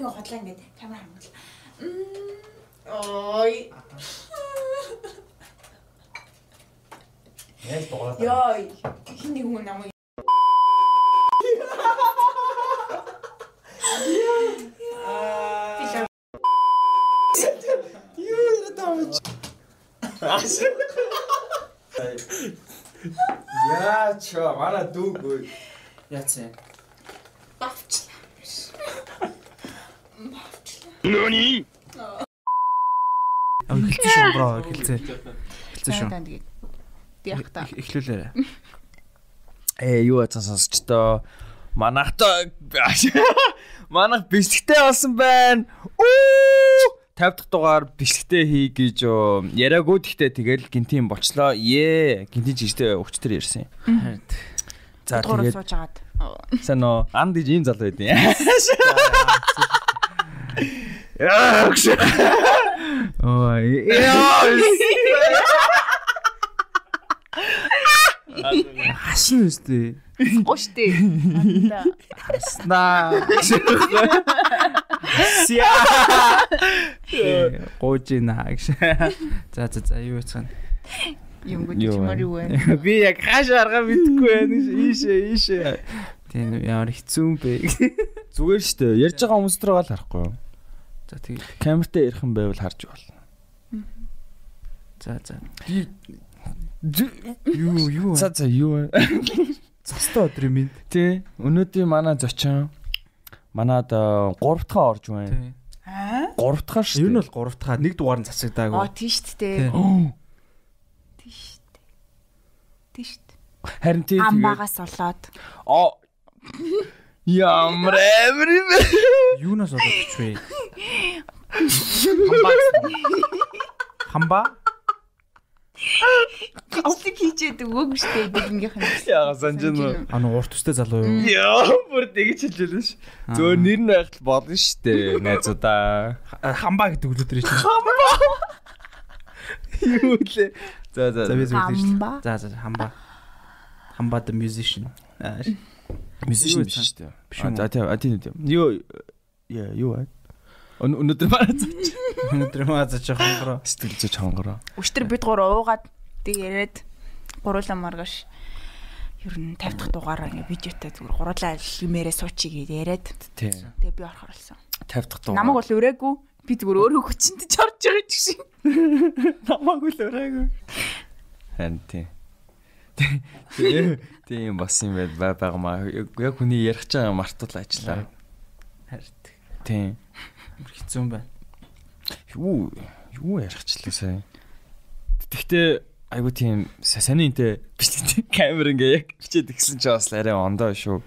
ингээ хотлоо ингээ камер хамгаал. Ой. Яаж дуурайд. Яа, хин нэг хүн намайг Яа чаа манай дүүгүй. Яац. бавчлаа. Нөни? Эхэлсэн шүү бро, эхэлсэн. Эхэлсэн шүү. Тэгээд яг та. Эхлүүлээрэй. Юу сонсож тоо. Манайх бичлэгтэй болсон байна. 50 дахь дугаар бичлэгтэй хий гэж яриаггүй гэхдээ тэгэл гинтийн болчлоо. Гинтийн жижигтэй өвчтөр ярьсан. За тэгээд сууж агаад. сайн нөө анд гэж ийм залуу байдیں۔ Ой. Хашин үстэй. Гоштэй. Анда. Хаснаа. Сиа. Гоожина гэж. За юу яцхан. Юм гоо чимэр юу вэ? Би яг хаашаа арга мэдхгүй байна. Ийшээ. Тийм ямар хэцүү юм бэ. Зүгээр шүү дээ. Ярьж байгаа хүмүүс дээр гал харахгүй юу? За тийм. Камертай ярих юм байвал харж болно. За. Юу. За юу вэ? Цастай өдөр юм. Тий. Өнөөдөр манай зочин манад 3 дахь орж байна. Тий. 3 дахь шүү. Ер нь бол 3 дахь нэг дугаар нь засагдаагүй. Тийм шүү дээ. Тийм шүү дээ. Харин тий. Амбагаас болоод. Ямар амир юм бэ? Юунаас болоод ч вэ? Хамба? Бичлэг хийчээд өгөөг штэ дэгнийх нь. Яа санжин. Урт устэй залуу юу? Яа, бүр тэгж хэлжэлэн ш. Зөөр нэр нь байхад болно штэ. Найзуудаа. Хамба гэдэг үлдэр чинь. Юу лээ. За. За, хамба. Хамба the musician. Musician биш штэ. За тийм. Юу вэ? Өнөөдөр маазаач хонгороо. Сэтгэлзэж хонгороо. Өчтөр бид гурав уугаад тэг яриад гуруула маргааш ер нь 50 дахь дугаараа ингээ видеотой зүгээр гуруулаа юмэрээ суучиг яриад. Тэгээ би орох орлсон. 50 дахь дугаар. Намайг бол өрөөгүй. Би зүгээр өөрөө хүчинтэй чорж байгаа ч шиг. Намайг л өрөөгүй. Хан тий. Тийм бас юм байгамаа. Яг хүний ярих ч байгаа мартал ажиллаа. Харин. Тийм. Хэцүү юм байна. Юу ярихчлаа сая. Тэгтээ айгу тийм саниинтэй бичлэгтэй камер ингээ яг бичээд игсэн ч бас арай ондоо шүү.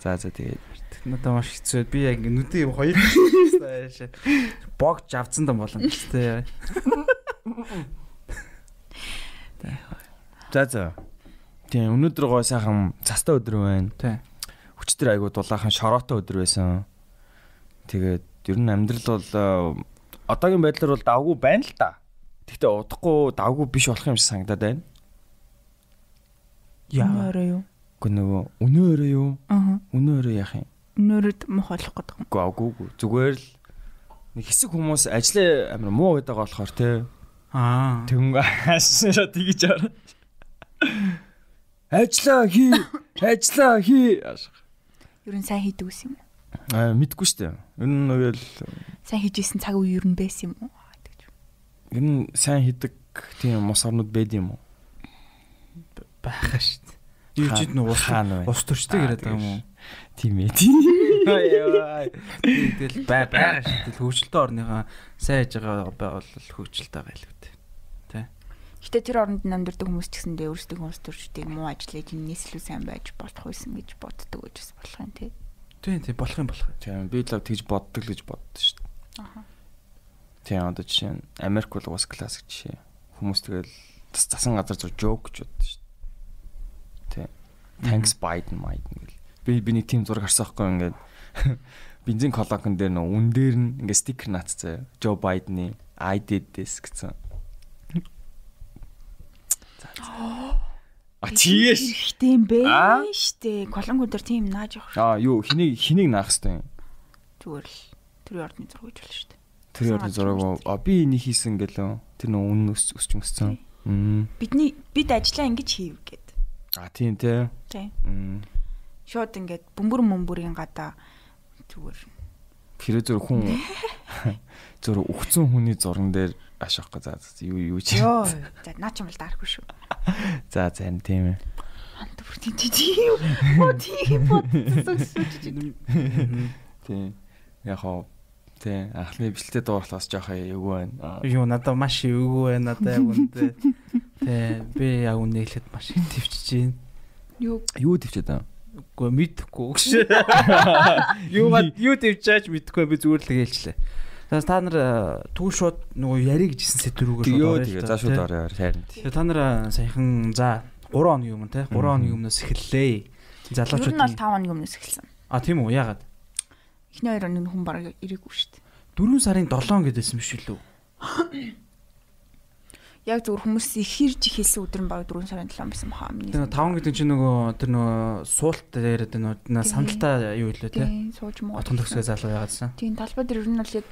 За тэгээд надад маш хэцүү. Би яг нүдээ хоёр богж авцсан дам болно гэжтэй. За. Тийм өнөөдөр гоо сайхан цастай өдөр байна. Тийм. Өчтөр айгу дулаахан шороотой өдөр байсан. Тэгээд ер нь амьдрал бол одоогийн байдлаар бол давгүй байна л да. Гэхдээ удахгүй давгүй биш болох юм шиг санагдаад байна. Өнөөрөө юу? Үгүй нөгөө өнөөрөө юу? Өнөөрөө яах юм? Өнөөрөд мох болох гэдэг юм. Үгүй. Зүгээр л нэг хэсэг хүмүүс ажлаа амар муу гэдэг болохоор те. Тэнгүү хаашаа тэгж аа. Ажлаа хий. Ер нь сайн хийдэг ус юм уу? Мэдгүй шүү дээ. Ер нь нөгөө л сайн хийжсэн цаг үе ер нь байсан юм уу гэдэг. Ер нь сайн хийдэг тийм мос орнууд байд юм уу? Байхаа шүү дээ. Юу ч нэг ус төрчтэй яриад байгаа юм уу? Тийм ээ. Тэгэл байгаа шүү дээ. Хөгжилтэй орныхаа сайн хийж байгаа бол хөгжилтэй байгаа л үү. Тэ. Гэтэ тэр оронд амьдардаг хүмүүс ч гэсэндээ өөрсдөө хүмүүс төрчдгийг муу ажиллаж энэс илүү сайн байж болох байсан гэж боддог гэж болох юм тий. Тийм болох юм. Тийм би л тэгж боддог л гэж боддоо шүү дээ. Тийм одоо жишээ нь Америк бол бас классик жишээ. Хүмүүс тэгэл засан газар зур жоок гэж боддоо шүү дээ. Тийм. Thanks Biden гэл. Би нэг тийм зураг харсан байхгүй ингээд бензин колонкон дээр нөө үн дээр нь ингээд стикер наацсан. Joe Biden-ы I did this гэсэн. Тийш. Тийм бэ штэ. Колонкон дээр тийм нааж явах. Юу хэнийг наах хэвтэй. Зүгээр л Төрийн ордны зураг гэж болно шүү дээ. Төрийн ордны зураг би энийг хийсэн гэлөө. Тэр нөө үнэн өсч мөссөн. Бид ажиллаа ингэж хийв гэд. Тийм тий. Тий. Шууд ингээд бөмбөрийн гадаа зүгээр хэрэг зур хүн зур өгцөн хүний зурган дээр ашаах гэж юу чи. Йоо. За наа ч юм бол даарахгүй шүү. За зарим тийм ээ. Ант бүртийн тийм. Тийм бодсон. Тийм. Яг хоо тий анхны бичлэлтэй дуурлахаас жоох эвгүй байна. Юу надад маш эвгүй байна надад яг үнэндээ. Тий би яг үнэ хэлэхэд маш их төвчж байна. Юу төвчээд байна? Үгүй мэдэхгүй гэж. Юу төвчаач мэдэхгүй би зүгээр л хэлчихлээ. Та нар түүн шууд нөгөө яри гэж хэлсэн сэдвүүгээр шууд орё. Тэгээ за шууд орё харин. Тэгээ та нар саяхан за 3 хоногийн өмнө те 3 хоногийн өмнөөс эхэллээ. Залуучууд нь бол 5 хоногийн өмнөөс эхэлсэн. Тийм үү яагаад? Эхний 2 хоногийн хүн бараг ирээгүй шүү дээ. 4 сарын 7 гэдээсэн биш үү? Яг зөвхөн хүмүүс ихэрж ихэлсэн өдөр нь баг 4 сарын 7 байсан баха. Тэгээ 5 гэдэг чинь нөгөө тэр нөгөө суулт яриад нөгөө сандалтаа юу хэлээ те? Сууж муу. Отхон төгсгөө залуу яагаадсан. Тийм талбай дээр ер нь бол яг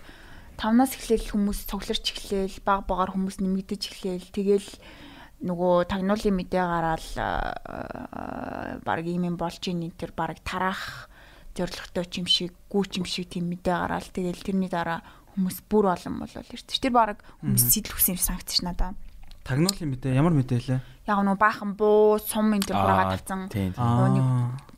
5-наас эхлээл хүмүүс цугларч эхлээл баг багаар хүмүүс нэмэгдэж эхлээл тэгэл нөгөө тагнуулын мэдээ гараал баг ийм болж ийн тэр баг тараах зоригтой ч юм шиг гүүч юм шиг тийм мэдээ гараал тэгэл тэрний дараа хүмүүс бүр олон болол ирчих. Тэр баг хүмүүс сэтлвсэн юм санагдчих надаа. Тагнуулын мэдээ ямар мэдээ лээ? Яг нөгөө баахан буу сум энэ төр хураагаад тавцсан. Нэг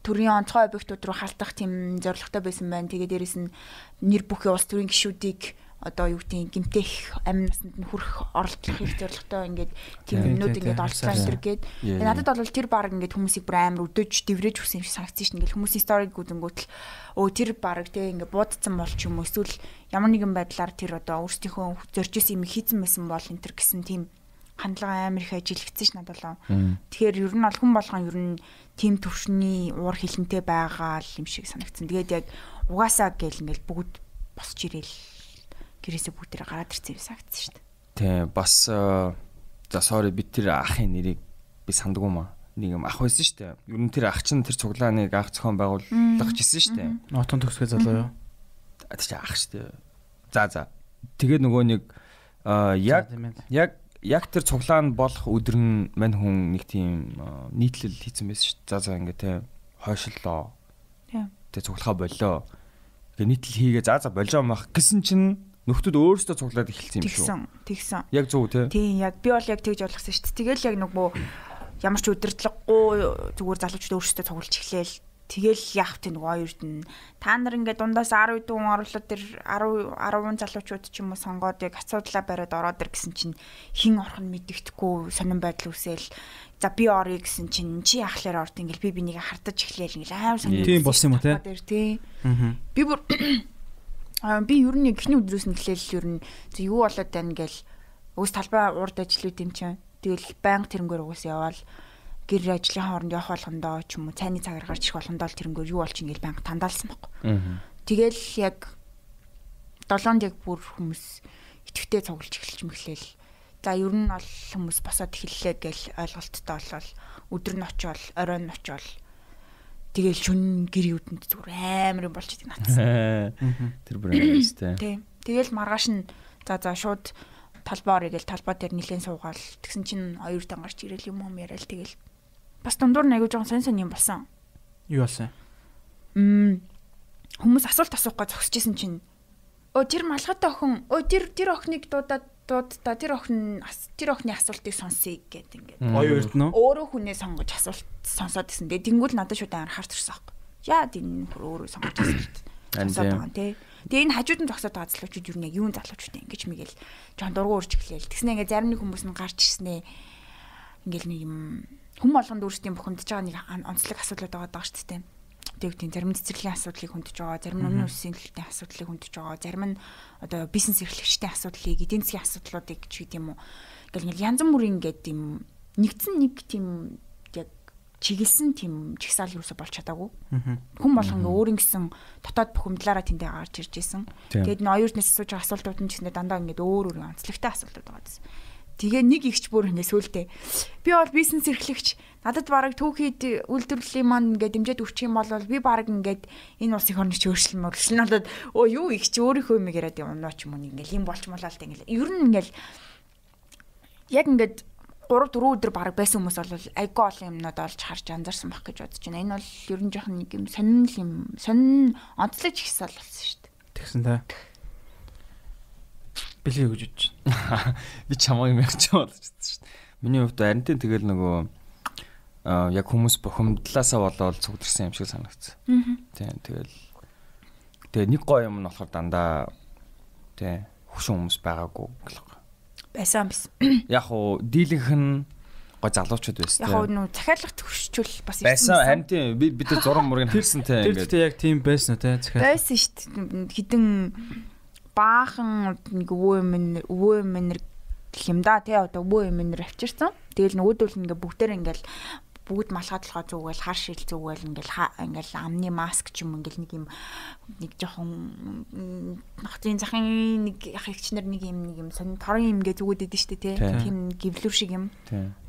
төрийн онцгой объектууд руу халтах тийм зоригтой байсан байна. Тэгээ дээрэс нь нэр бүхий улс төрийн гишүүдийг одоо юу гэдгийг гимтэх амин насанд нь хүрэх оролдлох их зоригтой ингээд тийм юмнууд ингээд олцсон энэ гээд надад бол тэр баг ингээд хүмүүсийг бүр амар өдөөж дэврэж өгсөн юм шиг санагдсан шин ингээд хүмүүсийн сториг гүдэнгүүт л тэр баг те ингээд буудсан болч юм эсвэл ямар нэгэн байдлаар тэр одоо өөрсдийнхөө зоржсэн юм хийцэн байсан бол энэ төр гэсэн тийм хандлага амар их ажилгдсан ш надад болоо. Тэгэхээр ер нь бол хүн болгон ер нь тийм төвшний уур хилэнтэй байгаа юм шиг санагдсан. Тэгээд яг угаасаа гэл ингээд бүгд босч ирээл гэрээсээ бүгдээ гараад ирсэн юм санагдсан шүү дээ. Тийм бас за sorry би тэр ахын нэрийг би сандгүй маа. Нэг юм ах байсан шүү дээ. Ер нь тэр ах чинь тэр цуглааныг ах зохион байгуулах гэсэн шүү дээ. Отон төгсгөө залуу юу? Тэр чинь ах шүү дээ. За. Тэгээд нөгөө нэг яг тэр цуглаан болох өдөр нь мань хүн нэг тийм нийтлэл хийсэн байсан шүү дээ. За ингээд те хойшлоо. Тийм. Тэгээ цуглахаа боллоо. Тэгээ нийтлэл хийгээ за болжоо мах гэсэн чинь нөхдүүд өөрсдөө цуглаад эхэлсэн юм шүү. Тэгсэн. Яг зөв тий. Тийм яг би бол яг тэгж ойлгосон шүү дээ. Тэгэл яг нөгөө ямар ч удирдлаггүй зүгээр залуучууд өөрсдөө цуглаж эхлээл. Тэгэл яах вэ нөгөө хоёрт нь та нар ингээд дундаас 10 дүүн оруулаад тэр 10 залуучууд ч юм уу сонгоод яг асуудлаа бариад ороод ир гэсэн чинь хин орох нь мэддэхгүй сонирн байдал үсээл. За би орё гэсэн чинь чи яхахлаар орд ингээд би бинийг хардаж эхлээл ингээд аим сонирн. Тийм болсон юм уу тий. Би бүр би ер нь эхний өдрөөс нь эхлээл ер нь юу болоод байна гээл өөс талбай урд ажиллууд юм чинь тэгэл байнга тэрнгээр угаас яваал гэр ажлын хооронд явах болгондоо ч юм уу цайны цагаар гарч ирэх болгондоо л тэрнгээр юу болчих ингээл байнга тандаалсан байхгүй. Тэгэл яг 7-нд яг бүр хүмүүс итгэвтэй цуглаж эхэлж мэхлээл. За ер нь бол хүмүүс босоод эхэллээ гэл ойлголттой болол өдөр нь очиол оройн нь очиол тэгэл шүн гэр юудэнд зүгээр амар юм болчих надсан. Тэр бүр амарстай. Тийм. Тэгэл маргааш нь за шууд талбай орё гэл талбай дээр нилэн суугаал. Тэгсэн чинь хоёр дан гарч ирээл юм яриад тэгэл бас дундуур нэг жоохон сонь юм болсон. Юу болсон? Хүмүүс асуулт асуух гэж зогсчихсэн чинь тэр малгайтай охин тэр охиныг дуудаад тэр охины асуултыг сонсъё гэд ингээд. Хоёрт нь өөрөө хүнээ сонгож асуулт сонсоод гэсэн. Тэнгүүл надад шууд амар харж ирсэн аахгүй. Яа энэ өөрөө сонгож асуулт сонсоод байгаа тий. Тэгээ энэ хажууд нь зогсоод байгаа залуучууд юу нэг юун залуучууд ингэж мэгэл жоон дургуун урж эхлээл. Тэгснэ ингээд зарим нэг хүмүүс нь гарч ирснээ. Ингээл нэг юм хүм болгонд өөрсдийн бухимдаж байгаа нэг онцлог асуудлууд байгаа даа шүү дээ. Тэгвэл зарим нь цэцэрлэгийн асуудлыг хөндөж байгаа, зарим нь өмнө үсгийн төлөвтэй асуудлыг хөндөж байгаа, зарим нь одоо бизнес эрхлэгчдийн асуудлыг, эдийн засгийн асуудлуудыг ч гэдэм юм уу. Ингээл янз бүрийн ингээд юм нэгдсэн нэг тийм яг чиглэсэн тийм жигсаал юусоо болж чадаагүй. Хүн болгон өөр ингэсэн дотоод бухимдлаараа тэндээ гарч ирж исэн. Тэгээд н хоёрнаас асууж байгаа асуултууд нь ч гэсэн дандаа ингээд өөр онцлогтой асуултууд байгаа гэсэн. Тэгээ нэг ихч бүр ингэ сүултээ. Би бол бизнес эрхлэгч. Надад бараг түүхийд үйлдвэрлэлийн маань ингээд дэмжиж өгчих юм бол би бараг ингээд энэ улсын орныг өөрчлөн болоод юу ихч өөрийнхөө юм яриад юм ноо ч юм уу ингээд юм болчмолоо л ингээд ер нь ингээд яг ингээд 3-4 өдөр бараг байсан хүмүүс бол айгүй олон юмнууд олж харж анзаарсан байх гэж бодож байна. Энэ бол ер нь жоохон нэг юм сонин онцлог ихсэл болсон шүү дээ. Тэгсэн та. Билээ гэж бодож байна. Би чамайг мягч болж байна шүү дээ. Миний хувьд харинтын тэгэл нөгөө яг хүмүүс бухимдлаасаа болоод цугдэрсэн юм шиг санагдсан. Тийм тэгэл нэг гоё юм нь болохоор дандаа тийм хөшин хүмүүс байгаагүй гэх байсан биз. Яг уу дийлэнх нь гой залуучууд байсан. Яг уу нүү захиалгад хөрчүүл бас байсан. Харин тийм бид зураг мурыг харсан тийм ингээд. Тэр яг тийм байсан тийм захиалга. Байсан шүү дээ. Хідэн баахан нэг өвөө минер гэх юм да тий одоо өвөө минер авчирсан. Тэгэл нөгөөдөл ингээ бүгдээр ингээл бүгд малхадлахаа зүгэл хар шил зүгэл ингээл амны маск ч юм ингээл нэг жоохон нохтын захын нэг ахигчнэр нэг юм сонин торон юм гээ зүгөөд идэв штэ тий тийм гівлүр шиг юм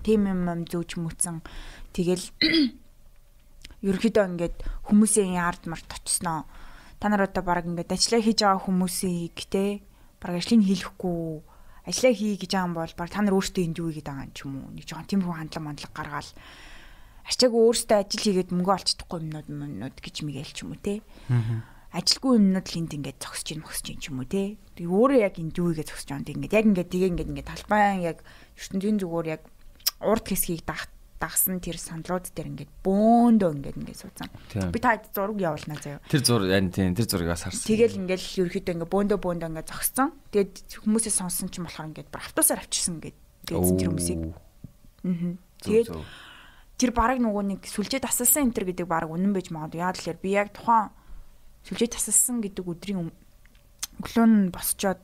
тийм юм зөөж мүцэн тэгэл ерөөхдөө ингээд хүмүүсийн ард март очсноо та нар одоо баг ингээд ажиллаа хийж байгаа хүмүүсийг те баг ажлыг хийхгүй ажиллаа хий гэж байгаа юм бол баг та нар өөрсдөө энд юу хийгээд байгаа юм ч юм уу нэг жоохон тиймэрхүү хандлага гаргаал арчаагүй өөрсдөө ажил хийгээд мөнгө олцдохгүй юмнууд гэж мэгэл ч юм уу те. Ажилгүй юмнууд л энд ингээд зогсож ийн ч юм уу те. Тэгээ өөрөө яг энд юу хийгээд зогсож байгаа юм. Ингээд тэгээ талбайн яг ертөнцийн зүгээр яг урд хэсгийг дагсан тэр сандрууд дээр ингээд бөөндөө ингээд суудсан. Би та зураг явуулнаа заяа. Тэр зурагаас харсан. Тэгэл ингээд ерөөхдөө ингээд бөөндөө ингээд зогссон. Тэгээд хүмүүсээс сонсон ч юм болохоор ингээд автобусаар авчирсан ингээд тэр хүмүүсийг. Тэгээд тэр бараг нөгөө нэг сүлжээ тасалсан энэ төр гэдэг бараг үнэн байж магадгүй. Яа тэлэр би яг тухайн сүлжээ тасалсан гэдэг өдрийн өглөө нь босчоод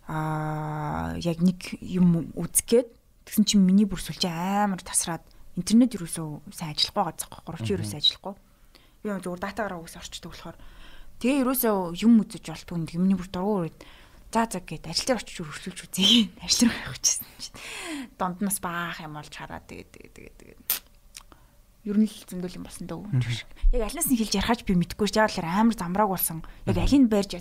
яг нэг юм үзгээд тэгсэн чинь миний бүр сүлжээ амар тасраад интернет юусоо сайн ажиллахгүй байгаа захгүй 30 юусоо ажиллахгүй. Би зөвхөн датагаар үгс орчдөг болохоор тэгээ юусоо юм үзэж болтгүй миний бүр дургуур за гэд ажил дээр очиж өрсөлж үзье. Ажил руу явах гэсэн чинь донд нас баах юм болж хараад тэгээд ер нь л зөндөл юм болсон дөө. Яг алнаас нь хэлж ярихаж би мэдэхгүй ш. Яг л амар замрааг болсон. Яг алийг барьж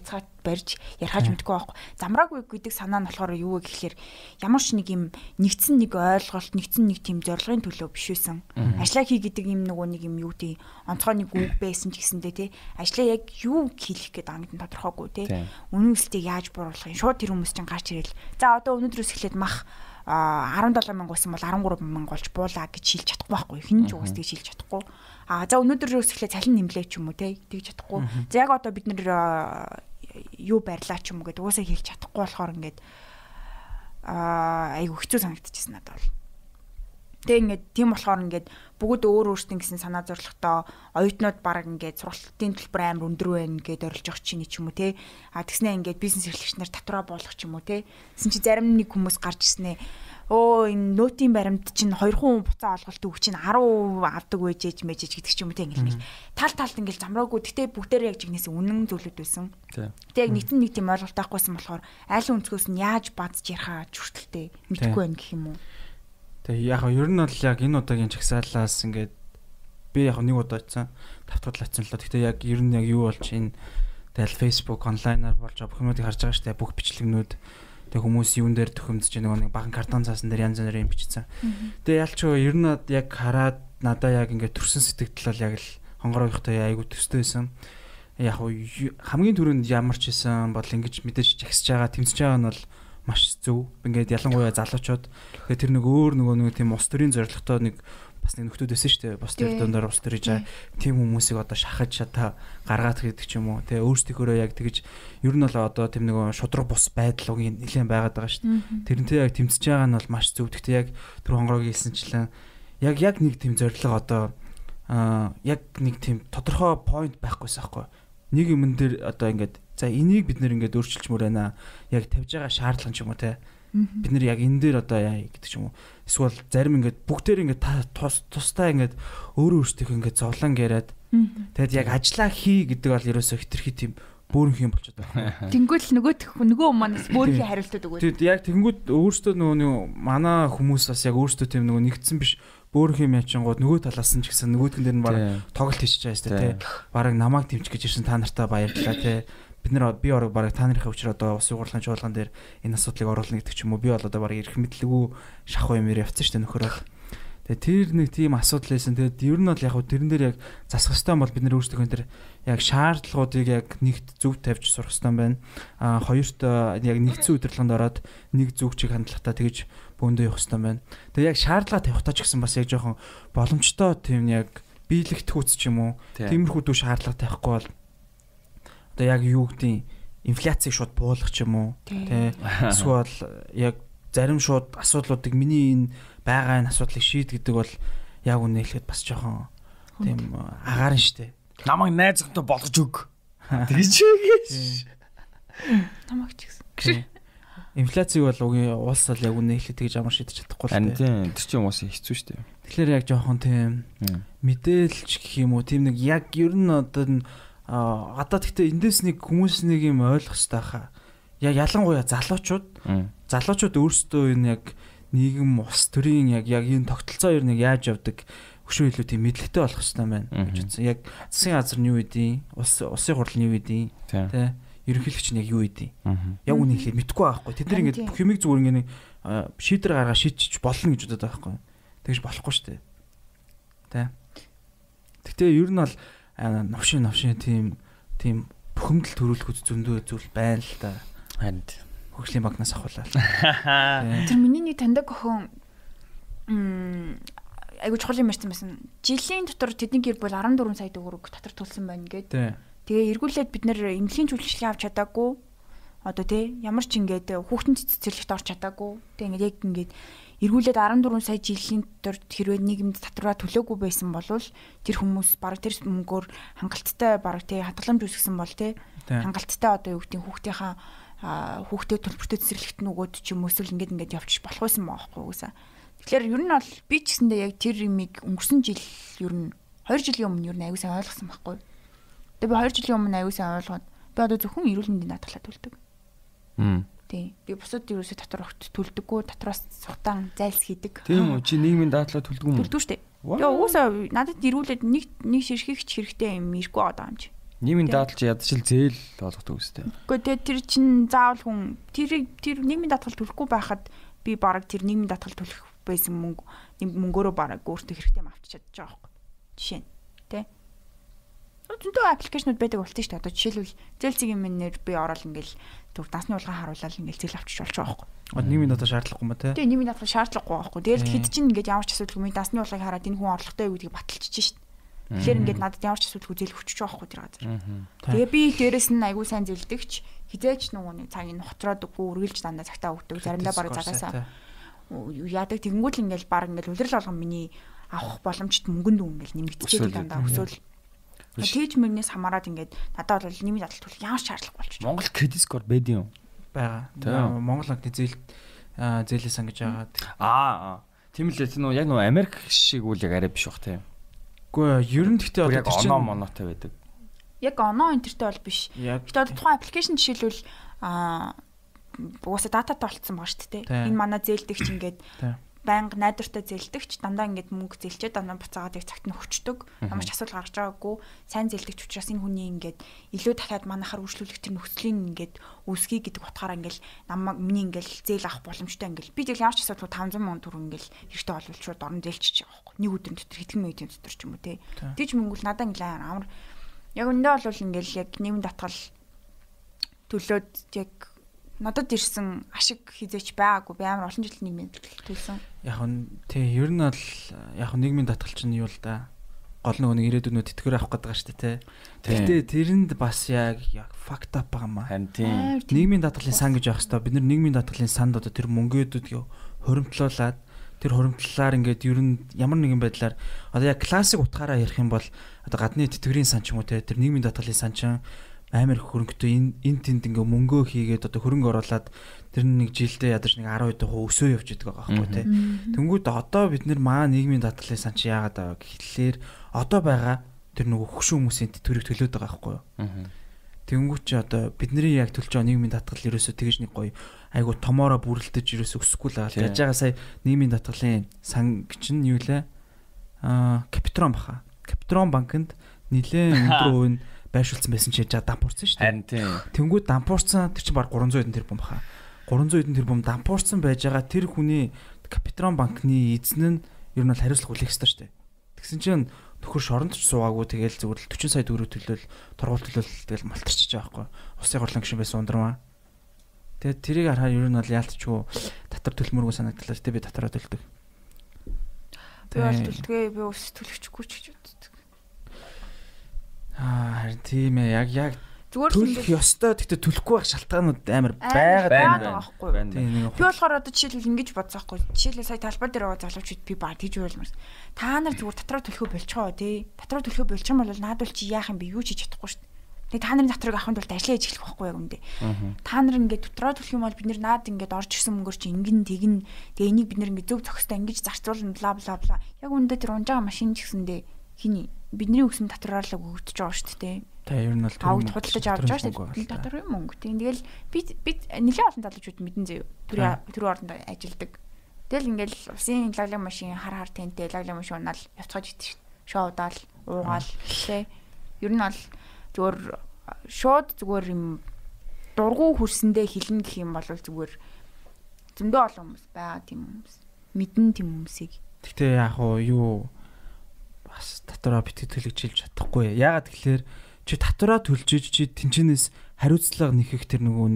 ярихаж мэдэхгүй байхгүй. Замраагүй гэдэг санаа нь болохоор юу вэ гэхэлэр ямар ч нэг юм нэгдсэн нэг ойлголт, нэгдсэн нэг тийм зорилгын төлөө биш байсан. Ажлаа хий гэдэг юм нөгөө нэг юм юу тий онцгой нэг үг байсан ч гэсэндээ тий ажлаа яг юу хийх гээд байгаа гэдэг нь тодорхойгүй тий. Үнэн үстэйг яаж бууруулах юм. Шууд тэр хүмүүс чинь гарч ирэл. За одоо өнөөдрөөс эхлээд мах 17,000 байсан бол 13,000 болж буулаа гэж шилж чадахгүй байхгүй. Хэн ч угсдгийг шилж чадахгүй. За өнөөдрөөс эхлээд цалин нэмлээ ч юм уу те тэгж чадахгүй. За яг одоо бид нэр юу барьлаа ч юм уу гэдэг уусаа хэлж чадахгүй болохоор ингээд айгу хэцүү санагдчихсан надад бол. Тэг ингээд тийм болохоор ингээд бүгд өөртөө гэсэн санаа зорилготой оюутнууд баг ингээд сургалтын төлбөр амар өндөр байна гэдээ орилж явах чинь ч юм уу те. Тэгснээ ингээд бизнес эрхлэгч нар татвараа болгох ч юм уу те. Тэсэн чи зарим нэг хүмүүс гарч ирснэ. Энэ нотийн баримт чинь 2 хүн буцаа олголт үг чинь 10% авдаг байжээж гэдэг ч юм уу те ингээд талд ингээд замраагүй. Гэтэ бүгдээрээ яг жигнэсээ үнэн зүйлүүд байсан. Тэг яг нэг тийм ойлголт авахгүйсэн болохоор айл өнцгөөс нь яаж бадж ярихаа хүртэлтэй мэдэхгүй байх гэх юм уу. Тэгээ яг ер нь бол яг энэ удаагийн чагсаалаас ингээд би яг нэг удаа очсон давтгалт очсон л доо. Гэхдээ яг ер нь яг юу болж энэ тэгэл Facebook онлайнаар болж бүх юмыг харж байгаа шүү дээ. Бүх бичлэгнүүд тэгээ хүмүүс юун дээр төхөмдөж байгаа нэг баган картон цаасан дээр янз бүрийн бичсэн. Тэгээ ялч ер нь яг хараад надаа яг ингээд төрсөн сэтгэл бол яг л хонгоройхтой айгу төстэй байсан. Яг хамгийн түрүүнд ямар ч байсан бол ингэж мэдээж жагсаж байгаа тэмцэж байгаа нь бол маш зөв. Ингээд ялангуяа залуучууд тэгээ тэр нэг өөр нөгөө тийм ус төрийн зорилготой нэг бас нэг нөхдүүд байсан шүү дээ. Бус тэр дондор ус төрж тийм хүмүүсийг одоо шахаж шата гаргаад гэдэг ч юм уу. Тэгээ өөрсдийнхөө яг тэгж ер нь бол одоо тийм нэг шудраг бус байдал нэлээд байгаад байгаа шүү дээ. Тэрнтэй яг тэмцэж байгаа нь бол маш зөв. Гэхдээ яг тэр хонгорог хэлсэнчлэн яг нэг тийм зорилго одоо яг нэг тийм тодорхой point байхгүйсэн байхгүй. Нэг юм дээр одоо ингээд за энийг бид нэр ингээд өөрчилчмөр байна. Яг тавьж байгаа шаардлага ч юм уу те. Бид нэр яг энэ дээр одоо яа гэдэг ч юм уу. Эсвэл зарим ингээд бүгдээр ингээд тусдаа ингээд өөрөө өөртөө ингээд зовлон яриад тэгэд яг ажиллаа хий гэдэг бол ерөөсөө хитрхи тийм бөөрөнх юм болчиход байгаа. Тэнгүүл нөгөө манаас бөөрөнхийн хариултууд өгөөд. Тэгэд яг тэнгүүд өөртөө нөгөө манай хүмүүс бас яг өөртөө тийм нөгөө нэгдсэн биш бөөрөнх юм ячингууд нөгөө талаас нь ч гэсэн нөгөөдгөн дээр нь бараг тоглолт хийчихэж байгаа шүү дээ. Бараг намайг дэмжих гэж ирсэн та нартай баярлалаа те. Би орог бараг та нарын өчрөө одоо ус уурлагын чуулган дээр энэ асуудлыг оруулна гэдэг ч юм уу. Би бол одоо бараг ирэх мэдлэггүй шахуу юм явцсан шүү дээ нөхөр бол. Тэгээ тэр нэг тийм асуудал байсан. Тэгээд ер нь бол яг хөө тэрэн дээр яг засах хэрэгтэй бол бид нэр өөрсдөө тэр яг шаардлагуудыг яг нэгт зөв тавьж сурах хэрэгтэй байна. Хоёрт яг нэгдсэн удирдлаганд ороод нэг зүгчийг хандлагатай тэгж бөөндөө явах хэрэгтэй байна. Тэгээ яг шаардлага тавихтаа ч гэсэн бас яг жоохон боломжтой тийм яг биелэгдэхүүц ч юм уу. Тиймэрхүү дүү шаардлага тавихгүй бол одоо яг юу гэдгийг инфляцийг шууд буулгах ч юм уу. Тэ эсвэл яг зарим шууд асуудлуудыг миний энэ байгаа энэ асуудлыг шийд гэдэг бол яг үнэ хэлэхэд бас жоохон тийм агаарн штэ. Намайг найзтай болгож өг. Тэгэж. Намайг ч гэсэн. Инфляцийг бол улс бол яг үнэ хэлэхэд тэгж амар шийдэж чадахгүй л тийм. Тэр чинь уус хэцүү штэ. Тэгэхээр яг жоохон тийм мэдээлж гэх юм уу тийм нэг яг ер нь одоо тэгтээ эндээс нэг хүмүүс нэг юм ойлгох хэрэгтэй хаа. Яг ялангуяа залуучууд өөрсдөө энэ яг нийгэм ус төрийн яг энэ тогтолцоо ер нь яаж явдаг өшөө илүү тийм мэдлэгтэй болох хэрэгтэй байна гэж үзсэн. Яг засгийн газар нь юу үдий, улсын хурал нь юу үдий, тэ ерөнхийлөгч нь яг юу үдий. Яг үнийг хэлээд мэдэхгүй байхгүй. Тэд нар ингээд бүх юмыг зүгээр ингээд шийдвэр гаргаад шийдчих болно гэж бодоод байгаа байхгүй. Тэгж болохгүй шүү дээ. Тэ. Гэхдээ ер нь бол новшин тийм бухимдал төрүүлэхэд зөндөө зүйл байна л да. Харин хөгжлийн банкнаас авахлаа. Тэр миний нэг таньдаг охин айгуу чухал юм ярьсан. Жилийн дотор тэдний гэр бүл 14 сая төгрөг татвар төлсөн байна гэдэг. Тэгээ эргүүлээд бид нэр эмнэлгийн зөвлөгчлийн авч чадаагүй. Одоо тий ямар ч ингээд хүүхдэн цэцэрлэгт орч чадаагүй. Тэгээ ингээд яг ингээд эргүүлээд 14 сая жилийн дотор хэрвээ нийгэмд татвараа төлөөгүй байсан бол тэр хүмүүс бараг тэр мөнгөөр хангалттай бараг тий хадгаламж үүсгэсэн бол тий хангалттай одоо юу гэдэг хүүхдээ төлбөртэй цэцэрлэгт нөгөөд ч юм эсвэл ингээд явчих болох байсан байхгүй уусаа. Тэгэхээр ер нь бол би ч гэсэндээ яг тэр имийг өнгөрсөн жил ер нь 2 жилийн өмнө ер нь аягүй сайн ойлгосон байхгүй. Тэгээ би 2 жилийн өмнө аягүй сайн ойлгоод би одоо зөвхөн эрүүл мэндийн даатгалаа төлдөг. Тий. Би бусад ерөөсөө татвар огт төлдөггүй, татвараас сухтаан зайлс хийдэг. Тийм үү? Чи нийгмийн даатгалаа төлдөг юм уу? Төлдөг штэ. Тэгээ уусаа надад эрүүлээд нэг ширхэгч хэрэгтэй юм ирэхгүй байгаа юм чи. Нийгмийн даатгал чи ядчил зээл болгодог үстэй. Гэхдээ тэр чин заавал хүн тэр нийгмийн даатгал төлөхгүй байхад би бараг тэр нийгмийн даатгал төлөх байсан мөнгөөрөө бараг өөртөө хэрэгтэй авчиж чадчих байгаа байхгүй. Жишээ нь тий. Зөндөө аппликейшнуд байдаг болтой шүү дээ. Одоо жишээлбэл зээлцгийн минээр би ороод ингээл төв дасны улгаан харуулаад ингээл зээл авчиж болж байгаа байхгүй. Нийгмийн даатгал шаардлагагүй юм ба тий. Тий, нийгмийн даатгал шаардлагагүй байхгүй. Тэгэл хэд чинь ингээд ямар ч асуудалгүй дасны улгааг хараад энэ хүн орлоготой юу гэдгийг баталчихж шүү дээ. Тэгэхээр ингээд надад ямар ч асуудалгүй зээл өгч байгаа байхгүй тэр газар. Тэгээ би дээрэс нь айгүй сайн зээлдэгч хизээч нөгөө нэг цагийг ноцроод үгүй үргэлж дандаа цагтаа өгдөг. Заримдаа бараг цагаасаа яадаг тэгэнгүүт л ингээл баг ингээл үлрэл болгон миний авах боломжт мөнгөнд ингээл нэмэгдчихээд дандаа өсөөл. Тэгж мөрнөөс хамаарад ингээд надад бол нийгмийн даатгал төлөх ямар шаардлага болчих. Монгол кредит скор байдаг юм. Бага. Монгол банкны зээлээ сан гэж байгаа. Тийм л нөө яг нөө Америк шиг үл яг арай биш бах тийм. Үгүй ер нь гэхдээ одоо тэр чинь оноо монотой байдаг. Яг оноо интертэй бол биш. Гэхдээ одоо тухайн аппликейшн жишээлбэл угаасаа дататай болцсон байгаа шүү дээ. Энэ манай зээлдэгч ингээд байнга найдвартай зээлдэгч дандаа ингээд мөнгө зээлчээ дандаа буцаагаад яг цагт нь өгчдөг. Ямар ч асуудал гарч байгаагүй. Сайн зээлдэгч учраас энэ хүний ингээд илүү дахиад манайхаар үргэлжлүүлэх тэр нөхцөлийн ингээд үүсгий гэдэг утгаараа ингээд намайг миний ингээд зээл авах боломжтой ингээд би тэгэл ямар ч асуудал 500 сая төгрөг ингээд хэрэгтэй болвол шууд орон зээлчиж байгаа байхгүй. Нэг өдрийн дотор хэдхэн минутын дотор ч юм уу те. Тэгж мөнгөл надаа ингээд амар яг өндөө бол ингээд яг нийгмийн даатгал төлөөд яг надад ирсэн ашиг хизээч байгаагүй. Би амар олон жил нийгмийн даатгал төлсөн. Яг нь тий ер нь бол яг нийгмийн даатгал чинь юу л да. Гол нэг ирээдүйнөө тэтгэр авах гэдэг шүү дээ тий. Гэхдээ тэрэнд бас яг fucked up байгаа маа. Харин тийм. Нийгмийн даатгалын сан гэж явах хэвээр бид нар нийгмийн даатгалын санд одоо тэр мөнгөдүүдийг хуримтлуулад тэр хуримтлалаар ингээд ер нь ямар нэгэн байдлаар одоо яг классик утгаараа ярих юм бол одоо гадны тэтгэврийн сан ч юм уу тий тэр нийгмийн даатгалын сан чинь амар хөрөнгөтэй энэ тэнд ингээ мөнгөө хийгээд одоо хөрөнгө оруулаад тэр нэг жилдээ ядаж нэг 12% өсөө явж идэг байгаа байхгүй тий. Тэнгүүд одоо бид нар маа нийгмийн даатгалын сан чи яагаад байгаа гэхлээр одоо байгаа тэр нөгөө хөшөө хүмүүсийн тэтгэврийг төлөөд байгаа байхгүй юу. Тэнгүүт чи одоо бидний яг төлж байгаа нийгмийн татгал ерөөсөө тэгж нэг гоё айгу томоороо бүрэлдэж ерөөсөө өсөхгүй л байгаа. Яаж байгаа сая нийгмийн татгалын сан чинь юу лээ? Капитрон баха. Капитрон банкнд нэлээд өндөр үн байршуулсан байсан чи яа дампуурсан шүү дээ. Харин тийм. Тэнгүүд дампуурсан тэр чинь баг 300 хэдэн тэрбум баха. 300 хэдэн тэрбум дампуурсан байж байгаа тэр хүний Капитрон банкны эзэн нь ер нь бол хариуцлага хүлээх ёстой шүү дээ. Тэгсэн чинь төхөр шоронд ч суугаагүй тэгэл зүгээр л 40 сая төгрөг төлөөл тургуул төлөөл тэгэл малтарчиж байгаа байхгүй. Усын хурлын гишүүн байсан ундрмаа. Тэгээд тэрийг харахаар ер нь бол яалтчгүй татвар төлмөргүй санагдлаа. Тэ би татвараа төлдөг. Би бол төлдөгөө би ус төлөгчгүй ч гэж боддог. Харин тийм ээ яг төлөх ёстой гэхдээ төлөхгүй байх шалтгаанууд амар байгаа байхгүй. Би болохоор одоо жишээлбэл ингэж бодсоохгүй. Жишээлбэл сая талбай дээр байгаа залуучууд би баг тийж байлмаар. Та нар зүгээр татраа төлөхөө болчихоо тий. Татраа төлөхөө болчих юм бол наадвал чи яах юм бэ? Юу ч хийж чадахгүй шүү дээ. Тэгээ та нарын татрыг авахын тулд ажиллаж эхлэх байхгүй яг үндэ. Та нар ингээд татраа төлөх юм бол бид нар наад ингээд орж ирсэн мөнгөөр чи ингэн тэгнэ. Тэгээ энийг бид нар ингээд зөв зохистой ингэж зарцуулна бла бла бла. Яг үндэ тэр унжаага машин ч гэсэндээ хиний бидний өгсөн татраар л өгөгдөж байгаа шүү дээ. Та ер нь бол авд худалдаж авч байгаа шүү дээ. Татвар юм мөнгө. Тэгэл бид нэлээд олон залуучууд мэдэн зөө. Тэр орнд ажилладаг. Тэгэл ингээл усын лаглаг машин хар тэнтэй лаглаг машин унаал явцгааж идэв шүү дээ. Шоудаал, уугаал тий. Ер нь бол зүгээр шууд зүгээр юм дургу хөрсөндөө хилэн гэх юм бол зүгээр зөндөө олон хүмүүс байгаа тийм хүмүүс. Мэдэн тийм хүмүүсийг. Гэтэ яг юу бас татвараа битгий төлөгжилж чадахгүй. Яагаад тэгэхээр чи татвараа төлжиж чи тэнчнээс хариуцлага нэхэх тэр нөгөө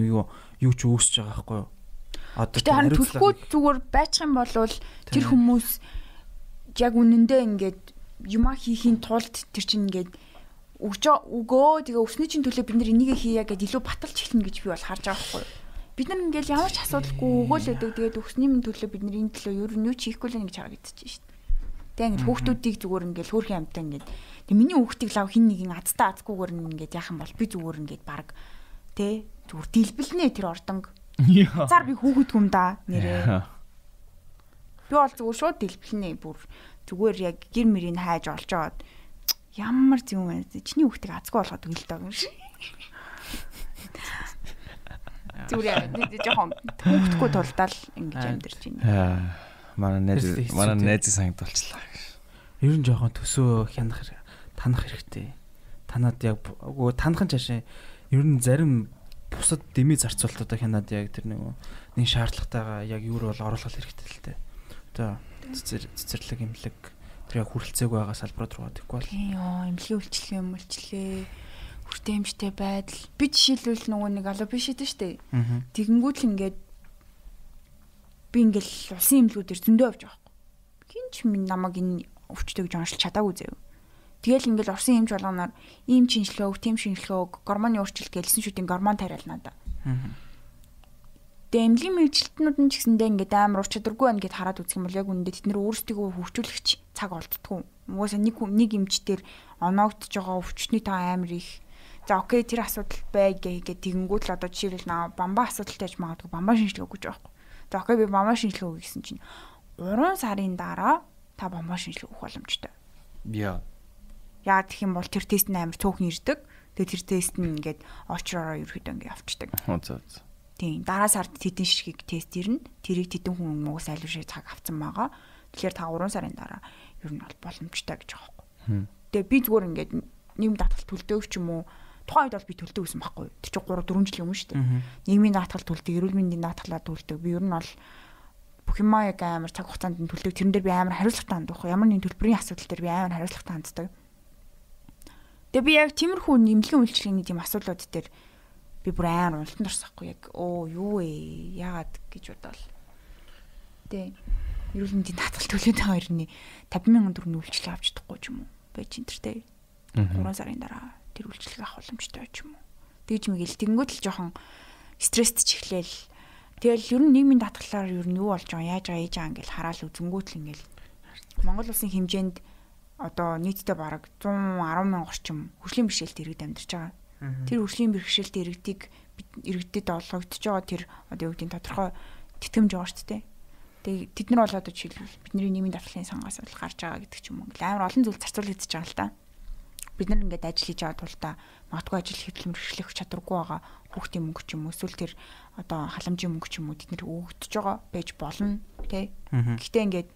юу ч үүсэж байгаа байхгүй юу? Одоо тэр харин төлөхгүй зүгээр байчих юм бол тэр хүмүүс яг үнэндээ ингээд юма хийхийн тулд тэр чинь ингээд өгөө тэгээ өсний чинь төлөө бид нар энийг хийя гэдээ илүү баталж эхлэнэ гэж би бол харж байгаа байхгүй юу? Бид нар ингээд ямар ч асуудалгүй өгөөлөдөг тэгээд өсний минь төлөө бид нар энэ төлөө ер нь юу ч хийхгүй л гэж харагдчих шүү дээ. Тэг ингээд хүүхдүүдийг зүгээр ингээд хөөрхөн амтаа ингээд тэг миний хүүхдийг лав хин нэгэн азтаа азгүйгээр ингээд яах юм бол би зүгээр ингээд баг тэ зүгээр дэлбэлнэ тэр ордонг. Зар би хүүхэд хүм да нэрээ. Би бол зүгээр шууд дэлбэлнэ бүр зүгээр яг гэр мөрийг хайж олж аваад ямар юм бэ? Чиний хүүхдийг азгүй болгоод өгөл даа гэнэ. Зүгээр жоохон хүүхдгүй тулдаал ингэж амьдэрч байна. Манай найз санагдуулчлаа. Ер нь жоохон төсөө танах хэрэгтэй. Танад яг танах нь цаашаа ер нь зарим бусад дэмий зарцуулалтаа хянаад яг тэр нэг шаардлагатайгаа яг юу бол оруулах хэрэгтэй л дээ. Одоо цэцэрлэг имлэг тэр яг хүрэлцээг байгаа салбарууд руу гэхгүй бол. Имлэгийн үйлчлэгээ өмөлчлээ хүртээмжтэй байдал. Би жишээлбэл нөгөө нэг алуу биш дээ шүү дээ. Тэгэнгүүт л ингээд би ингээл улсын имлгүүдээр зөндөө авч байгаа байхгүй. Хинч минь намайг энэ өвчтөйг жоншилж чадаагүй заяа. Тэгэл ингээл орсын имж болгоноор ийм шинжилгээ өг, тийм шинжилгээ өг, гормоны өөрчлөлт гэлсэн шүдийн гормон тариалнаа да. Тэгээ эмнэлгийн мэргэжилтнүүд нь ч гэсэндээ ингээд амар ур чадваргүй байна гэд хараад үзэх юм бол яг үнэндээ тэд нэр өөрсдийгөө хөгжүүлэгч цаг олддгүй. Угаасаа нэг эмчтэр оноогдож байгаа өвчтний таа амар их. За окей тэр асуудал бай гэгээд тэгэнгүүт л одоо жишээлбэл бамбаа асуудалтай байж магадгүй бамбаа шинжилгээ өгч байгаа байхгүй. За окей би бамбаа шинжилгээ өгье гэсэн чинь 3 сарын дараа та бамбаа шинжилгээ өгөх боломжтой. Яа. Яа гэх юм бол тэр тест нь амар цөөхөн ирдэг. Тэгээ тэр тест нь ингээд очророо ерөөхдөө ингээд авчдаг. Тийм дараа сард тэдэн ширхэг тест ирнэ. Тэрийг тэдэн хүн муугаас айлуушээ цаг авсан байгаа. Тэгэхээр та 3 сарын дараа ер нь бол боломжтой гэж байгаа байхгүй. Тэгээ би зүгээр ингээд нийгэм даатгал төлдөг ч юм уу тухайн үед бол би төлдөг гэсэн байхгүй. Тэр чинь 3-4 жилийн өмнө шүү дээ. Нийгмийн даатгал төлдөг, эрүүл мэндийн даатгалаа төлдөг. Би ер нь бол бүх юм яг амар цаг хугацаанд нь төлдөг. Тэрэн дээр би амар хариуцлагатай ханддаг. Ямар нэгэн төлбөрийн асуудал дээр би амар хариуцлагатай ханддаг. Тэгээ би яг тиймэрхүү нэмлэгийн үйлчлэгээний тийм асуудлууд дээр би бүр амар уналтанд орсохгүй яг юу вэ? Яагаад гэж бодвол. Тэ эрүүл мэндийн даатгал төлөөд байгаа хэрний 50,000 төгрөгийн үйлчлэг авч чадахгүй ч юм уу? Байж энэ тэр тэ 3 сарын дараа тэр үйлчлэг авах боломжтой ч юм уу? Тэгж мэгэл тэгэнгүүт л жоохон стресст ч эхлээл. Тэгэл ер нь нийгмийн даатгалаар ер нь юу болж байгаа, яаж байгаа, ээж байгаа ингээл хараал үзэнгүүт л ингээл Монгол улсын хэмжээнд одоо нийтдээ бараг 110,000 орчим хөгжлийн бэрхшээлтэй иргэд амьдарч байгаа. Тэр хөгжлийн бэрхшээлтэй иргэдэд олгогдож байгаа тэр одоо юу гэдгийг тодорхой тэтгэмж байгаа шүү дээ. Тэгээ тэд нар бол одоо жишээлбэл бидний нийгмийн даатгалын сангаас бол гарч байгаа гэдэг ч юм уу. Амар олон зүйл зарцуулагдаж байгаа л да. бид нар ингээд ажил хийж байгаа тул та магадгүй ажил хөдөлмөр эрхлэх чадваргүй байгаа хүүхдийн мөнгө ч юм уу эсвэл тэр одоо халамжийн мөнгө ч юм уу тэд нар өгөгдөж байгаа байж болно тий. Гэхдээ ингээд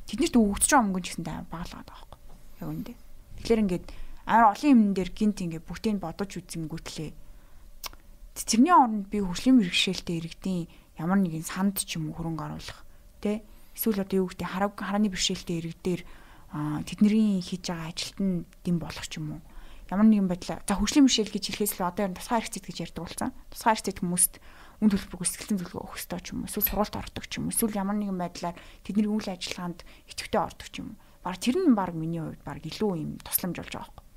тэднэрт өгөгдөж байгаа мөнгө ч гэсэндээ баалгаад байгаа байхгүй. Яг үндэ. Тэгэхээр ингээд амар олон юм дээр гинт ингээд бүгдийг бодож үзэнгүүтлээ. Тэрний оронд би хөгжлийн бэрхшээлтэй иргэдийн ямар нэгэн санд ч юм уу хөрөнгө оруулах тий. Эсвэл одоо юу гэдэг харааны бэрхшээлтэй иргэдээр тэдний хийж байгаа ажилд нь дэм болох ч юм уу. Ямар нэгэн байдлаар за хөгжлийн бэрхшээл гэж хэлэхээс л одоо тусгай хэрэгцээ гэж ярьдаг болсон. Тусгай хэрэгцээд хүмүүст үн төлбөр гүйцэтгэлэн зөвлөгөө өгөх ёстой ч юм уу. Эсвэл сургалт ордог ч юм уу. Эсвэл ямар нэгэн байдлаар тэдний үйл ажиллагаанд идэвхтэй ордог ч юм уу. Бараг тэр нь баг миний хувьд баг илүү юм тусламж болж байгаа байхгүй.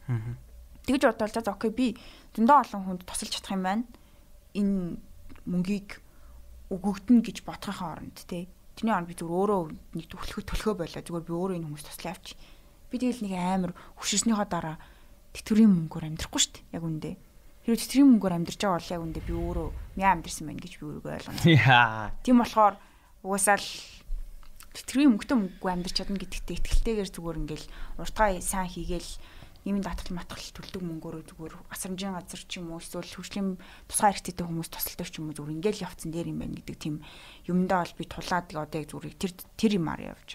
Тэгж бодвол за окей би зөндөө олон хүнд тусалж чадах юм байна. Энэ мөнгийг өгөгдөн гэж бодохын оронд тий. Тэрний оронд би зүгээр өөрөө нэг төлхөө байлаа. Зүгээр би өөрөө энэ хүмүүс туслаа авчи. Би тэгэл нэг амар хөшөрснийхоо дараа тэтгэврийн мөнгөөр амьдрахгүй шүү дээ. Яг үндэ. Хэрвээ тэтгэврийн мөнгөөр амьдарч байгаа бол яг үндэ би өөрөө мяа амьдэрсэн байна гэж би өөрийгөө ойлгоно. Тийм болохоор угаасаа л тэтгэврийн мөнгөтэй мөнгөгүй амьдарч чадна гэдэгтээ итгэлтэйгээр зүгээр ингээл уртгаа сайн хийгээл нэмийн татгал матгал төлдөг мөнгөөрөө зүгээр асрамжийн газар ч юм уу эсвэл хөгжлийн тусгай хэрэгцээтэй хүмүүс тусалдаг ч юм уу зүгээр ингээл явцсан дээр юм байна гэдэг тийм юмдаа бол би тулаад одоо яг зүгээр тэр юмар явж.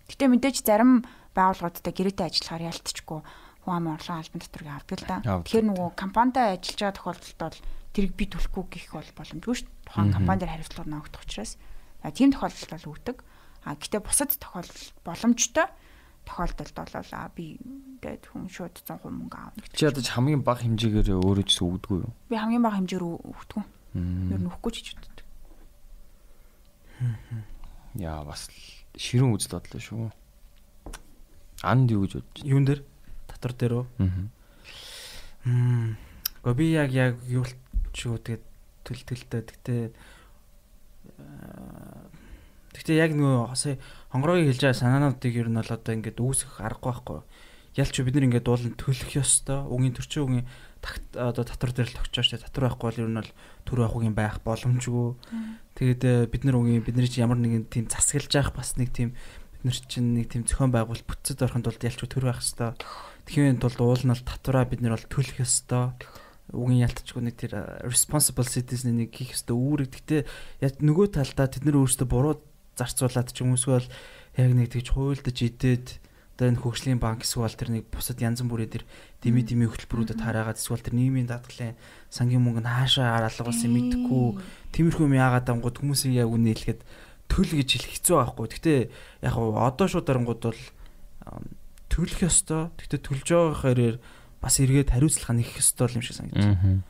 Гэтэ мэдээж зарим байгууллагуудтай гэрээтэй ажиллахаар ялтчгүй хүн амын орлогын албан татварыг авдаг л да. Тэгэхээр нөгөө компанитай ажиллаж байгаа тохиолдолд бол тэрийг би төлөхгүй гэх бол боломжгүй шүү дээ. Тухайн компани дээр хариуцлага нөөгдөх учраас тийм тохиолдолд бол өгдөг. Гэтэ бусад тохиолдолд боломжтой тохиолдолд бол би ингээд хүн шууд 100% мөнгө аавна гэдэг. Чи одоо хамгийн бага хэмжээгээр өөрөө ч өгдөггүй юу? Би хамгийн бага хэмжээр өгдөг. Ер нь өгөхгүй ч гэж боддог. Яа бас ширүүн үзэл бодлоо шүү. Анд юу гэж бодож? Юун дээр? Татвар дээр үү? Гэхдээ би яг юу ч юу тэгээд төлтөлтэй. Гэхдээ яг нөгөө сая хонгорогийн хэлж байгаа санаануудыг ер нь бол одоо ингээд үүсгэх аргагүй байхгүй. Ялч бид нар ингээд уулын төлөх ёстой. Үгийн төрчин үгийн одоо татвар дээр л тогтчоо штэ. Татвар байхгүй бол ер нь бол төр авахын байх боломжгүй. Тэгээд бид нар бидний чинь ямар нэгэн тийм засаглаж явах бас нэг тийм бид нар чинь нэг тийм зохион байгуулалт бүтцэд орохын тулд ялч төр байх ёстой. Тэгэхин тулд уул нь бол татвараа бид нар бол төлөх ёстой. Үгийн ялтчгүй нэг тэр responsible citizen нэг хийх ёстой үүрэг. Гэхдээ нөгөө талдаа тэд нар өөрсдөө буруу зарцуулаад ч юм уусгүй бол яг нэг тэгж хуйлдаж идээд одоо энэ хөгжлийн банк эсвэл тэр нэг бусад янз бүрийн тэр дими хөтөлбөрүүдэд хараагаад эсвэл тэр нийгмийн даатгалын сангийн мөнгө нь хаашаа алга болсон мэдэхгүй тиймэрхүү юм яагаад ангууд хүмүүсийн яг үнэ хэлэхэд төл гэж хэлэх хэцүү байхгүй. Гэхдээ яг одоо шууд дарангууд бол төлөх ёстой. Гэхдээ төлж байгаа хэрээр бас эргээд хариуцлага нэх ёстой юм шиг санагдаж.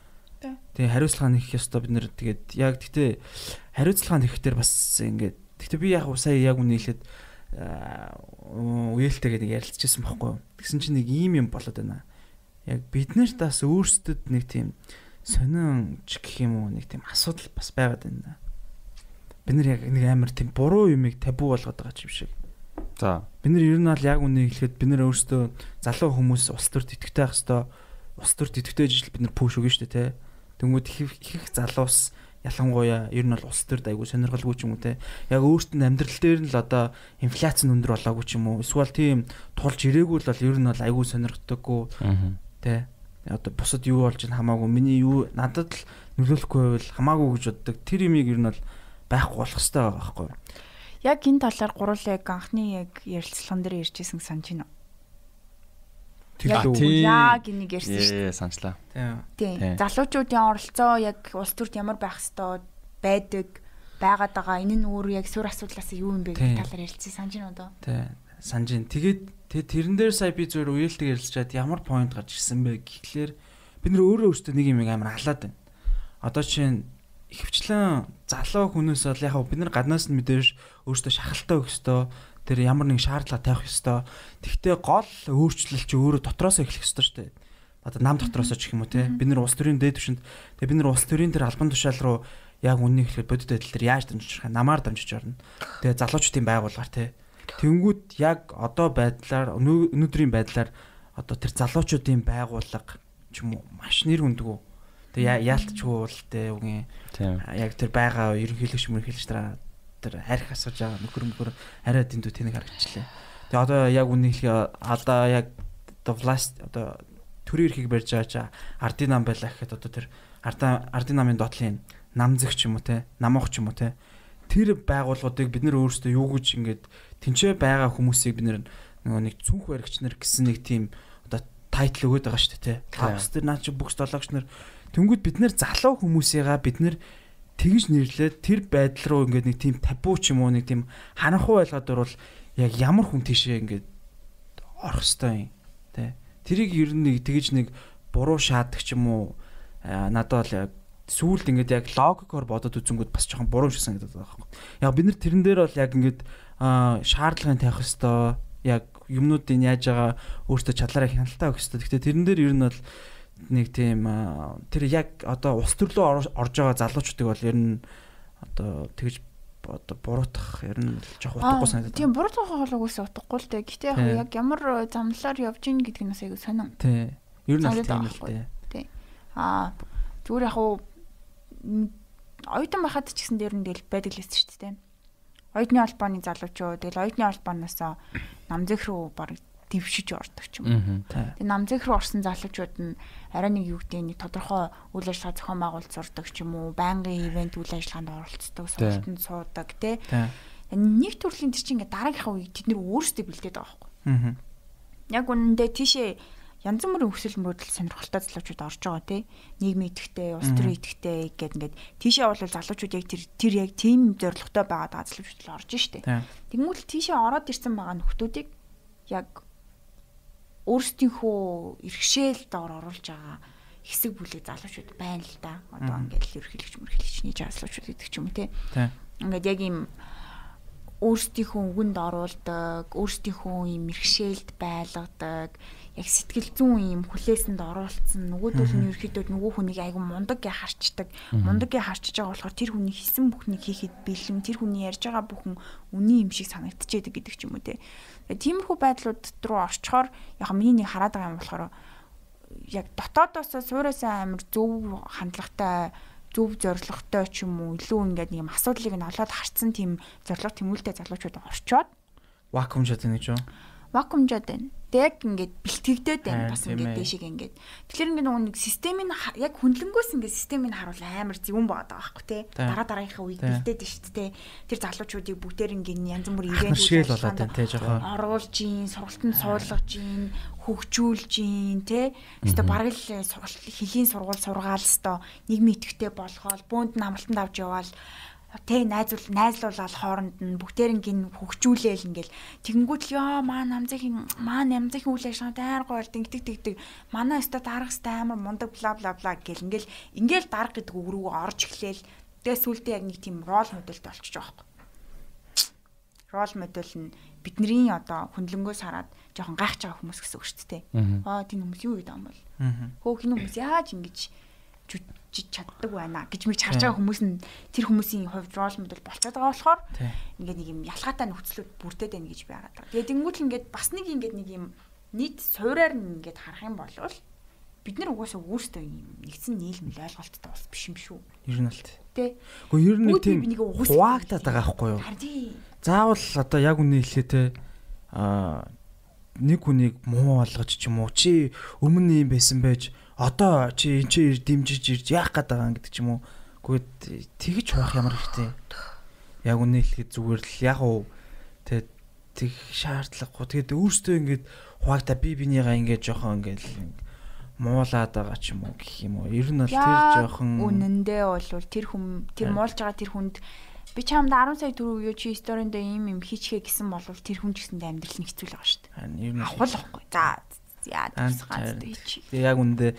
Тэгээ хариуцлага нэх ёстой бид нэр тэгээд яг гэхдээ хариуцлага нэхтэр бас ингээд гэхдээ би яг сая яг үнэ хэлээд үеэлтэйгээ нэг ярилцчихсан байхгүй. Тэгсэн чинь нэг ийм юм болоод байна. Яг бид нарт бас өөрсдөд нэг тийм сонин ч гэх юм уу нэг тийм асуудал бас байгаад байна. Бид нар яг нэг амар тийм буруу юмыг табу болгоод байгаа юм шиг. За. Бид нар ер нь бол яг үнэ хэлэхэд бид нар өөрсдөө залуу хүмүүс улс төрд идэвхтэй байх хэвээр улс төрд идэвхтэй ажил бид нар пүүш өгнө шүү дээ те. Тэнгүүд их залуус ялангуяа ер нь бол улс төрд айгүй сонирхолгүй ч юм уу те. Яг өөртөө амьдрал дээр нь л одоо инфляц нь өндөр болоогүй ч юм уу. Эсвэл тийм тулж ирээгүй л бол ер нь бол айгүй сонирхдаггүй те. Одоо бусад юу болж ин хамаагүй миний юу надад л нөлөөлөхгүй байвал хамаагүй гэж боддог. Тэр юмыг ер нь бол байхгүй болох хэрэгтэй байгаа байхгүй. Яг энэ талаар гурлаа яг анхны яг ярилцлаган дээр ярьжсэн санаж байна. Яг энийг ярьсан шүү. Санчлаа. Тийм. Залуучуудын оролцоо яг улс төрд ямар байх ёстой байдаг байгаад байгаа. Энэ нь өөр яг суурь асуудлаас юу юм бэ гэх талаар ярилцсан санаж байна одоо. Тийм. Санаж байна. Тэгээд тэрэн дээр сая би зөвөр үеэлтэйг ярилцчаад ямар point гарч ирсэн бэ гэхлээр бид нөр өөрөөсөө нэг юм амар халаад байна. Одоо чинь ихэвчлэн залуу хүнээс бол яг бид нар гаднаас нь мэдээж өөрөөсөө шахалтай өгөх ёстой. Тэр ямар нэг шаардлага тавих ёстой. Тэгвэл гол өөрчлөлт чи өөрөө дотроос эхлэх ёстой шүү дээ. Одоо нам дотроос ч гэх юм уу те. Бид нар улс төрийн дээд түвшинд тэгээ бид нар улс төрийн тэр албан тушаал руу яг үннийг хэлэхэд бодит байдал дээр яаж дамжиж байгаа намаар дамжиж орно. Тэгээ залуучдын байгууллагаар те. Тэнгүүд яг одоо байдлаар өнөөдрийн байдлаар одоо тэр залуучуудын байгууллага ч юм уу маш нэр хүндгүү. Тэгээ яалтчгүй бол те үгийн яг тэр байгаа ерөнхийлөгч мөрхийлж тэр харих асууж байгаа нөхөр арай дэндүү тэнэг харагчлаа. Тэгээ одоо яг үнийг одоо яг одоо власт одоо төрийн эрхийг барьж байгаа чи ардын нам байлаа гэхэд одоо тэр ардын намын доотлын намзэг ч юм уу те намуух ч юм уу те тэр байгууллагуудыг бид нэр өөрсдөө юу гэж ингээд тэнцээ байгаа хүмүүсийг бид нэр нөгөө нэг цүнх баригч нар гэсэн нэг тийм одоо тайтл өгöd байгаа шүү дээ те клабс тэр наа чи бүкс долоогч нар тэнгүүд бид нэр залуу хүмүүсийгаа бид нэр тэгж нэрлээд тэр байдал руу ингээд нэг тийм табу ч юм уу нэг тийм харанхуй байлгаад орвол яг ямар хүн тийшээ ингээд орох хэвээр юм те тэрийг ер нь нэг тэгж нэг буруу шаадаг ч юм уу надад бол яг сүүлд ингээд яг логикоор бодоод үзэнгүүд бас жоохон буруу шиг санагдаад байгаа байхгүй. Яг бид нар тэрэн дээр бол яг ингээд шаардлагын тавих хэвээр яг юмнуудыг яаж байгаа өөртөө чадлаараа хяналтаа өгөх хэвээр. Гэхдээ тэрэн дээр ер нь бол нэг тийм тэр яг одоо улс төрлөө орж байгаа залуучуудыг бол ер нь одоо тэгж одоо буруутгах ер нь жоох утгагүй санагдаад. Тийм буруутгах бол үгүйс утгагүй л дээ. Гэхдээ яг ямар замлаар явж ийн гэдэг нь бас айгүй сонирн. Тий. Ер нь тийм л дээ. Тий. Зүгээр яг оюутан байхад ч гэсэн дээр нь тэгэл байдаг л байсан шүү дээ. Оюутны албаны залуучууд тэгэл оюутны албаанаас намзэх рүү баг дэвшиж ордог ч юм. Тэгээ намзэх рүү орсон залуучууд нь арай нэг юу гэдэг нэг тодорхой үйл ажиллагаа зохион байгуулалт сурдаг ч юм уу, байнгын ивент үйл ажиллагаанд оролцдог, сургалтанд суудаг тий. Нэг төрлийн тэр чинь ингээ дараагийнхаа үеийг тэд нэр өөрсдөө бэлдээд байгаа байхгүй. Яг үнэндээ тийшээ янз бүрийн өсөл мөрөдөл сонирхолтой залуучууд орж байгаа тий. Нийгмийн идэвхтэй, улс төрийн идэвхтэй гэд ингээд тийшээ бол залуучууд яг тэр яг тийм зорилготой байгаа залуучууд л орж штэ. Тэгмэл тийшээ ороод ирсэн байгаа нөхдүүдийг яг өөрсдийнхөө иргэшээлд оруулж байгаа хэсэг бүлэг залуучууд байна л да. Одоо ингээд ерхийлэгч мөрхийлэгчний залуучууд гэдэг ч юм тий. Ингээд яг ийм өөрсдийнхөө үгэнд оруулдаг, өөрсдийнхөө ийм иргэшээлд байлгадаг, яг сэтгэл зүйн ийм хүлээсэнд оруулсан нөгөөдөл нь ерөөхдөө нөгөө хүнийг айгу мундаг гэж харчдаг. Мундаг гэж харчиж байгаа болохоор тэр хүний хийсэн бүхнийг хийхэд бэлэн, тэр хүний ярьж байгаа бүхэн үний юм шиг санагдчихэдэг гэдэг ч юм уу те. Тиймэрхүү байдлууд руу орчхоор яг миний нэг хараад байгаа юм болохоор яг дотоодоос суурьасаа амар зөв хандлагатай, зөв зорилготой ч юм уу илүү ингээд нэг юм асуудлыг нь олоод харцсан тийм зорилго тэмүүлтэй залуучууд орчоод вакуумжаад байна гэж юу? Вакуумжаад байна. Тэг ингээд бэлтгэгдээд байна бас ингээд дэшиг ингээд. Тэгэхээр ингээд нөгөө нэг системийн яг хөндлөнгөөс ингээд системийг харуул амар зөвөн боод байгаа байхгүй тий. Дараагийнхаа үеийг бэлдээд байна шүү дээ. Тэр залуучуудыг бүгдээр ингээд янз бүр ивент шил болоод байна тий жоохон. Оруулж ийн, сургалтанд суулгаж ийн, хөгжүүлж ийн тий. Өөртөө бараг л хөлийн сургууль сургаал өстой нийгмийн идэвхтэй болгоол, бөөнд намралтанд авч яваал тэг найзлуулаад хооронд нь бүгдээрэн гин хөгжүүлээл ингээл тэгэнгүүт л ёо маань намзахын үйл ажиллагаанд амар гоё тэгдэг манай өстө дарах сте амар мундаг бла бла бла гэл ингээл дарах гэдэг үг рүү орж эхлээл тэгээ сүултээ яг нэг тийм рол модельд болчих жоохоо. Рол модель нь бидний одоо хөндлөнгөөс хараад жоохон гайхаж байгаа хүмүүс гэсэн үг шүү дээ. Тийм хүмүүс юу гэдэг юм бол хөөх хин хүмүүс яаж ингэж чаддаг байна гэж мэж харж байгаа хүмүүс нь тэр хүмүүсийн хувьд рол модель болчиход байгаа болохоор ингээд нэг юм ялгаатай нөхцлүүд бүрдээд байна гэж байгаад байгаа. Тэгээд тэнгуүл ингээд бас нэг юм нийт суураар нь ингээд харах юм бол бид нар угаасаа өөрсдөө юм нэгдсэн нийлмэл ойлголттой бас биш юм шүү. Ер нь л тий. Гэхдээ ер нь тийм хуваагдаад байгаа байхгүй юу? Заавал одоо яг үнэ хэлээ те нэг хүнийг муу болгож ч юм уу чи өмнө юм байсан байж одоо чи дэмжиж ирж яах гээд байгаа гэдэг ч юм уу. Гэхдээ тэгж байх ямар хэрэгтэй. Яг үнэ хэлэхэд зүгээр л яг уу тэг шаардлагагүй. Тэгээд өөртөө ингэж хуваагдаа бинийгаа ингэж жоохон ингэж муулаад байгаа ч юм уу гэх юм уу. Ер нь бол тэр жоохон үнэндээ бол тэр муулж байгаа тэр хүнд би чамд 10 сая төгрөг өгөө чи сторинд ийм хийчихээ гэсэн бол тэр хүн ч гэсэндээ амьдрал нь хэцүү л байгаа шүү дээ. Ер нь авахгүй. За яа тусгаад чи. Яг үндэ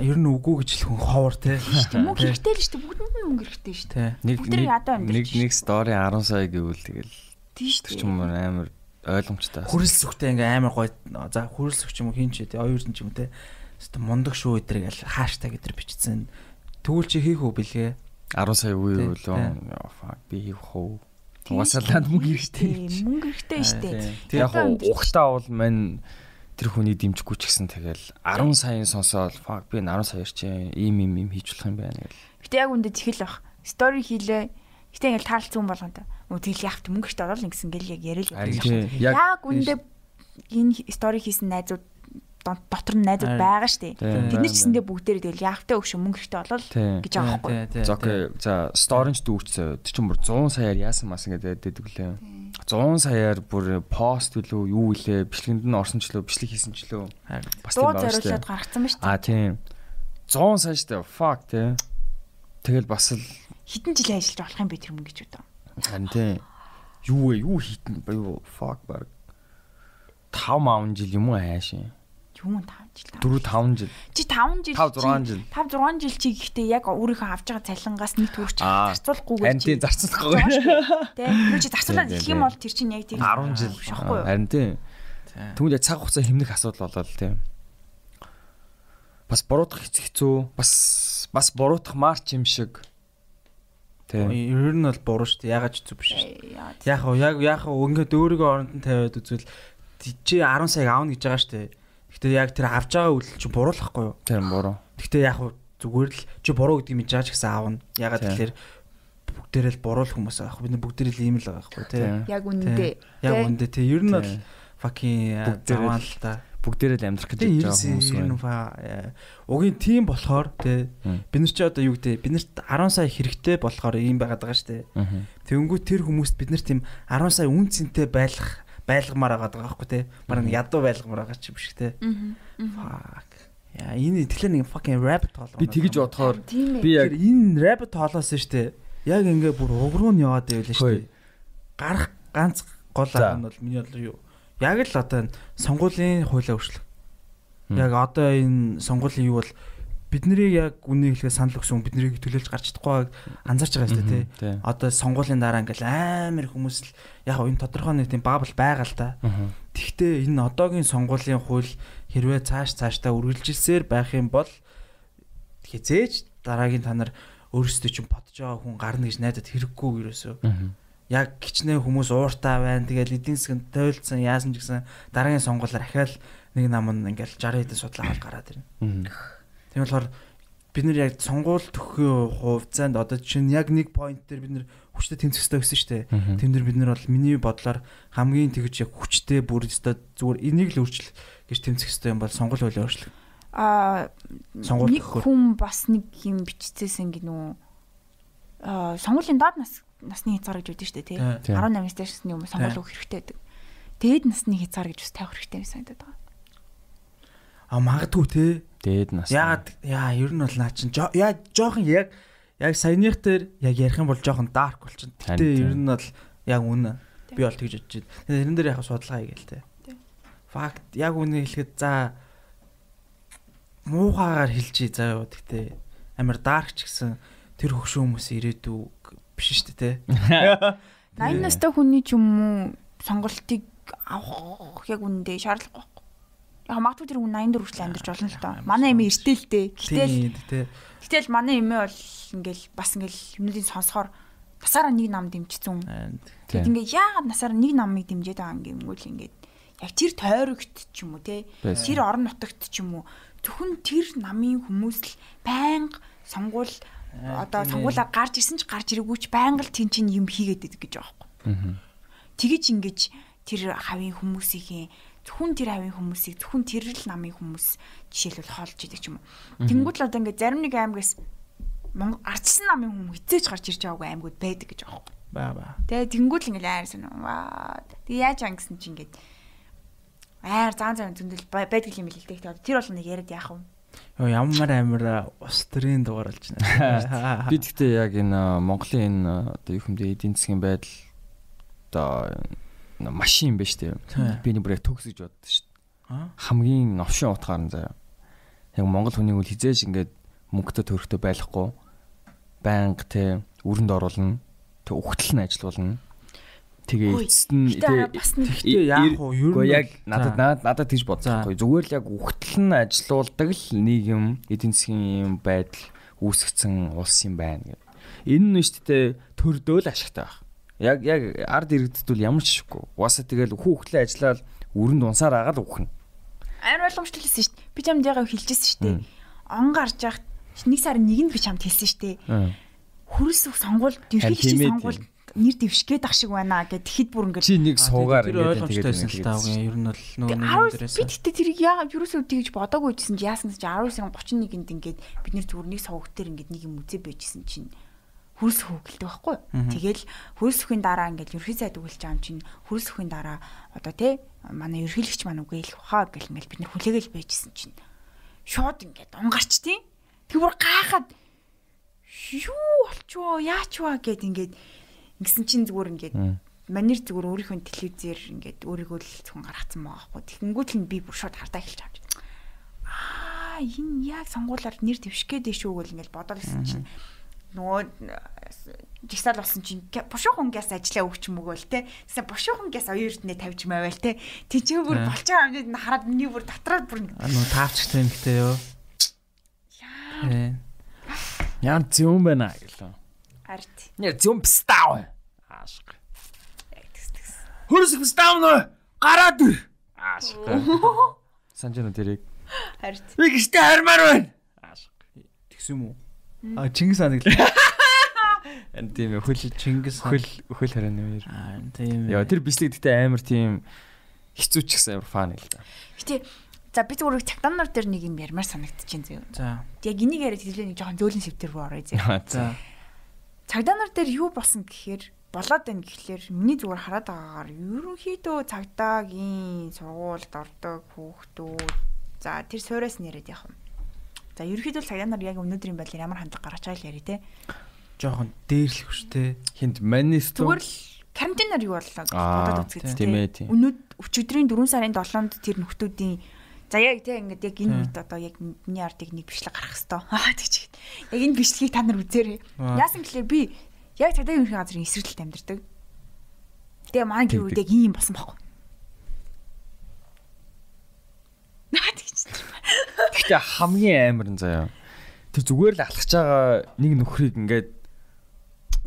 ер нь үгүй гэж л хүн ховор те. Мөнгө хэрэгтэй л шүү дээ. Бүгдэнд нь мөнгө хэрэгтэй шүү дээ. Нэг стори 10 сая гэвэл тэгэл тийш ч юм амар ойлгомжтой. Хүрэлцэхтэй ингээ амар гоё. За хүрэлцэх ч юм уу хин ч те оюурн ч юм те. Өстө мундаг шүү эдрэг л хаштаг эдэр бичсэн. Тэгвэл чи хийх үү бэлгээ? 10 сая үе үлээ. Би хийх үү? Угасаалаад мөнгө хэрэгтэй. Мөнгө хэрэгтэй шүү дээ. Тэг яг ухтаа бол мань тэр хүний дэмжихгүй ч гэсэн тэгэл 10 саяын сонсоод би 10 саяар чи ийм хийж болох юм байна гэл. Гэтэ яг үндэ тэгэл бах. Стори хийлээ. Гэтэ ингээл таалцсан болгонтой. Тэгэл яахт мөнгө штэ орол ингэсэн гэл яг яриа л. Яг үндэ энэ стори хийсэн найзууд дотор нь найзууд байгаа штэ. Тэд нар ч гэсэндээ бүгдээрээ тэгэл яавтай өгш мөнгө хэрэгтэй болол гэж байгаа байхгүй. За сторинч дүүрчээ. Тэр чинь бүр 100 саяар яасан мас ингээд дэдэг лээ. 100 саяар бүр пост үлээ юу илээ бичлэгэнд нь орсон ч лөө бичлэг хийсэн ч лөө. Бас тийм байна шүү дээ. Гаргацсан ба штэ. Тийм. 100 сая штэ. Fuck тий. Тэгэл бас л хитэн жил ажиллаж болох юм бэ тэр мөнгө гэж бодоо. Харин тий. Юу хитэн юу fuck баг. 5 жил юм уу хаашаа. Юм 5 жил. 4-5 жил. Чи 5 жил. 5-6 жил. 5-6 жил чи гэхдээ яг өөрийнхөө авч байгаа цалингаас нэг төгрөг зарцуулахгүйгээр чи. Зарцуулахгүй. Тэ. Юу чи зарцуулаад ирэх юм бол тэр чинь яг тийм 10 жил шахгүй юу? Харин тийм. Тэгвэл цаг хугацаа хэмнэх асуудал болоо л тийм. Бас буруудах хэцүү. Бас буруудах марч юм шиг. Тийм. Ер нь бол буруу шүү дээ. Ягаад ч зүг биш шүү дээ. Яг ингээд өөрийгөө оронд нь тавиад үзвэл чи 10 сая аавна гэж байгаа шүү дээ. Гэхдээ яг тэр авч байгаа үйл чи буруулахгүй юу? Тийм буруу. Гэхдээ яг зүгээр л чи буруу гэдгийг мэдж байгаа ч гэсэн аавна. Ягаад тэгэхээр бүгдээрээ л буруу хүмүүс аах. Бид бүгдээрээ л ийм л байгаа байхгүй тий. Яг үнэндээ. Яг үнэндээ тий. Ер нь бол fucking заваа л та. Бүгдээрээ л амьдрах гэж байгаа хүмүүс байна. Угийн тим болохоор тий. Бид нар чи одоо юу гэдэг бид нарт 10 сая хэрэгтэй болохоор ийм байгаад байгаа шүү дээ. Тэгэнгүүт тэр хүмүүст бид нар тийм 10 сая үн цэнтэй байлгамаар байгаа байхгүй те. Бараг ядуу байлгамаар байгаа ч биш те. Fuck. Яа энэ тэгэхээр нэг fucking rabbit hole. Би тэгэж бодохоор би яг энэ rabbit hole-оос штэ. Яг ингээ бүр уг руу нь яваад байвал штэ. Гарах ганц гол арга нь бол миний бодлоор юу? Яг л одоо сонгуулийн хуулиа өөрчлөх. Яг одоо энэ сонгуулийн юу бол биднийг яг үнийг хэлэхэд санал өгсөн биднийг төлөөлж гарч чадахгүй анзаарч байгаа юм шүү дээ. Одоо сонгуулийн дараа ингээл амар хүмүүс л яг энэ тодорхой нэг тийм бабл байгаа л да. Тэгвэл энэ одоогийн сонгуулийн хууль хэрвээ цаашдаа үргэлжилсээр байх юм бол хизээж дараагийн та нар өөрсдөө чинь бодож байгаа хүн гарна гэж найдаад хэрэггүй ерөөсөө. Яг гिचнээ хүмүүс ууртай байна. Тэгэл эдийн засгийн тойлцсон яасан ч гэсэн дараагийн сонгуулиар ахаал нэг нам нь ингээл 60 хэдэн судлаа авал гараад ирнэ. Тийм болохоор бид нар яг сонгуул төгсөхийн хугацаанд одоо чинь яг нэг point дээр бид нар хүчтэй тэмцэхтэй гэсэн шүү дээ. Тэм дээр бид нар бол миний бодлоор хамгийн тэгж яг хүчтэй бүр өстой зүгээр энийг л өөрчлөх гэж тэмцэхтэй юм бол сонгуул хуулийг өөрчлөх. Сонгуул нэг хүн бас нэг юм биччихсэн гинүү. Сонгуулийн доод насны хязгаар гэж үүдэн шүү дээ тий. 18-аас дэшсний юм сонгуул өгөх хэрэгтэй байдаг. Дээд насны хязгаар гэж бас тавих хэрэгтэй юм санагдаад байгаа. Магадгүй тий. Дээд нас. Ер нь бол наа чин яг жоохон яг саяных дээр яг ярих юм бол жоохон dark болчихно. Гэтэ ер нь бол яг үнэ. Би бол тэгж бодож байна. Тэрэн дээр яг судалгаа хийгээл те. Факт яг үнэ хэлэхэд за муухагаар хэлчихье заа юу. Гэтэ амар dark ч гэсэн тэр хөгшөө хүмүүс ирээдүү биш шүү дээ те. 80 настай хүний ч юм уу сонголтыг авах яг үнэндээ шаардлагагүй. Яг магадгүй тэр хүн 84 хүртэл амьдарч болно л доо. Манай эмээ эртэл дээ. Гэтэл манай эмээ бол ингээл бас ингээл юмнуудыг сонсохоор насаараа нэг нам дэмжчихсэн. Тэгэд ингээ яагаад насаараа нэг намыг дэмжиж байгаа юм гэмгүүл ингээд яг тэр тойрогт ч юм уу те. Тэр орон нутагт ч юм уу зөвхөн тэр намын хүмүүс л байнга сонгуул одоо сонгуулаа гарч ирсэн ч гарч ирээгүй ч байнга л тэн чин юм хийгээд идэг гэж байгаа байхгүй. Тэгэж ингэж тэр хавийн хүмүүсийн зөвхөн тэр хавийн хүмүүсийг зөвхөн тэр л намын хүмүүс жишээлбэл хоолж идэг ч юм уу. Тэнгүүд л одоо ингээд зарим нэг аймгаас Монгол ардсан намын хүмүүс хизээж гарч ирж байгаагүй аймгууд байдаг гэж байгаа юм. Баа. Тэгээ тэнгүүд л ингээд айр сонь. Тэгээ яаж ангисан чи ингээд айр зан зөндөл байдаг юм л л дээ. Тэр бол нэг яриад яах вэ? Ямар амар ус төрийн дугаар болж байна. Би тэгтээ яг энэ Монголын энэ одоо юу хэмдэ эдийн засгийн байдал одоо машин биш үү? Би нэг бүр яг төгс гэж боддоо шүү дээ. Хамгийн новшин утгаар нь заяа. Яг Монгол хүний үл хизээж ингээд мөнгөтэй төрөхтэй байхгүй. Банк те өрөнд оруулна. Тэг ухтал нь ажиллуулна. Тэгээ эцэст нь тэгтээ яах вэ? Ер нь яг надад тийж бодсон байхгүй. Зүгээр л яг ухтал нь ажиллуулдаг л нийгэм эдийн засгийн байдал үүсгэсэн улс юм байна гэдэг. Энэ нь шүү дээ төрдөө л ашигтай байх. Яг ард иргэддүүл ямар ч шиггүй. Угаасаа тэгэл хүүхдлээ ажиллаад өрөнд унсаар агаад үхнэ. Амар ойлгомжтой хэлсэн шүү дээ. Би чамд ягаа хэлжсэн шүү дээ. Он гарч яхад нэг сарын нэгэнд би чамд хэлсэн шүү дээ. Хөрөлсөх сонгуульд ерхий хичээл сонгуульд нэр дэвшгээд ах шиг байна гэд тэгэхэд бүр ингээд чи нэг суугаар ингээд тэгээд ер нь бол нөгөө дээрээс би тэгтээ тэрийг яагаад юусоо тэгж бодоогүй гэсэн чи яасан ч 19:31-нд ингээд бид нэр зүгээр нэг сувгтэр ингээд нэг юм үзээ байжсэн чинь хөрс хөөгөлтэй байхгүй. Тэгэл хөрс хөхийн дараа ингээд ерхий сайд өгүүлж байгаа юм чинь хөрс хөхийн дараа одоо тий манай ерхийлэгч маань үгүй хэлэх баха гэл ингээд бид нэр хүлээгээл байжсэн чинь шууд ингээд унгарч тий. Тэг бүр гайхаад юу болчихоо яачваа гэд ингээд ингэсэн чинь зүгээр ингээд манер зүгээр өөрийнхөө телевизээр ингээд өөрийгөө л зөвхөн гаргацсан байгаа байхгүй. Тэгэнгүүт л би бүр шууд хардаа эхэлж авч. Энэ яг сонгуулаар нэр дэвших гээд шүү гэл ингээд бодоод ирсэн чинь нөгөө жигсаал болсон чинь бушуухан гяс ажиллаа өгч мөгөөл те. Тэгсэн бушуухан гяс оюурднээ тавьж мавал те. Тийч бүр болж байгаа юмнууд хараад миний бүр дотроод бүр таавчтай юм хтэй ёо. Яан зүүн байна гэлээ. Арт. Нэр зүүн пстав. Аашиг. Хөрөс пстав нөө гараад ир. Аашиг. Санжина тэрийг. Арт. Би гişтэй хармаар байна. Аашиг. Тэгсэн юм уу? Чингис хаан гэлээ. Энд тийм хөл Чингис хөл харааны хоёр. Тийм. Яа тэр бичлэг гэхдээ амар тийм хэцүү ч гэсэн амар фан л да. Гэтэ за би зүгээр цагдаанаар дээр нэг юм ярмаар санагдчихээн зөө. За. Яг энийг яриад хэлээ нэг жоохон зөөлөн сэвтэр рүү орё зөө. За. Цагдаанаар дээр юу болсон гэхээр болоод байна гэхлээр миний зүгээр хараад байгаагаар ерөнхийдөө цагдаагийн сургуульд ордог хүүхдүүд за тэр суураас нэрэд яах вэ? За ерөнхийдөө цагдаанаар яг өнөөдрийн байдлаар ямар хандлага гаргаж байгааг л ярий те. Жохон дээрлэх шүү те. Хинт манисту зүгээр л карантинаар юу боллоо гэж бодоод үзгээд те. Өчигдрийн 4 сарын 7-нд тэр нөхдүүдийн за яг те ингээд яг энэ үед одоо яг миний ардыг нэг бичлэг гаргах хэвээр. Тэгчихэд. Яг энэ бичлэгийг та нар үзээрэй. Яасан гэхлээр би яг цагдаагийн ерөнхий газрын эсрэгтэлд амьдардаг. Тэгээ маань гэр бүл яг ийм болсон байхгүй. Гэхдээ хамгийн амар нь заяа. Тэр зүгээр л алхаж байгаа нэг нөхрийг ингээд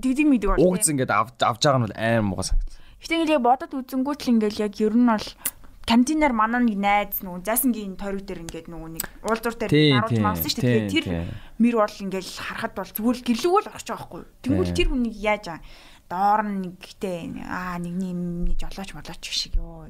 дигдэг мэдэг бол. Угц ингээд авж байгаа нь бол амар муухай санагдсан. Гэтэ ингээд бодоод үзэнгүүт л ингээд яг ер нь бол кантинаар манай нэг найз нөгөө зайсангийн тойрог дээр ингээд нөгөө нэг уулзуур дээр харуулж мавсан шүү дээ. Тэр мэр бол ингээд харахад бол зүгээр л гэрлүүг л орчих байгаа байхгүй. Тэгвэл тэр хүнийг яаж доор нь нэгтэй нэгний жолооч молооч шиг ёо.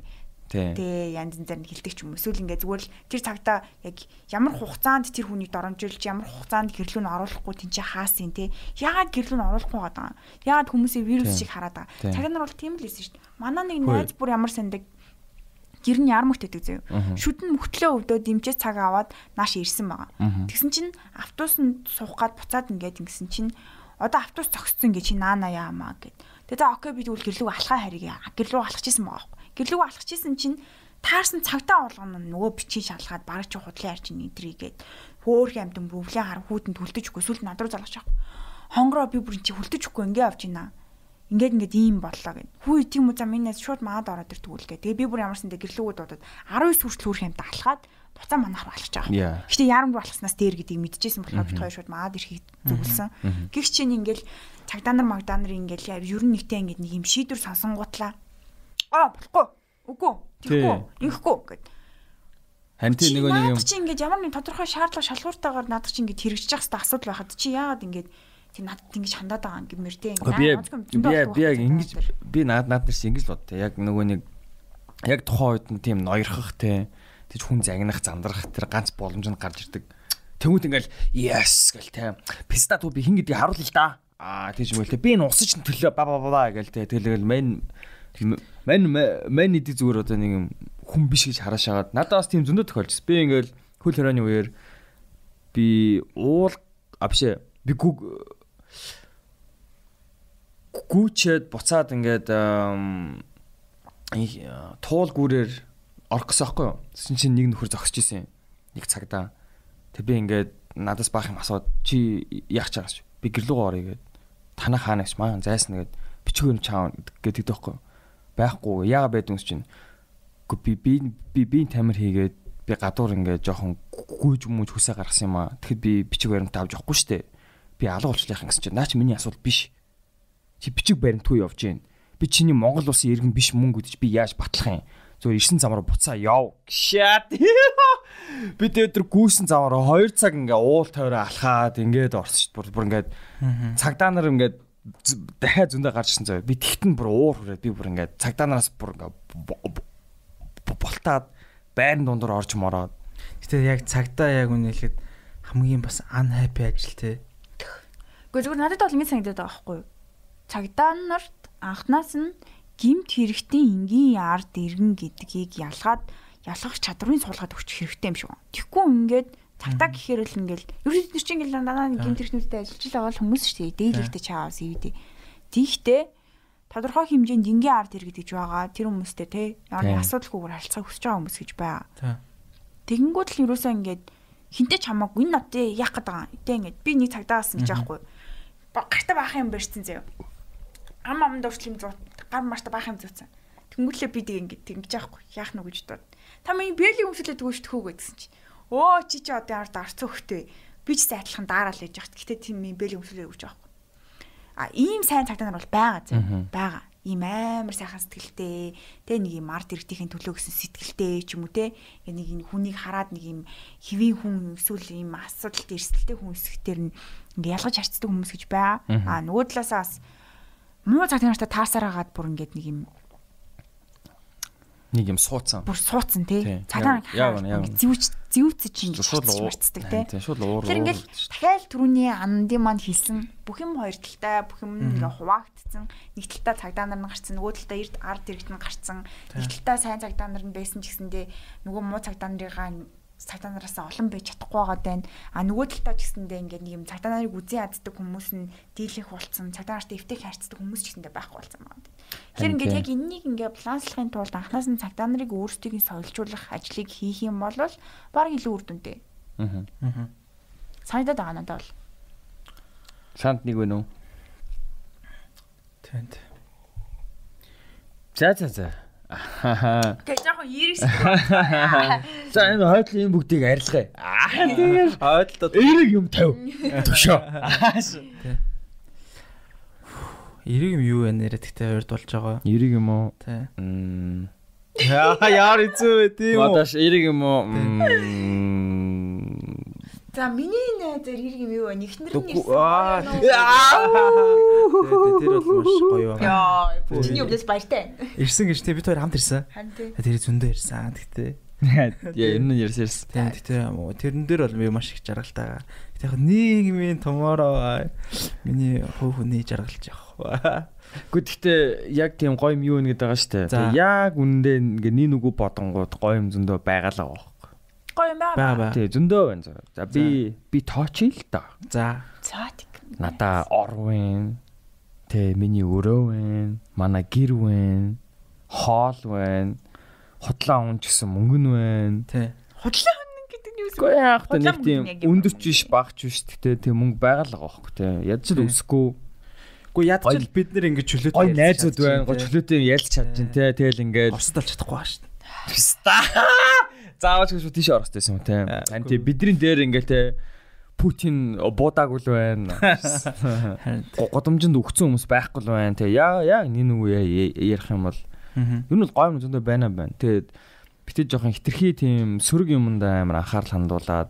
Тэ янз янзаар нь хилдэг ч юм. Эсвэл ингээд зүгээр л тэр цагтаа яг ямар хугацаанд тэр хүнийг доромжилж ямар хугацаанд гэрлүүг нь оруулахгүй тэнцээ хаасын те. Яагаад гэрлүүг нь оруулахгүй байгаа юм? Яагаад хүмүүсээ вирус шиг хараад байгаа? Цагаан нар бол тийм л байсан шүү дээ. Манай нэг найз бүр ямар сандаг гэр нь ярмарт өгдөг заяа. Шүдэн мөхтлөө өвдөө дэмжээ цаг аваад нааш ирсэн байгаа. Тэгсэн чинь автобусанд суух гад буцаад ингээд ингэсэн чинь одоо автобус зогссон гэж чи наана яамаа гэд. Тэгээ за окей би тэгвэл гэрлүүг алхаа хариг гэрлүүг алхачихсан байгаа. Гэрлүүг алхачихсан чинь таарсан цагтаа болгоно нөгөө бичиж шалгаад бараг чи худлын арч нэдрийгээд хөөх амтан бүвлээ хар хүүтэнд хүлдэж өгөө сүлд над руу залгаж байгаа. Хонгороо би бүр чи хүлдэж өгөхгүй ингээ авч ийна. Ингээд ийм боллоо гэд. Хүү тийм үү за минийс шууд маад ороод ирдэг үлгээ. Тэгээ би бүр ямарсан дэ гэрлүүгүүд бодоод 19 хүртэл хөөх амтан алхаад буцаа манаар алхаж байгаа. Гэтэ ярамгүй алхаснаас дээр гэдгийг мэдчихсэн болохоор бид хоёр шууд маад ирэхийг зөвлөсөн. Гэх чинь ингээл цагдаа нар магдаанар ингээл ер нь нэгтэй ингээд нэг юм шийдвэр сонсонгуутлаа. Болохгүй. Үгүй. Тэгэхгүй. Ингэхгүй гэд. Ханти нэг юм чи ингээд ямар нэг тодорхой шаардлага шалгууртайгаар надад чи ингээд хэрэгжиж явах хэрэгтэй асуудал байхад чи яагаад ингээд чи надад ингэж хандаад байгаа юм гэмэртэй ингээд би яг ингэж би наад нар чи ингэж л бод те яг нөгөө нэг яг тухайн үед нь тийм ноёрхох те тийч хүн загнах зандрах тэр ганц боломж нь гарч ирдэг тэмүүт ингээл yes гэл те писта туу би хин гэдгийг харуул л да тийч юм л те би энэ усч төлөө ба гэл те тэгэл мен иди зүгээр одоо нэг юм хүн биш гэж хараашаагаад надад бас тийм зөндөө тохиолжсэн би ингээл хөл хорооны үеэр би бишээ би гүүчээд буцаад ингээд туул гүүрээр орох гэсэн байхгүй юу? Тэсэн чинь нэг нөхөр зогсож исэн. Нэг цагдаа. Тэг би ингээд надаас баах юм асууд чи яах чагаас чи. Би гэрлүүгөө орё гэд. Танаа хаанаас маань зайсна гэд бичиг юм чаав гэдэг байхгүй юу? Байхгүй яага байдгүй чинь. Би тамир хийгээд би гадуур ингээд жоохон гүйж хүмүүж хүсээ гаргасан юм аа. Тэгэхэд би бичиг баримтаа авч явахгүй штэ. Би алга болчихлах юм гэсэн чинь наа чи миний асуудал биш. Чи бичиг баримтгүй явж гин. Би чиний Монгол улсын иргэн биш мөн гэдэж би яаж батлах юм? Зөв 9 замаар буцаа яв. Шат. Би тэр гүйсэн замаар 2 цаг ингээ уул тойроо алхаад ингээд орсон шүү дээ. Бүр ингээд цагдаа нар ингээд дахиад зөндөө гарч ирсэн заяа. Би тэгтэн бүр уур хүрээд би бүр ингээд цагдаанараас бүр ингээд болтаад байрны дундуур орж мороод. Гэтэ яг цагдаа яг үнэ хэлэхэд хамгийн бас unhappy ажил те. Гэхдээ зүгээр надад бол ингэ санагдаад байгаа байхгүй юу? Цагдаа нарт анхнаас нь гимт хэрэгтэй энгийн ард иргэн гэдгийг ялгах чадварыг суулгаад өгч хэрэгтэй юм шиг байна. Тэгэхгүй ингээд цагдаа гэхээр л ингээл ерөөд чинь ингээл дандаа гимт хэрэгтнүүдтэй ажиллаж байгаа бол хүмүүс шүү дээ. Дээлэгтэй чаавс ивдээ. Тийхтэй тодорхой хэмжээнд энгийн ард иргэд гэж байгаа. Тэр хүмүүстэй те ямар асуудалгүйгээр харилцаа хүсэж байгаа хүмүүс гэж байгаа. Тэгэнгүүт л ерөөсөө ингээд хинтээ ч хамаагүй энэ нотыг яах гээд байгаа. Тэ ингээд би нэг цагдаа болсон гэж аахгүй. Гартаа баах юм барьсан заяа. Амд дурчлим зуут гар марта баах юм зуутсан. Тэнгүүтлээ би тэг ингээд тэгж аахгүй. Яах нү гэж дууд. Та миний бэлийн өмсөлөд өгөөштөхөө гэдсэн чи. Өө чи одоо ард арц өгтөө. Би ч сайдлахын дараал яж яхад. Гэтэ тийм бэлийн өмсөлөд өгч аахгүй. Ийм сайн цагдаа нар бол байгаа зэ. Байгаа. Ийм амар сайхан сэтгэлтэй. Тэ нэг юм ард иргэдийн төлөө гэсэн сэтгэлтэй ч юм уу те. Нэг энэ хүнийг хараад нэг юм хэвийн хүн эсвэл ийм асуудалт эрсдэлтэй хүн эсэхтэр нь ингээ ялгаж харцдаг хүмүүс гэж байгаа. Нөгөө талаасаа бас муу цагдаа нартай таасаар хагаад бүр ингээд нэг юм суудсан. Бүр суудсан тий. Цагдаа зэвүүцэж ингээд шууд марцдаг тий. Шууд уур. Тэр ингээд дахиад түрүүний андын манд хэлсэн бүх юм хоёр талтай бүх юм ингээд хуваагдсан. Нэг талдаа цагдаа нар нь гарцсан, нөгөө талдаа эрд ард иргэд нь гарцсан. Нэг талдаа сайн цагдаа нар нь байсан ч гэсэндээ нөгөө муу цагдаа нарын цагдаа нараас олон байж чадахгүй байгаа даа. Нөгөө талдаа ч гэсэндээ ингээд нэг юм цагдаа нарыг үзэн яддаг хүмүүс нь дийлэх болцсон. Цагдаа нартай эвтэх харьцдаг хүмүүс ч гэсэндээ байхгүй болсон байна. Тэгэхээр ингээд яг энэнийг ингээд баланслахын тулд анхнаас нь цагдаа нарыг өөрсдийг соёлжуулах ажлыг хийх юм бол баг илүү үр дүнтэй. Санагдаад байгаа надад бол. Санд нэг вэ нөө? Тэнд. За. Тэг яг ирэх. За энэ хойдлын бүгдийг арилгая. Тэгээд хойдлоо эрэг юм тавь. Төшөө. Эрэг юм юу вэ нэрэ тэгтээ хоёрд болж байгаа. Эрэг юм уу? Тий. Яар эзүү тийм үү? Мадаш эрэг юм уу? За миний найз эрэг юм юу вэ? Нэгнэр нь ирсэн. Тэр бол маш гоё байна. Яа, чиний өвлөс баяртай. Ирсэн гэж бид хоёр хамт ирсэн. Тэр зөндөө ирсэн. Тэгтээ. Яа, энэ нь ярьсан. Тэгтээ тэрэн дээр бол би маш их жаргалтай. Тэгтээ нийгмийн tomorrow миний хүүхний жаргалж явах. Гэхдээ яг тийм гоё юм юу нэгэд байгаа штэ. Яг үнэндээ ингээ нэг үгүй бодонгууд гоё юм зөндөө байгаалаа баг. Гоё юм байна. Тий, зөндөө байна. За би тоочил л да. За. Цаатик. Надаа орвэн. Тэ миний өрөө вэ. Манай гэр вэ. Хоол вэ. Худлаа хүн ч гэсэн мөнгө нь вэ. Тий. Худлаа хүн гэдэг нь юу вэ? Гэхдээ яг та нэг тийм өндөрч биш багч биш. Тэгтээ тийм мөнгө байгаалаа байхгүй тий. Ядч л өсөхгүй. Гэхдээ ядч бид нэр ингэ чөлөөтэй. Гой найзууд байна. Гой чөлөөтэй ялж чадчих. Тий. Тэгэл ингээл орсдалж чадахгүй ба шүү дээ. Заавал гэж тийш орохтойсэн юм те. Анти бидний дээр ингээл те Путин буудаагүй л байна. Годомжинд өгцөн хүмүүс байхгүй л байна те. Яг нэг ярих юм бол ер нь бол гоё юм зөндөө байна. Тэгээд битээ жоохон хитрхи тийм сөрөг юмд амар анхаарал хандуулаад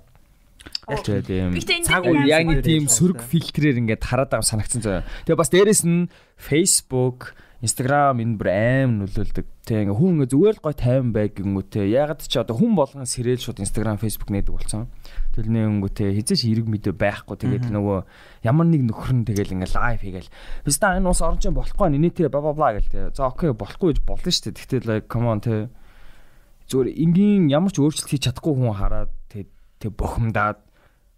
тэгээд тийм цаг үе яг нэг тийм сөрөг фильтрээр ингээд хараад байгаа санагдсан зөө. Тэгээд бас дээрэс нь Facebook Instagram энэ бүр аим нөлөөлдөг. Тэг ингээ хүн ингээ зүгээр л гой тайван байг гингүүтэй. Ягаад ч одоо хүн болгон сэрэл шууд Instagram, Facebook нээдэг болсон. Тэгэл нэнгүүтэй хизээш эрг мэдээ байхгүй. Тэгээд нөгөө ямар нэг нөхөр нь тэгэл ингээ лайв хийгээл. Биста энэ ус оронч болохгүй нэ тэр бла бла гэл тэ. За окей болохгүй гэж болно шүү дээ. Тэгтэл like come on тэ. Зүгээр энгийн ямар ч өөрчлөлт хийж чадахгүй хүн хараад тэг бухимдаад.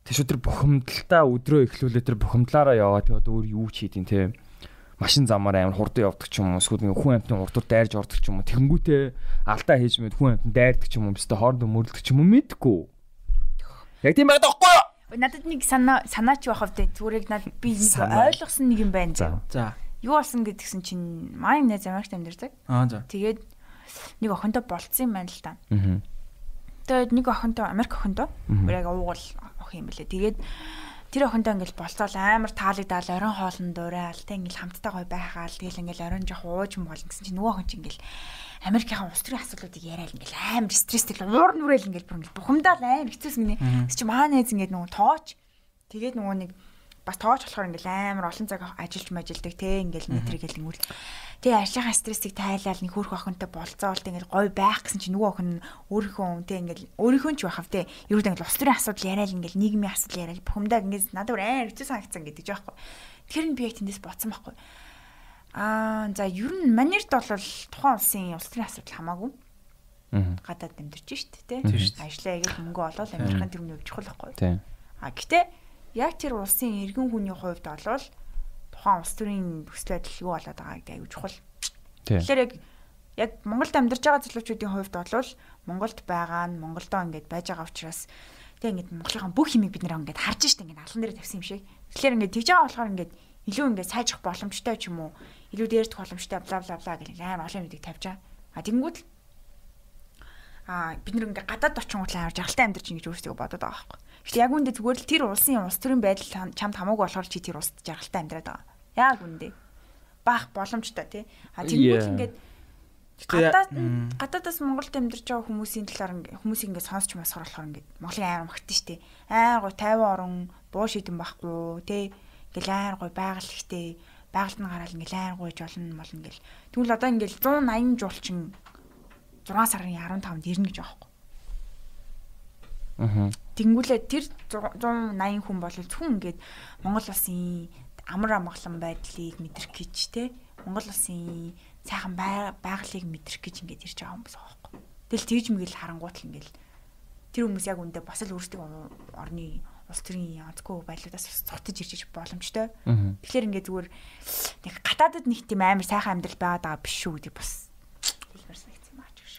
Тэг шууд тэр бухимдалтаа өдрөө эхлүүлээ тэр бухимдлаараа яваа. Тэг одоо өөр юу ч хийдин тэ. Машин замаар амар хурдан явдаг ч юм уу эсвэл нэг хүн амтны урдуур дайрж ордог ч юм уу тэгэнгүүтээ алдаа хийж мэд хүн амтанд дайрдаг ч юм уу бистэ хоорондоо мөрлөдөг ч юм уу мэдгүй. Яг тийм байгаад байхгүй юу? Надад нэг санаач байхав дээ зүрэг над би ойлгосон нэг юм байна. За. Юу болсон гэдгсэн чинь маань найз Америкт амьдардаг. За. Тэгээд нэг охинтой болцсон юм байна л та. Тэгээд нэг охинтой Америк охинтой яг уугуул охин юм бэлээ. Тэгээд тэр охинтой ингээл болцоол амар таалагдал оройн хоолн дуурайал тэ ингээл хамтдаа гой байхаал тэгэл ингээл оройн жоох ууж болно гэсэн чинь нөгөө охин чинь ингээл Америкийн улс төрийн асуудлуудыг яриад ингээл амар стресстэй уур нүрэл ингээл бүр ингээл бухимдаал амар хэцүүс гинэ. Тэс чи маа найз ингээд нөгөө тооч тэгээд нөгөө нэг бас тоож болохоор ингээл амар олон цаг ажиллаж мажилдаг те ингээл метрик гэлэнгүүл. Тэгээ ажлынхаа стрессийг тайлал нэг хөөх охинтой болцоолт ингээл гоё байх гэсэн чинь нөгөө охин өөрийнхөө те ингээл өөрийнхөө ч байхав те ерөөд ингээл улс төрийн асуудал яриад ингээл нийгмийн асуудал яриад бухимдаа ингээд надад амар хэцүү санагдсан гэдэг ч байхгүй. Тэгэхээр би яг тэндээс боцсон байхгүй. За ер нь манерт бол тухайн улсын улс төрийн асуудал хамаагүй. Гадаад амьдарч штт те. Ажлаа игээд мөнгө олоод амьдрахын тэрний хувь чухал байхгүй. Гэтэ яг тэр улсын иргэн хүний хувьд бол тухайн улс төрийн нөхцөл байдал юу болоод байгаа гэдэг аюул чухал. Тэгэхээр яг Монголд амьдарч байгаа залуучуудын хувьд бол Монголд байгаа нь Монголдоо ингээд байж байгаа учраас тэг ингээд Монголынхаа бүх юмыг бид нэр ингээд харж штт ингээд алан дээр тавьсан юм шиг. Тэгэхээр ингээд тэгж байгаа болохоор ингээд илүү ингээд сайжрах боломжтой ч юм уу илүү дээрдэх боломжтой бла бла бла гэх амар олон юмыг тавьж байгаа. Тэгэнгүүт л бид нэг ингээд гадаад очингууд л амар жаргалтай амьдарч ингэж өөрсдөө бодоод байгаа байхгүй. Гэхдээ яг үүндээ зүгээр л тэр улсын улс төрийн байдал чамд хамаагүй болохоор чи тэр улсад жаргалтай амьдраад байгаа. Яг үүндээ баах боломжтой тий. Тэгэнгүүт ингээд гадаадаас Монголд амьдарч байгаа хүмүүсийн талаар хүмүүсийг ингээд сонсч масхаар болохоор ингээд Монголын амар магтсан шүү дээ. Гой 50 орон буу шидэн байхгүй тий. Ингээл айн гой байгаль ихтэй байгальд нь гараал ингээл айн гойж олон мол ингээл тэгвэл одоо ингээл 180 жуулчин 6 сарын 15-нд ирнэ гэж байгаа байхгүй. Тэнгүүлээ тэр 180 хүн бол зөвхөн ингээд Монгол улсын амар амгалан байдлыг мэдрэх гэж те Монгол улсын сайхан байгалыг мэдрэх гэж ингээд ирж байгаа хүмүүс байгаа байхгүй. Тэгэл тэгж мэгэл харангуут л ингээл тэр хүмүүс яг үндэ бас л өөрсдөө орны улс төрийн онцгой байдлуудаас цогтож ирж боломжтой. Тэгэхээр ингээд зүгээр нэг гадаадд нэг тийм амар сайхан амьдрал байгаад байгаа биш шүү гэдэг бас хэлмэрсэн юм аа ч гэж.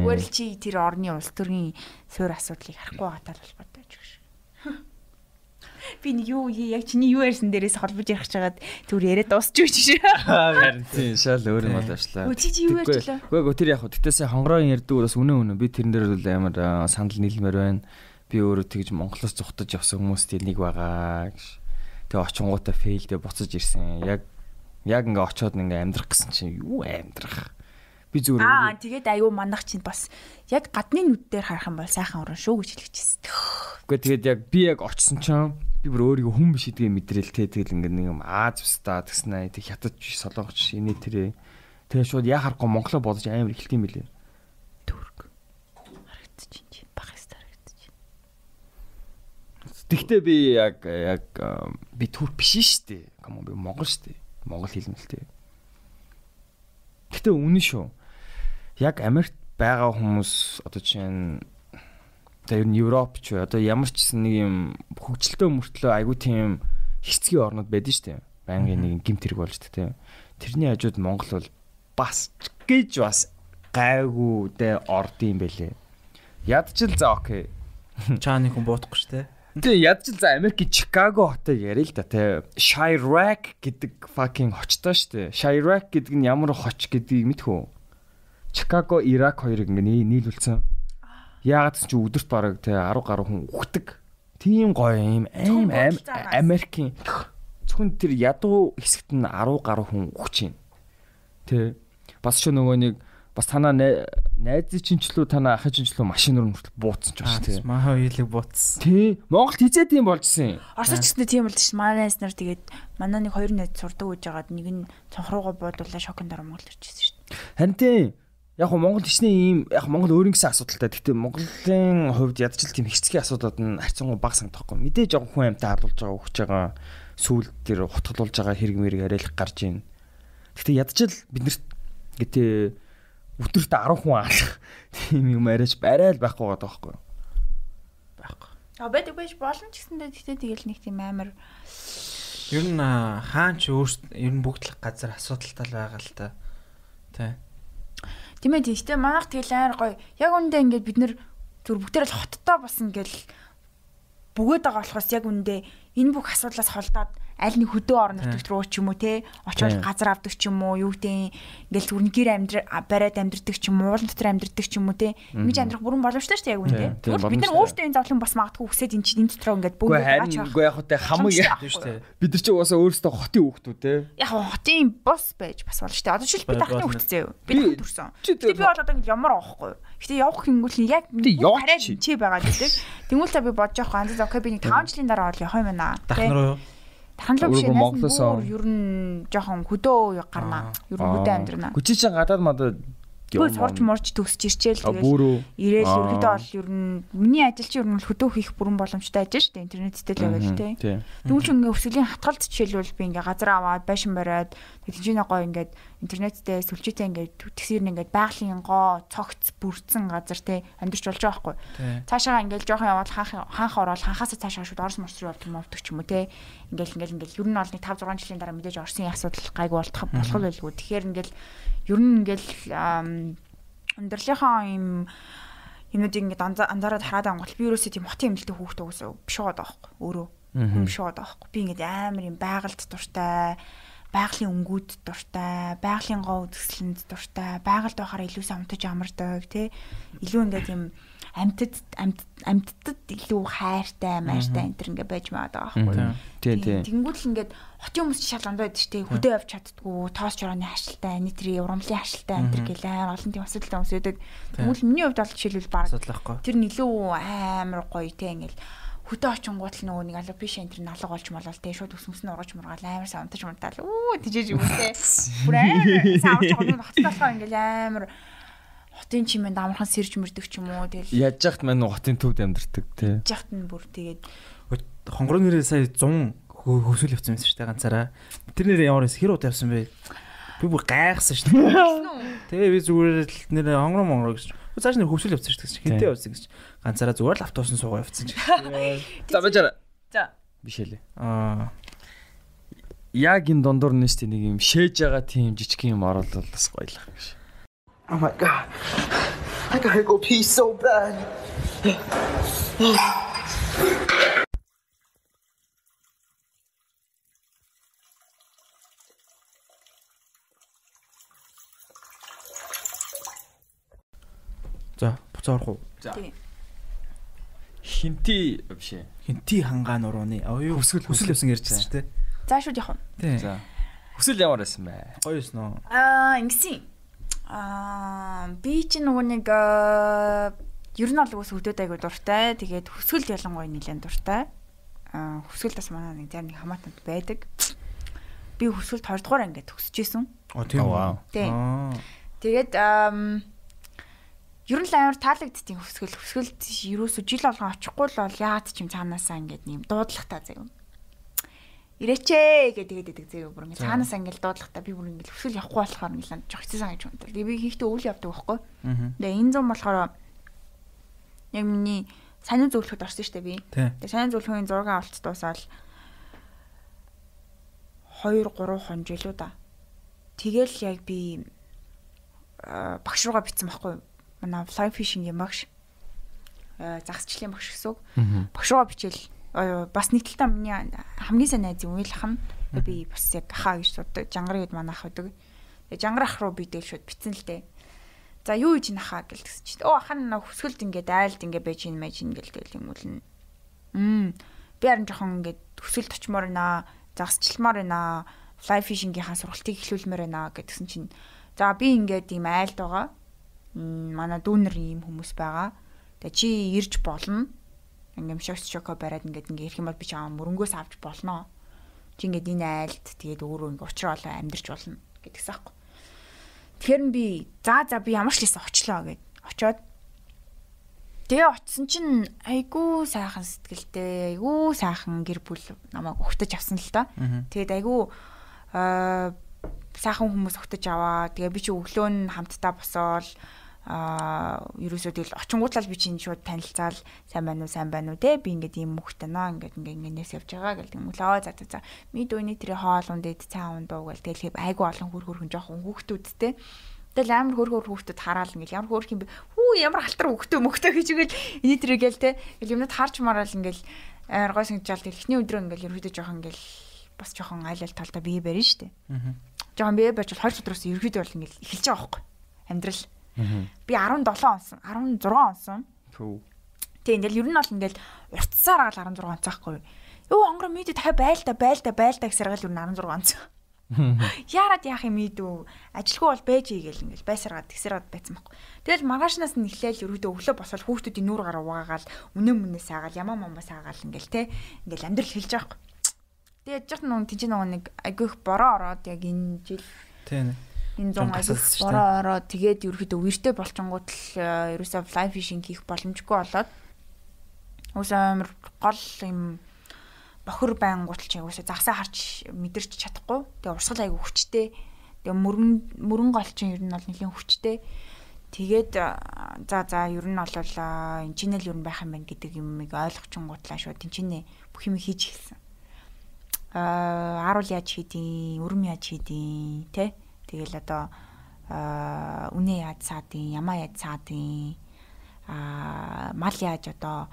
Зүгээр л чи тэр орны улс төрийн суурь асуудлыг харахгүй байгаа тал холбоотой ч гэж. Би нэг юу яг чиний юу ярьсан дээрээс холбож ярих чагаад түр яриад дуусчих гэж. Харин тийм шал өөр юм болоочлаа. Чи юу ярьчлаа? Үгүй тэр яг хөө тэгтээсээ хонгороо ярьдаг бас үнэн би тэрэн дээр бол амар санал нийлмээр байна. Би өөрөө тэгж Монголоос зүхтаж явсан хүмүүст нэг байгаа гэж. Тэгээ очингуудаа фейлдээ буцаж ирсэн. Яг ингээ очиод ингээ амьдрах гэсэн чинь юу амьдрах. Би зүгээр тэгээд аюу мандах чинь бас яг гадны нүд дээр харах юм бол сайхан уран шүү гэж хэлчихсэн. Үгүй тэгээд яг би яг очсон чинь би бүр өөрийгөө хүн биш гэдгийг мэдрэл тэгэл ингээ нэг юм Аз устаа тэгснэ тэг хятад солонгоч инээ тэрэ. Тэгээ шууд яа харахгүй Монголоо бодож амар ихэлт юм билээ. Түрк. Харагдчих чинь баг хэвээр харагдчих. Тэгтээ би яг би түрк биш шүү дээ. Камон би монгол шүү дээ. Монгол хэлмэлтэй. Тэгтээ үнэн шүү. Яг Америкт байгаа хүмүүс одоо чинь тэр нь Европ ч одоо ямар ч нэг юм хөгжилтэй мөртлөө айгүй тийм хэцгийн орнууд байдаг шүү дээ. Байнгын нэг гимт хэрэг болж тэ. Тэрний хажууд Монгол бол бас гэж бас гайгүй дээ орд юм бэлээ. Ядчил за окей. Чааны хүн боодохгүй шүү дээ. Тэгээ ядчил за Америкийн Чикаго хотыг яриа л да тэ. Chirac гэдэг fucking хочтой шүү дээ. Chirac гэдэг нь ямар хоч гэдгийг мэдхүү. Чикаго, Ирак хоёрыг ингээ нийлүүлсэн. Яагаад ч өдөрт бараг те 10 гаруй хүн үхдэг. Тийм гоё юм аим Америкийн зөвхөн тэр ядуу хэсэгт нь 10 гаруй хүн үхэж байна. Тэ бас ч нөгөө нэг бас танаа найзын чинчлүү танаа ахын чинчлүү машинаар мөртөл бууцсан ч байна те. Маа хоёулыг бууцсан. Тий. Монголд хизээ тийм болжсэн. Оросч гэснээр тийм болж ш. Манай найз нар тэгээд манай нэг хоёр найз сурдаг гэж байгаад нэг нь цонхруугаа буудуулаа шокнд дараа Монголд ирчихсэн ш. Харин тийм. Яг нь Монгол хичнээн ийм яг Монгол өөр ингэсэн асуудалтай. Гэхдээ Монголын хувьд ядчил тийм хэцгийн асуудууд нь харьцангуй бага санагдахгүй. Мэдээж яг хүн амьтаа хадуулж байгаа өгч байгаа сүүл дээр хутгалуулж байгаа хэрэг мэрэг арайлах гарч ийн. Гэхдээ ядчил биднэрт гэтээ өдөрт 10 хүн аалах тийм юм арайч барай л байхгүй байгаа байхгүй. Байхгүй. Байдаг байж болно ч гэсэндээ тэгтээ тэгэл нэг тийм амар ер нь хаан ч өөрт ер нь бүгд л газар асуудалтай байгаа л та. Тэ. Тийм ээ тийштэй манайх тэгэл амар гоё. Яг үндэ ингээд бид нэр зүр бүгдээр л хоттой бас ингээл бөгөөд байгаа болохоос яг үндэ энэ бүх асуудлаас холдоод аль нэг хөдөө орон нутагт руу ч юм уу те очоод газар авдаг ч юм уу юу гэдэг ингээл зүрн гэр бариад амьдрдаг ч юм уу уулан дотор амьдрдаг ч юм уу те ингэж амьдрах бүрэн боломжтой шүү дээ яг үндэ. Тэгвэл бид нар өөрсдөө энэ зовлон бас магадгүй хүсээд энэ чинь энэ дотроо ингээд бөгөөд байгаа ч үгүй яг хөтэй хамаг шүү дээ. Бид нар чи угаасаа өөрсдөө хотын хүүхдүүд те. Яг хотын бос байж бас болно шүү дээ. Одоо жишээл би тахны хүүхд зөө. Би тахд төрсөн. Гэтэ би бол одоо ингэ ямар авахгүй. Гэтэ явах хингүүл яг хараад чи байгаа гэдэг. Тэнгүүл та би бодож явах анзаа окей би нэг 5 жилийн дараа бол явах юм байна. Дахн руу юу? Тарханлуу биш Монголоос ер нь жоохон хөдөө гарна. Ер нь хөдөө амьдрна. Хүчи чинь гадаад мадад сурч морж төгсч ирчээл тэгэл ирээл ерөөдөө бол ер нь миний ажил чинь ер нь хөдөө хийх бүрэн боломжтой ажил шүү дээ интернеттэй л байвал тий. Тэгвэл ч ингээ өсвөлийн хатгалт жишээлбэл би ингээ газар аваад байшин бариад тэгжинэ гоё ингээ интернеттэй сүлжээтэй ингээ тэгсэр ингээ байгалийн гоо цогц бүрдсэн газар тий амьдарч болж байгаа байхгүй. Цаашаа ингээ жоохон яваад хаанх ороод ханхаасаа цаашаа шууд Орос морс руу явдаг мовдөг ч юм уу тий. Ингээл ер нь бол нэг 5 6 жилийн дараа мэдээж Оросын асуудал гайгүй болох байлгүй. Тэгэхээр ингээл ер нь ингээл өндөрлийнхаа юмнуудыг ингээд анзаараад хараад ангуул би ерөөсөө тийм хотын эмнэлтэй хүүхдээ өсөө биш байгаа байхгүй өөрөө биш байгаа байхгүй би ингээд амар юм байгальд дуртай байгалийн өнгүүд дуртай байгалийн гоо үзэсгэлэнд дуртай байгальд байхаар илүү самтаж амардаг тий илүү ингээд юм амьтдад илүү хайртай мааштай энэ төр ингээ байж байгаа байхгүй. Тэнгүүд л ингээд хотын хүмүүс шал ондоо байдаг шүү дээ. Хөдөө явж чаддгүй, тоос жорооны хашилтай, нийтрийн урамлын хашилтай энэ төр гэлээ олон тийм асуудалтай хүмүүс байдаг. Тэгвэл миний хувьд бол жишээлбэл баг тэр нь илүү амар гоё те ингээл хөдөө очингууд л нөгөө нэг алуу биш энэ төр налга болж молол те шууд өсмөс нь ургаж мургаал амар савтаж мунтаал тийжээж юм те. Бүр амар савж байгаа хотоосоо ингээл амар хотын чимээнд амархан сэрж мөрдөг ч юм уу тэгэл яаж яхад маань хотын төвд амьдэрдэг тий. Яхад нь бүр тэгээд хонгороо нэрээ сая 100 хөвсөл явсан байсан шүү дээ ганцаараа. Тэр нэрээ ямар хэсэг хэр удаа явсан бэ? Би бүр гайхсан шүү дээ. Тэгээ би зүгээр л нэрээ хонгороо гэж. Цааш нэр хөвсөл явсан шүү дээ. Хинтээ явсан гэж. Ганцаараа зүгээр л автобусын суугаа явсан ч. За бачаа. За. Бишэлээ. Яг энэ дондор нэстэ нэг юм шээж байгаа тийм жижиг юм оруулал бас гоёлах гэж. Oh my God. I gotta go pee so bad. За, буцаа орох уу? За. Хинти биш ээ. Хинти хангаан урууны. Өсгөл явсан ярьж байна шүү дээ. За шууд явах нь. За. Өсөл ямар байсан бэ? Гоё юм уу? Ингэсэн. Би чи нөгөө нэг ер нь бол үс хөдөөд айгуу дуртай. Тэгээд хөсгөл ялангуяа нэлээд дуртай. Хөсгөл бас манай нэг тэр нэг хамаатанд байдаг. Би хөсгөлд 2 дугаар ангид төгсөжсэн. Тийм үү. Тэгээд ер нь л амар таалагдтiin хөсгөлд ерөөсө жил болгон очихгүй л бол яад ч юм цаанаасаа ингээд нэм дуудлагатай заяа. Ирээчээ гэдэг зэв бүр ингээ цаанаас ингээл дуудлагатай би бүр ингээл өсгөл явахгүй болохоор ингээл жоох хэцээсэн гэж боддог. Тэгээ би хийхдээ үйл явдаг байхгүй. Тэгээ энэ зам болохоор яг миний саний зөвлөхөд орсон шүү дээ би. Тэгээ саний зөвлөхийн зураг авалт дуусаад 2-3 хонжлоо да. Тэгэл яг би багш руугаа битсэн байхгүй. Манай fly fishing-ийн багш. Загасчлалын багш гэсэн үг. Багш руугаа бичээл бас нэг талдаа миний хамгийн сайн найз юм уйлах нь би бас яг хаа гэж боддог. Жангар гээд манайх байдаг. Тэгээ жангар ах руу би дээл шууд битсэн л дээ. За юу хийж нахаа гэлтгсэн чинь. Ахан хөсгөлд ингээд айлд ингээд байж ин гээл юм үл нь. Би харин жоохон ингээд хөсгөлд очимоор байна. Загасчилмаар байна. Fly fishing-ийнхаа сургалтыг эхлүүлмээр байна гэдгсэн чинь. За би ингээд ийм айлд байгаа. Манай дүүнэр ийм хүмүүс байгаа. Тэгээ чи ирж болно. Ингээм шоко бариад ингээд ирэх юм бол би чам мөрөнгөөс авч болно. Чи ингээд энэ айлд тэгээд өөрөө ингээд учраа олоо амьдэрч болно гэдгсэн аахгүй. Тэгэхээр би за би ямар ч лээс очлоо гэд очоод тэгээ очсон чинь айгүй сайхан сэтгэлтэй айгүй сайхан гэр бүл намайг өгтөж авсан л та. Тэгээд айгүй сайхан хүмүүс өгтөж аваа. Тэгээ би чи өглөө нь хамтдаа босоол ерөөсөө тэгэл очингуудлал би чинь шууд танилцаал сайн байна уу те би ингээд ийм мөхтэй наа ингээд нээс явж байгаа гэл тэгмүүлээ за ми дөөний тэр хоол ундэд цаан ундуу гэл тэгэл айгу олон хөрхөн жоохон хүүхдүүдтэй тэгэл амар хөрхөр хүүхдүүд хараал ингээд ямар хөрх юм бэ ямар алтар мөхтэй хийжгээл эний тэр гээл те гэл юмнууд харж мараал ингээд аргой сангижаал эхний өдрөө ингээд ерөөдөө жоохон ингээд бас жоохон айлал талдаа бие барина штэ жоохон бие барьж 20 өдрөөс ерөөдөө бол ингээд эхэлж байгаа байхгүй амьдрал. Би 17 онсон, 16 онсон. Тийм ингээл ер нь бол ингээл уртсаар гал 16 онцаахгүй. Юу хонгор мэдээ дахиад байлда гэсээр гал ер нь 16 онцсон. Яарад яах юм ийдүү. Ажилгүй бол байж игээл ингээл байсаргаад тэгсэраад байцсан байхгүй. Тэгэл маргаашнаас нь эхлээл ерөөдөө өглөө босоод хүүхдүүдийн нүүр гараа угаагаал, үнэн саагаал, ямаа саагаал ингээл те. Ингээл амьдрал хэлж байгаа байхгүй. Тэгээд яж нэг тийч нэг айгүйх бороо ороод яг энэ жил тийм энэ зам айгүйх бороо ороод тэгээд ерөөхдөө үертэй болчингууд л ерөөсөө fly fishing хийх боломжгүй болоод уус амар гол юм бохор байнгут ч ерөөсөө загсаа харж мэдэрч чадахгүй. Тэгээд урсгал айгүй хүчтэй. Тэгээд мөрөн гол чинь ер нь бол нэлийн хүчтэй. Тэгээд за ер нь бол энэ чинь л ер нь байх юм байна гэдэг юмыг ойлгочингуудлаа шүү. Тинчнээ бүх юм хийж хэлсэн. Аруул яаж хийдیں, өрөм яаж хийдیں, тэ? Тэгэл одоо үнэ яаж саадیں, ямаа яаж саадیں, мал яаж одоо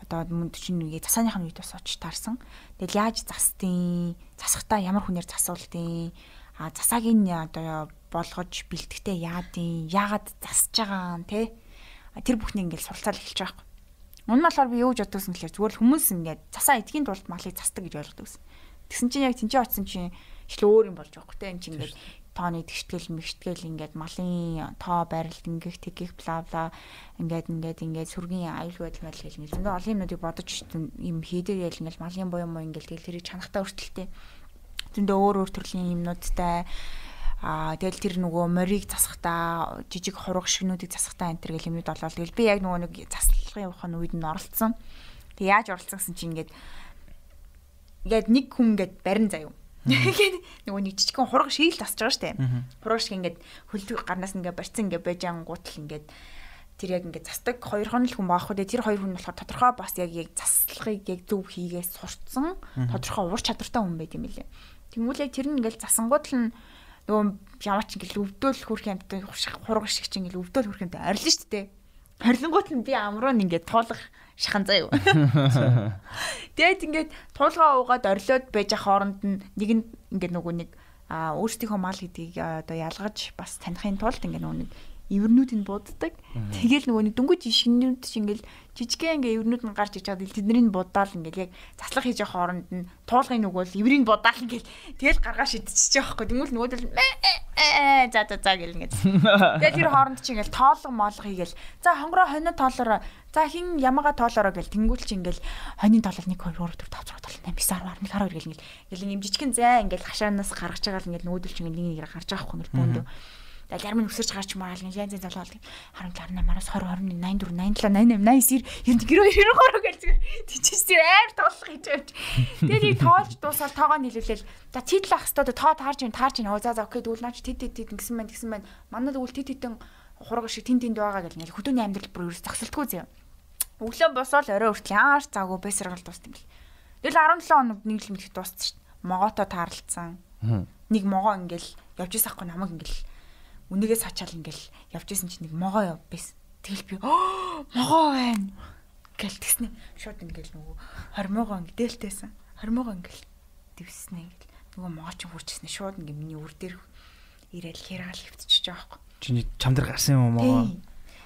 мөн чинь үе засааныхын үед бас очиж таарсан. Тэгэл яаж застیں, засахтаа ямар хүнээр засуулдیں, засаагийн одоо болгож бэлтгэхдээ яагаад засаж байгаа те тэр бүхний ингээд суралцаал эхэлж байгаа. Өмнө нь болохоор би юу гэж боддогсэн гэхээр зүгээр л хүмүүс ингээд засаа эдгийн тулд малыг засдаг гэж ойлгодог гэсэн. Тэгсэн чинь яг тэнцээ очсон чинь ихл өөр юм болж байгаа хөөхтэй энэ чинь ингээд тооны тэгштгэл ингээд малын тоо байралд ингэх тэгэх бла бла ингээд сүргийн аюул байдал мэл гэл ингээд зөндөө олон юмнуудыг бодож юм хийдэг ял ингээд малын буюу ингээд тэгэл тэрийг чанахтаа өртөлтэй зөндөө өөр төрлийн юмнуудтай тэгэл тэр нөгөө морийг засахтаа жижиг хураг шигнүүдийг засахтаа энэ төр гэл юмуд болол тэгэл би яг нөгөө нэг заслахын ухааны үед нь оролцсон. Тэг яаж оролцсон гэсэн чинь ингээд нэг хүн ингээд барин заяа. Ингээд нөгөө нэг жижигхэн хураг шиг л тасж байгаа штэ. Хураг шиг ингээд хөлдөг гарнаас ингээд барьцсан ингээд байж ангуутал ингээд тэр яг ингээд застдаг хоёр хон л хүн баах үү. Тэр хоёр хүн болохоор тодорхой бас яг заслахыг яг зөв хийгээс сурцсан тодорхой ур чадвартай хүн байт юм билээ. Тэнгүүл яг тэр нь ингээд засангууд л нөгөө ямаач ингээл өвдөөл хүрх юмтай хураг шиг чинь ингээл өвдөөл хүрх юмтай арилна шүү дээ. Арилнгууд нь би амруу ингээд туулах шахан заа юу. Тэгээд ингээд туулгаа уугаад орилоод байж ах хооронд нь нэг нь ингээд нөгөө нэг өөрсдийнхөө мал гэдгийг одоо ялгаж бас таних тулд ингээд нөгөө нэг эвэрнүүд нь буддаг. Тэгэл нөгөө нэг дөнгөж шингэнүүд чинь ингээл жижигхэн ингээ эвэрнүүд нь гарч иж чад тэднийг будаал ингээл яг заслах хийж явах хооронд нь туулгын нөгөө л эврийг будаал ингээл тэгэл гаргаа шидчихэж байгаа байхгүй. Тэнгүүл нөгөө л за гэл ингээд. Тэгэл тэр хооронд чинь ингээл тоолго моолго хийгээл за хонгороо хонио тоолороо за хин ямаага тоолороо гэл тэнгүүл чинь ингээл хонийн тоолол 1 2 3 4 5 6 7 8 9 10 11 12 гэл ингээл юм жижигхэн зай ингээл хашаанаас гаргаж байгаа л ингээл нүүдэл чинь ингээл нэг гарч байгаа байхгүй бөөндөө. Тэгэл ярмын өсөрч гарч мараал нэг янз янз залуулдаг 17 18 20 21 84 87 88 89 90 92 гэл тийчээс амар тоолох гэж явж. Тэгээд тоолж дуусаад тоогоо нийлүүлээл за титэл ах хэвээр тоо таарч ин за окей дүүл наач тед гэсэн байна манад үл тедэн хураг шиг тэнд байгаа гэл ингээл хөдөөний амьдрал бүр ерөөс зогсолтгүй зөө. Өглөө босоод орой хүртэл яаш заагүй бэсрэгэл дуустсан бэл. Тэгэл 17 хоног нэг л мэдэх дууссан шүү дээ. Могоото таарлцсан. Нэг могоо ингээл явж ирсахгүй намайг ингээл үнэгээс хачаал ингээл явж исэн чинь нэг могоо яв байсан. Тэгэл би могоо байна гэл тэгснэ. Шууд ингээл нөгөө 20 могоо дээлтэйсэн. 20 могоо ингээл дэвснэ ингээл нөгөө могоо ч хурчснэ. Шууд ингээл миний үр дээр ирээл хяраал хөвтчихөж байгаа байхгүй. Чиний чам дээр гарсан юм могоо.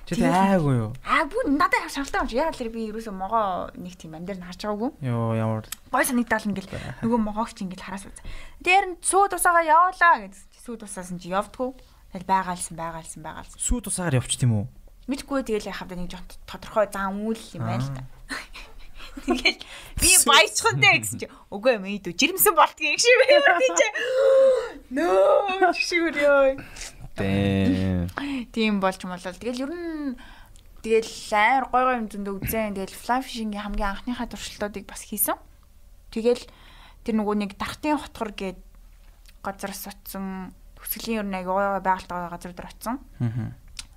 Чи тэ айгүй юу? Бүр надад шаардлагатай юм чи. Яг л би ерөөсөө могоо нэг тийм ам дээр нь харж байгаагүй. Йоо ямар гой санагдал ингээл нөгөө могоог чи ингээл хараас үз. Дээр нь сүү тусаага явуулаа гэж. Сүү тусаасан чи явдггүй. Тэгэл байгаалсан. Сүү тусаагаар явчих тийм үү? Мэдгүй тэгэл яхав нэг жоо тодорхой зам үйл юм байна л та. Тэгэл би баячхантай гэсэн чи үгүй юм ийдүү жирэмсэн болтгийн шиг байвар тийч. Нөө чигшүүр ёо. Тийм болж молол. Тэгэл ер нь тэгэл амар гой юм зөндөө үзэн. Тэгэл fly fishing-ийн хамгийн анхныхаа туршилтуудыг бас хийсэн. Тэгэл тэр нөгөө нэг дархтын хотгор гээд газараас очсон. Төсгөлийн ер нь аягаа байгальтай газар дээр очсон.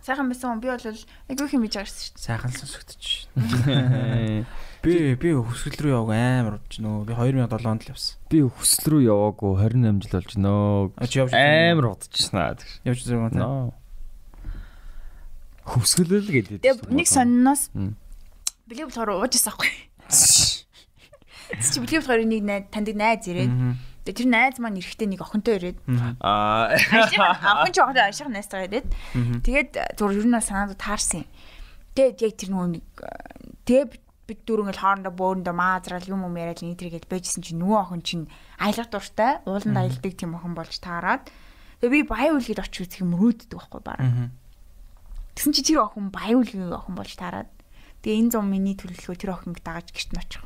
Сайхан байсан. Би бол айгүй хэм хийж байгаарсан шүү дээ. Сайхан сонсогдчих. Би хөсгөл рүү яваг амар болж нөө. Би 2007 онд л явсан. Би хөсгөл рүү яваагүй 28 жил болж нөө. Амар удажсэн аа. Явж зэрэг юм. Хөсгөл л гэдэг. Тэгээ нэг сонноос бэлэг болохоор уужсан аахгүй. Чи бэлэг болохоор нэг таньдаг найз ирээд тэр найз маань эрэхтэй нэг охинтой ирээд охин ч охин ашиг найзтайгаа ирээд тэгээд зур ер нь санаанд таарсан. Тэгээд яг тэр нөгөө нэг тэгээд бид дөрөв ингээл хоорондоо бөөрөндөө маазрал юм яриад нийтрийгээд байжсэн чинь нөгөө охин чинь аялах дуртай ууланд аялдаг тийм охин болж таарад. Тэгээд би баян үлгэд очиж үзэх юм рүүддэг байхгүй бараа. Тэгсэн чи тэр охин баян үлгийн охин болж таарад. Тэгээ энэ зам миний төлөвлөгөө тэр охиныг дагаж гэрт нь очих.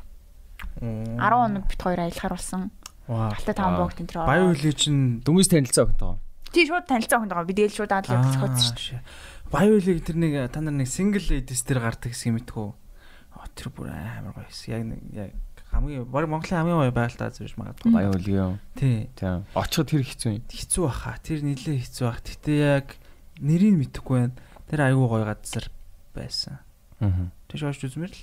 10 хоног бит хоёр аялахаар болсон. Алтай таван богт энэ төр. Баян үлээ чинь дүнгийн танилцаа өгнө тоо. Тий шууд танилцаа өгнө байгаа. Би дээл шууд аадлаа зохиоцсон шүү. Баян үлээ тэр нэг та нар нэг single ladies дээр гардаг гэсэн мэдгүй. Тэр бүр амар гоё хэсэг. Яг хамгийн Монголын хамгийн гоё байгальтаа зэрэг магадгүй. Баян үлээ юу? Тий. Очиход тэр хэцүү юм. Хэцүү баха. Тэр нилээ хэцүү бах. Гэтэ яг нэрийг мэдэхгүй байна. Тэр аюу гоё газар байсан. Тэш очиж үзмэр л.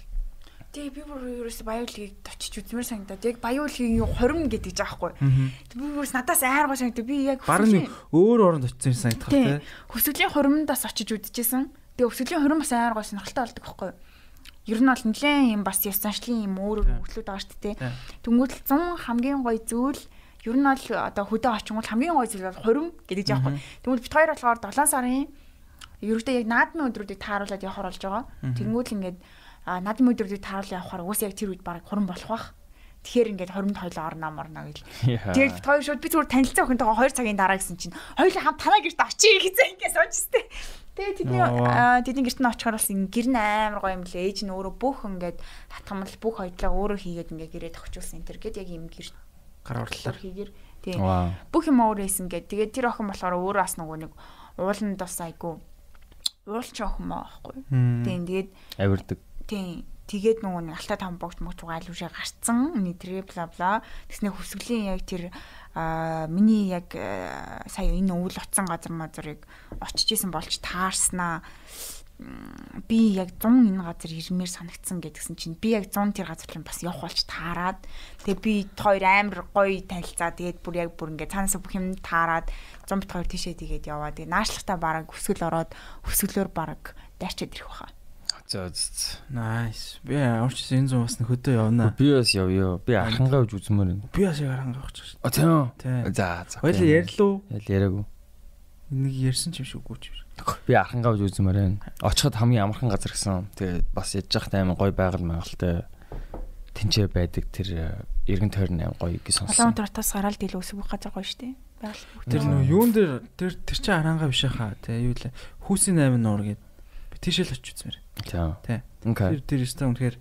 Тий би бүр ерөөсө баян үлгийг очиж үзмэр санагдаад яг баян үлгийн хорим гэдэг жаахгүй. Би ерөөс надаас амар гоё санагдав. Би яг барны өөр оронд очсон санагдах тий. Хөсгөлийн хоримдаас очиж үзчихсэн. Тэгээ хөсгөлийн хорим бас амар гоё сонирхолтой болдог байхгүй. Ер нь бол нэлээд юм бас ёс заншлын юм өөр хөгжлүүд байгаа шүү дээ. Тэнгүүтэл 100 хамгийн гоё зүйл ер нь бол одоо хөдөө очингууд хамгийн гоё зүйл бол хорим гэдэг жаахгүй. Тэнгүүл бит хоёр болохоор 7 сарын ерөөдөө яг наадмын өдрүүдийг тааруулаад явахаар болж байгаа. Тэнгүүл ингээд наадмын өдрүүдийг тааруулаад явахаар уус яг тэр үед баг хорим болох бах. Тэгэхээр ингээд хоримд хойлоо орноо морно гэл. Тэгээд бит хоёр шууд би зүгээр танилцсан охинтойгоо 2 цагийн дараа гэсэн чинь хоёулаа хамт танаа гэрт очие гэсэн ингээд суужстэй. Тэгээд тэдний гэрт нь очихоор бас гэр нь амар гоё юм лээ. Ээж нь өөрөө бүх ингээд татгамал бүх хоёдлаа өөрөө хийгээд ингээд гэрээ тохижуулсан энэ төр гээд яг юм гэр гар урлаар хийгээр тийм бүх юм өөрөө хийсэн гээд тэгээд тэр охин болохоор өөрөө бас нөгөө нэг ууланд бас айгу уулч охин маа байхгүй. Тийм тэгээд авирдаг. Тийм тэгээд нөгөө нэг алтай там богт мөгч гайлуушаа гарцсан нэтрээ бла бла тэгснэ хөсгөлийн яг тэр миний яг сая энэ өвөл утсан газар мазрыг очиж исэн болж таарснаа би яг 100 энэ газар ирмээр санагдсан гэдгсэн чинь би яг 100 тэр газар руу бас явах болж таарад тэгээ би хоёр амар гоё танилцаа тэгээд бүр ингээд цаанаас бүх юм таарад 100 бит хоёр тийшээ тэгээд яваа тэгээ наашлахтаа бараг хөсгөл ороод хөсгөлөөр бараг дайрчаад ирэх баха. Nice. Би авч энэ зам бас хөдөө явна. Би бас явъя. Би архангаа үж үзмээр байна. Би бас яг архангаа авчих. Тийм. За. Хоёул ярьлуу. Яриаггүй. Энийг ярьсан ч юм шиггүй ч. Би архангаа үж үзмээр байна. Очиход хамгийн амархан газар гэсэн. Тэгээд бас яж захт аймаг гоё байгаль маягалтай тэнцээ байдаг тэр эргэн тойрны аймаг гоё гэж сонссон. Улаанбаатараас гараад дийл өсөх газар гоё штэ. Тэр нөө юун дээр тэр чинь архангаа биш хаа. Тэ юу лээ. Хүүсийн 8 нуур гэдэг. Би тийшэл очиж үзмээр. Тий. Тэр өстө үнэхээр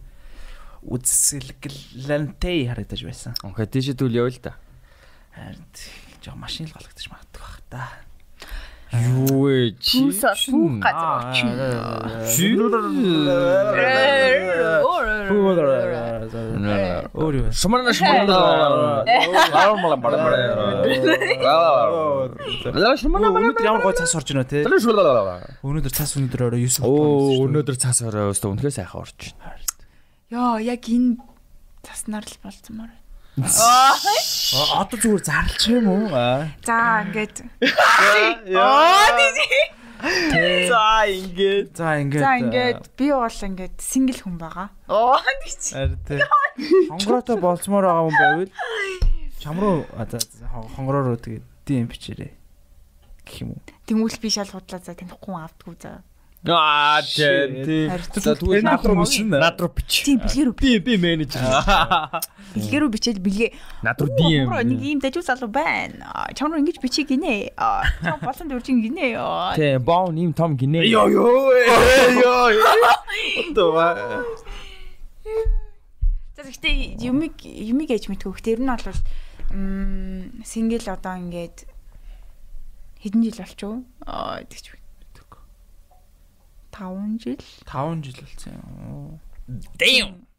үзэлгэлэнтэй харагдаж байсан. Окей, тийшээ дүүл явъя л да. Харин жоо машин л голгодож магадгүй бах та. Юу вэ? Бүх газар очив. Өөр юу? Шумарна. Өнөөдөр ямар гой цаас орж байна те? Өнөөдөр цаас өнөөдөр орой 9. Өнөөдөр цаас орой өстө үнэхээр сайхан орж байна. Яа, яг энэ цаснаар л болцмоор байна. Одоо зүгээр зарлчих юм уу? За ингээд. За ингээд би бол ингээд сингл хүн байгаа. Тийч. Хонгороотой болцмоор байгаа хүн байвал чам руу хонгороо руу тэгээд DM бичээрэй гэх юм уу. Тэнгүүл би шал худлаа за танихгүй автгүй за. Тийм. Тэгвэл над руу бич. Тийм бэлгэрүү. Би менежер. Бэлгэрүү бичээд бэлгээ. Над руу DM. Нэг ийм дажгүй залуу байна. Чам руу ингэж бичих гинэ. Чам болсон дөржин гинэ. Тийм, боо ийм том гинэ. Йоо. Отоо. Тэгэхдээ юмиг ээж мэдгүй. Тэр нь бол сингл одоо ингээд хэдэн жил болчихоо. Тэгч 5 жил болсон юм. Damn.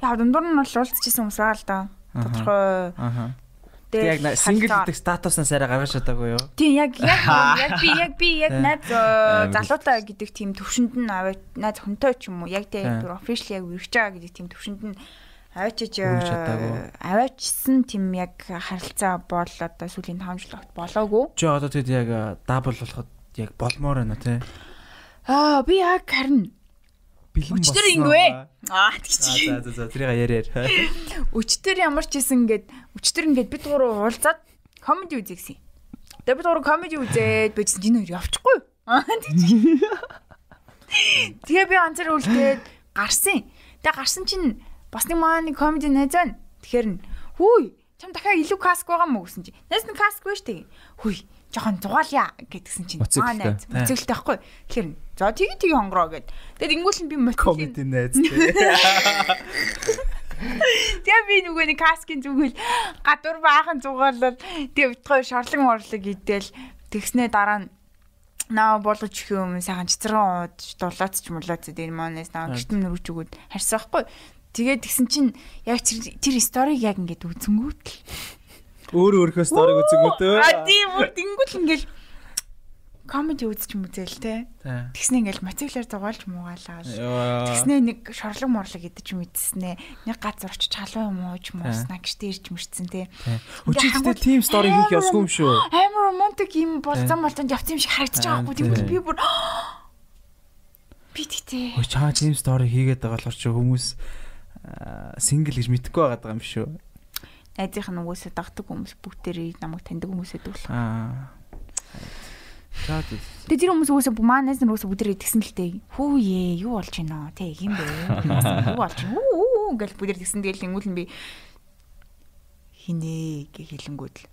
Яа дундуур нь бол уулзчихсан хүмүүс байгаа л да. Тодорхой. Яг сингл гэдэг статуснаас арай гаргаж чадаагүй юу? Тийм яг би найз залуутай гэдэг тийм төвшөнд нь найз хүнтэй ч юм уу яг тийм official яг үргэж байгаа гэдэг тийм төвшөнд нь аваачсан тийм яг харилцаа бол одоо сүүлийн 5 жил огт болоогүй. Чи одоо тэгэд яг дабл болоход яг болмоор байна тий. Би яг харин бэлэн өчтөр ингэвэ. Тэгчих. За тэрийг яриар. Өчтөр ямар ч хийсэн ингээд бид гурав уулзаад комеди үзье. Тэгээд бид гурав комеди үзээд бичсэн чинь хоёр явчихгүй. Тэгээ би анцаар үлдээд гарсан. Тэгээ гарсан чинь бас нэг маань комеди найз байна. Тэгэхээр хүй чам дахиад илүү каск байгаа мó гэсэн чи. Найз нь каск байж тээ. Хүй жоохон зугаалъя гэдгсэн чинь найз мөцөглөлтэй байхгүй. Тэгэхээр за тэгээ хонгороо гэд. Тэгээд ингүүл нь би комеди найз тээ. Тэгээ би би нөгөө нэг каскын зүгэл гадуур баахан зугаалал тэгээ битгой шорлог идэл тэгснээ дараа нь наа болгож их юм сайхан цэцэрэн ууд дулаац ч мулаац энэ манаас наа гэртэн нөрөж өгөөд харсан байхгүй. Тэгээд тэгсэн чинь яг тэр сториг яг ингээд үзэнгүүт л өөрийнхөө сториг үзэнгүүтөө. Тийм бүр тэнгүүл ингээл комеди үзэж мүзэл те. Тэгснэ ингээл мотивлаар зугаалж муугаалаа. Тэгснэ нэг шорлог морлог идэж мэдснэ. Нэг газар очиж халуу юм ууж мууснаа гэжтэй ирж мэрцэн те. Өчигдөө team story хийх ёсгүй юм шүү. Амар романтик юм болцсон явц юм шиг харагдаж байгаа байхгүй. Тэгвэл би бүр би тэгтээ. Өө чаа team story хийгээд байгаа болохоор ч хүмүүс single гэж мэдэхгүй байгаа юм шүү. Найзынх нь угсаа дагдаг хүмүүс бүгдээрээ намайг таньдаг хүмүүсээ дүүл. Тэгээ тэр хүмүүс угсаа манайс нар угсаа бүгдээрээ тэгсэн л дээ. Хүүе юу болж байна те юм бэ? Юу болж байна? Үу гэл бүгдээр тэгсэн тэгэл ингүүл нь би хинэ гэх хэлэнгүүд л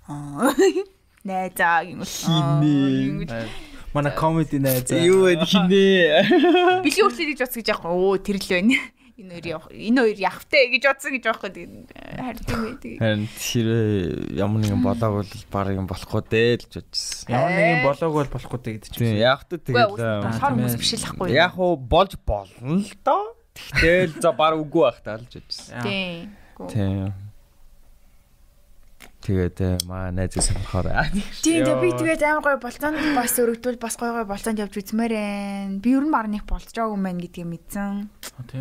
найзаа хинэ. Манай комеди найзаа. Юу вэ хинэ? Били өөртөө гэж бодсон гэж яах вэ? Оо тэр л байна. Энэ хоёр явахтай гэж бодсон гэж байхгүй харин харин тэр ямар нэгэн болоог бол баг юм болохгүй дээ л бодчихсон. Ямар нэгэн болоог бол болохгүй дээ гэдэг чинь. Яг та тэгэл хүмүүс биш л ахгүй. Яг уу болж болно л доо. Тэгтэл за баг үгүй байх таа л бодчихсон. Тийм. Тэгээд маа найзаа сонирхоор. Тийм би тэгээд амар гоё болцоонд бас өргөдвөл бас гоё болцоонд явж үзмээрэн. Би ер нь баг нэг болж байгаа юм байна гэдгийг мэдсэн.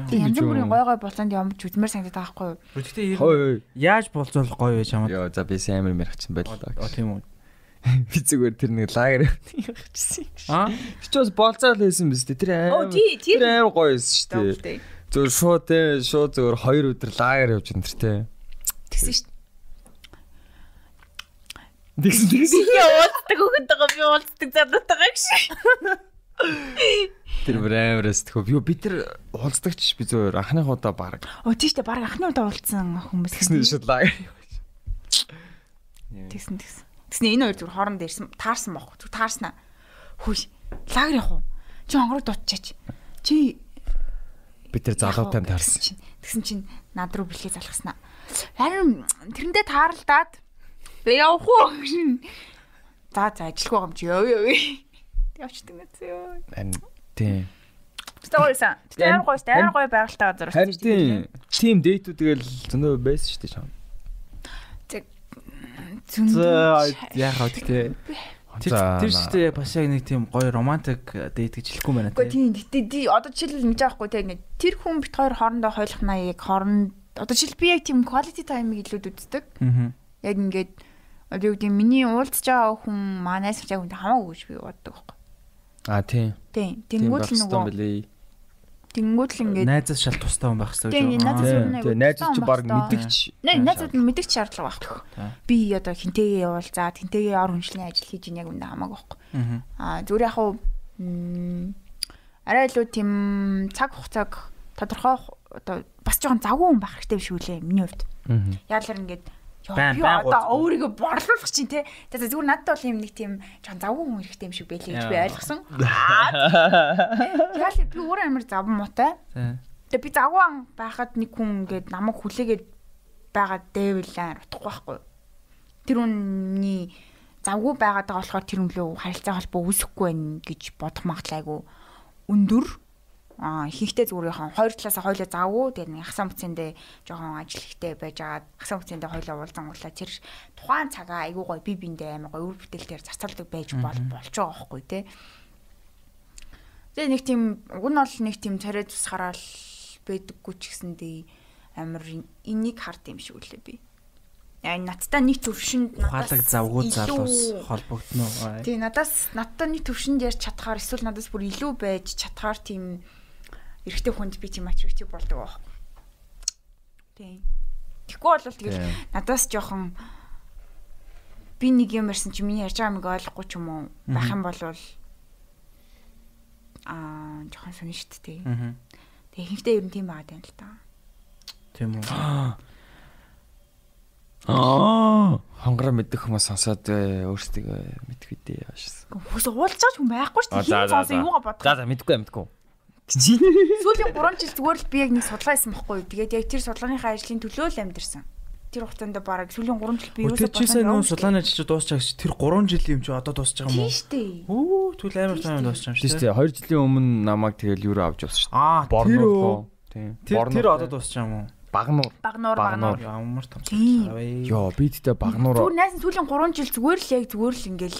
Тийм янз бүрийн гоё болцоонд явж үзмээр санагдаад байгаа байхгүй юу? Гэхдээ яаж болцоолох гоё вэ чамд? Йоо за би амар мэрхчин байлаа. Тийм үү. Би зүгээр тэр нэг лагер явчихсан. Чи ч бас болцоол хийсэн биз дээ. Тэр амар гоё байсан шүү дээ. Зүгээр шууд зүгээр 2 өдөр лагер явж энэ тэр тий. Тэгсэн шүү. Тэгсэн. Уулздаг өгөнтэйгээ би уулздаг задатайгаа гэж. Тэр брэвэрэс тхөө би тэр уулздагч би зөвөр анхны удаа баг. Тийштэй баг анхны удаа уулзсан хүмүүс. Тэгсэн шууд лагер. Тэгсэн. Тэгснэ энэ хоёр зүгээр хооронд ирсэн таарсан бохоо. Зүг таарснаа. Хөөш лагер явах уу? Чи онгороо дутчаач. Чи би тэр залуутай таарсан. Тэгсэн чинь над руу бэлгээ залгаснаа. Харин тэрэндээ таарлдаад би явах уу? За ажилгүй юм чи ёо. Явчихдаг мэт ёо. Тийм. Стойсан. Тэр гоё байгальтай газар очиж тийм. Тим дэйтүүд тэгэл зөндөө байсан шүү дээ чам. Яахаа тэгтээ. Тэр шүү дээ бас яг нэг тийм гоё романтик дэйт гэж хэлэхгүй байна тийм. Гэтэ одоо жишээлбэл мэдэж байхгүй те ингэ тэр хүн бит хоёр хоорондоо хойлохнаа яг хооронд одоо жишээл би яг тийм quality time-ыг илүү үздэг. Яг ингээд одоо юу гэдэг миний уулзж байгаа хүн манайс яг үнтэй хамаагүй гэж би боддог байхгүй. Тийм. Тэнгүүд л нөгөө тэнгүүд л ингээд найзаас шал тустай хүн байх хэрэгтэй гэж. Тийм найзууд чи баг мэдгч. Найзууд мэдгч шаардлага байхгүй. Би одоо хинтэйгээ явуулзаа тэнтэйгээ ор хүншлийн ажил хийж ийн яг үнтэй хамаагүй байхгүй. Зүгээр яг уу арай илүү тийм цаг хугацааг тодорхой одоо бас жоохон завгүй хүн байх хэрэгтэй биш үлээ миний хувьд. Яалаар ингээд би одоо өөрийгөө борлуулах чинь те. За зүгээр надад бол юм нэг тийм жоохон завгүй хүн хэрэгтэй юм шиг байлээ гэж би ойлгосон. Яалаа би өөр амар заван муутай. Тэгээ би завгүй байхад нэг хүн ингээд намайг хүлээгээд байгаа дэвлэн утахгүй байхгүй. Тэр үнний завгүй байгаад байгаа болохоор тэр үнлөө харилцаа холбоо үүсэхгүй байх гэж бодох магадлал айгу өндөр. Ихэнхдээ зүгээр хоёр талаас хоёулаа завгүй тэгээ нэг хасаа бүцэндээ жоохон ажил ихтэй байж агаад хасаа бүцэндээ хоёулаа уулзангуулаа тэр тухайн цагаа айгуу гоё би биндээ амар гоё үр бүтээлээр зарцуулдаг байж болж байгаа байхгүй те. Тэгээ нэг тийм уг нь бол нэг тийм царай тусгараад байдаггүй ч гэсэндээ амар энийг хард юм шиг үлээ би. Яа надтай нэг төвшөнд ухаалаг завгүй залуус холбогдно. Тий надтай нэг төвшөнд ярьж чадхаар эсвэл надаас бүр илүү байж чадхаар тийм эрэгтэй хүнд би тийм ачивч болдог байх. Тий. Тэгэхгүй бол тэгэл надаас жоохон би нэг юм ярьсан чи миний ярьж байгааг ойлгохгүй ч юм уу байх юм бол жоохон сонь шүү дээ. Тэгээ ихэнхдээ ер нь тийм байгаад байна л та. Тийм үү. Хонгороо мэддэг хүмүүс сонсоод өөрсдөө мэдэх үедээ яашсан. Хүмүүс уулзаж хүн байхгүй шүү дээ. Хин сонсон юугаа бодох. За мэдгүй. Сүүлийн 3 жил зүгээр л би яг нэг судалгаа хийсэн байхгүй юу. Тэгээд яг тэр судалгааныхаа ажлын төлөө л амьдэрсэн. тэр хугацаанд бараг сүүлийн 3 жил би юу тэр чисээ нөө сулааны ажил дуусчаа гэж тэр 3 жилийн юм чи одоо дуусч байгаа юм уу? Тийм шүү дээ. Өө түл амар таамаг дуусч байгаа юм шүү дээ. 2 жилийн өмнө намайг тэгэл юу авч явсан шүү дээ. Борноор. Тийм. Тэр одоо дуусч байгаа юм уу? Багнуур. Ямар том. Йоо би тэгтээ багнуур. Зүгээр найс сүүлийн 3 жил зүгээр л ингээл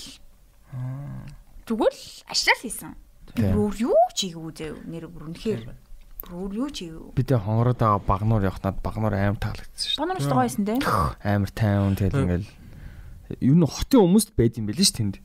зүгээр л ашрал хийсэн. Бүр юу чийгүү зөө нэр бүр үнэхээр бүр юу чийгүү. Би тэ хонгороод байгаа багнуур явахнаад багнуур амар таалагдсан шүү. Багнуур гоё байсан те. Амар тайван тэгэл ингээл юу н хотын хүмүүст байд юм байл ш тэнд.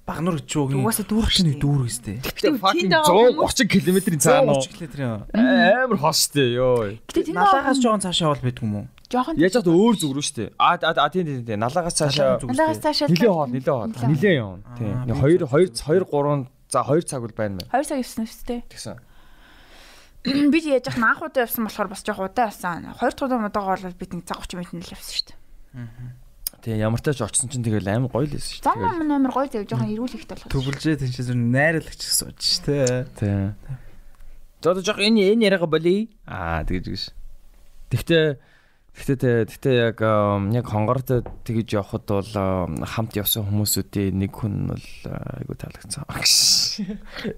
Багнуур гэж юу юм. Угаасаа дүүрхний дүүргэстэй. Гэтэ fucking 130 км-ийн цаана 130 км. Амар хос штэ ёо. Налагаас жоохон цаашаа бол байдгүй юм уу? Жоохон яаж хад өөр зүг рүү штэ. Тийм. Налагаас цаашаа нилээ хол. Нилээ явна. Тийм. 2 3 за 2 цаг бол байна мэн. 2 цаг явсан үстэй. Тэгсэн. Би яаж яах анх удаа явсан болохоор бас жоох удаа явсан. 2 дахь удаага бол бид нэг цаг 30 минут л явсан шүү дээ. Тэгээ ямар тач очсон чинь тэгэл амар гоё л байсан шүү дээ. Зам амар гоё зав жоохон эрүүл ихтэй болох. Төвлжээ тийш зүр найрлагч сууж ш тэ. Тийм. Одоо жоох энэ яриага болий. Тэгэж. Тэгтээ яг хонгортой тэгэж явхад бол хамт явсан хүмүүсүүдийн нэг хүн бол айгу таалагдсан.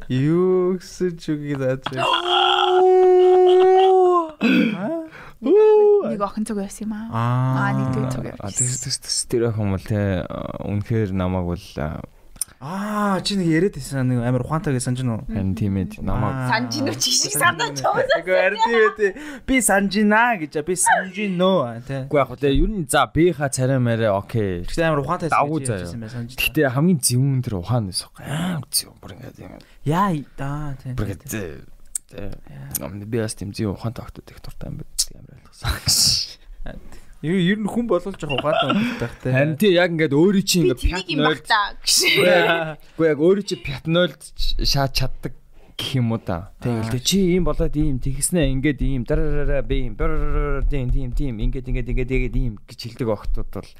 Юу гэсэн чүгий даа. Нэг охин зүг байсан юм аа. Нэг зүг. Тэр охин бол тэ үнэхээр намайг бол чи нэг яриад байсан нэг амар ухаантайг санаж нь уу? Харин тийм ээ намайг санаж нь ч шиг санаж байгаа. Үгүй харин тийм ээ. Би санжина гэж би санжино тий. Үгүй яг хөө ер нь за бийнхаа царай мэрэ окей. Тэгсэн амар ухаантай байсан байсан. Гэтэ хамгийн зөвүүн тэр ухаан байсан. Амар зөв бүр ингээд юм. Яа да тий. Бүр гэдэг. Би бас тийм зөв ухаантай огтод их дуртай юм байна. Амар ойлгосон. Ер нь хүн болол жоох ухаантай байхтай. Харин тий яг ингээд өөрийн чинь ингээд пятнойлд Үгүй яг өөрийн чинь пятнойлд шаад чаддаг гэх юм уу та. Тэгэл чи ийм болоод ийм тэгснэ ингээд ийм дараараа би ийм тийм ингээд ийм гэж хэлдэг охтууд бол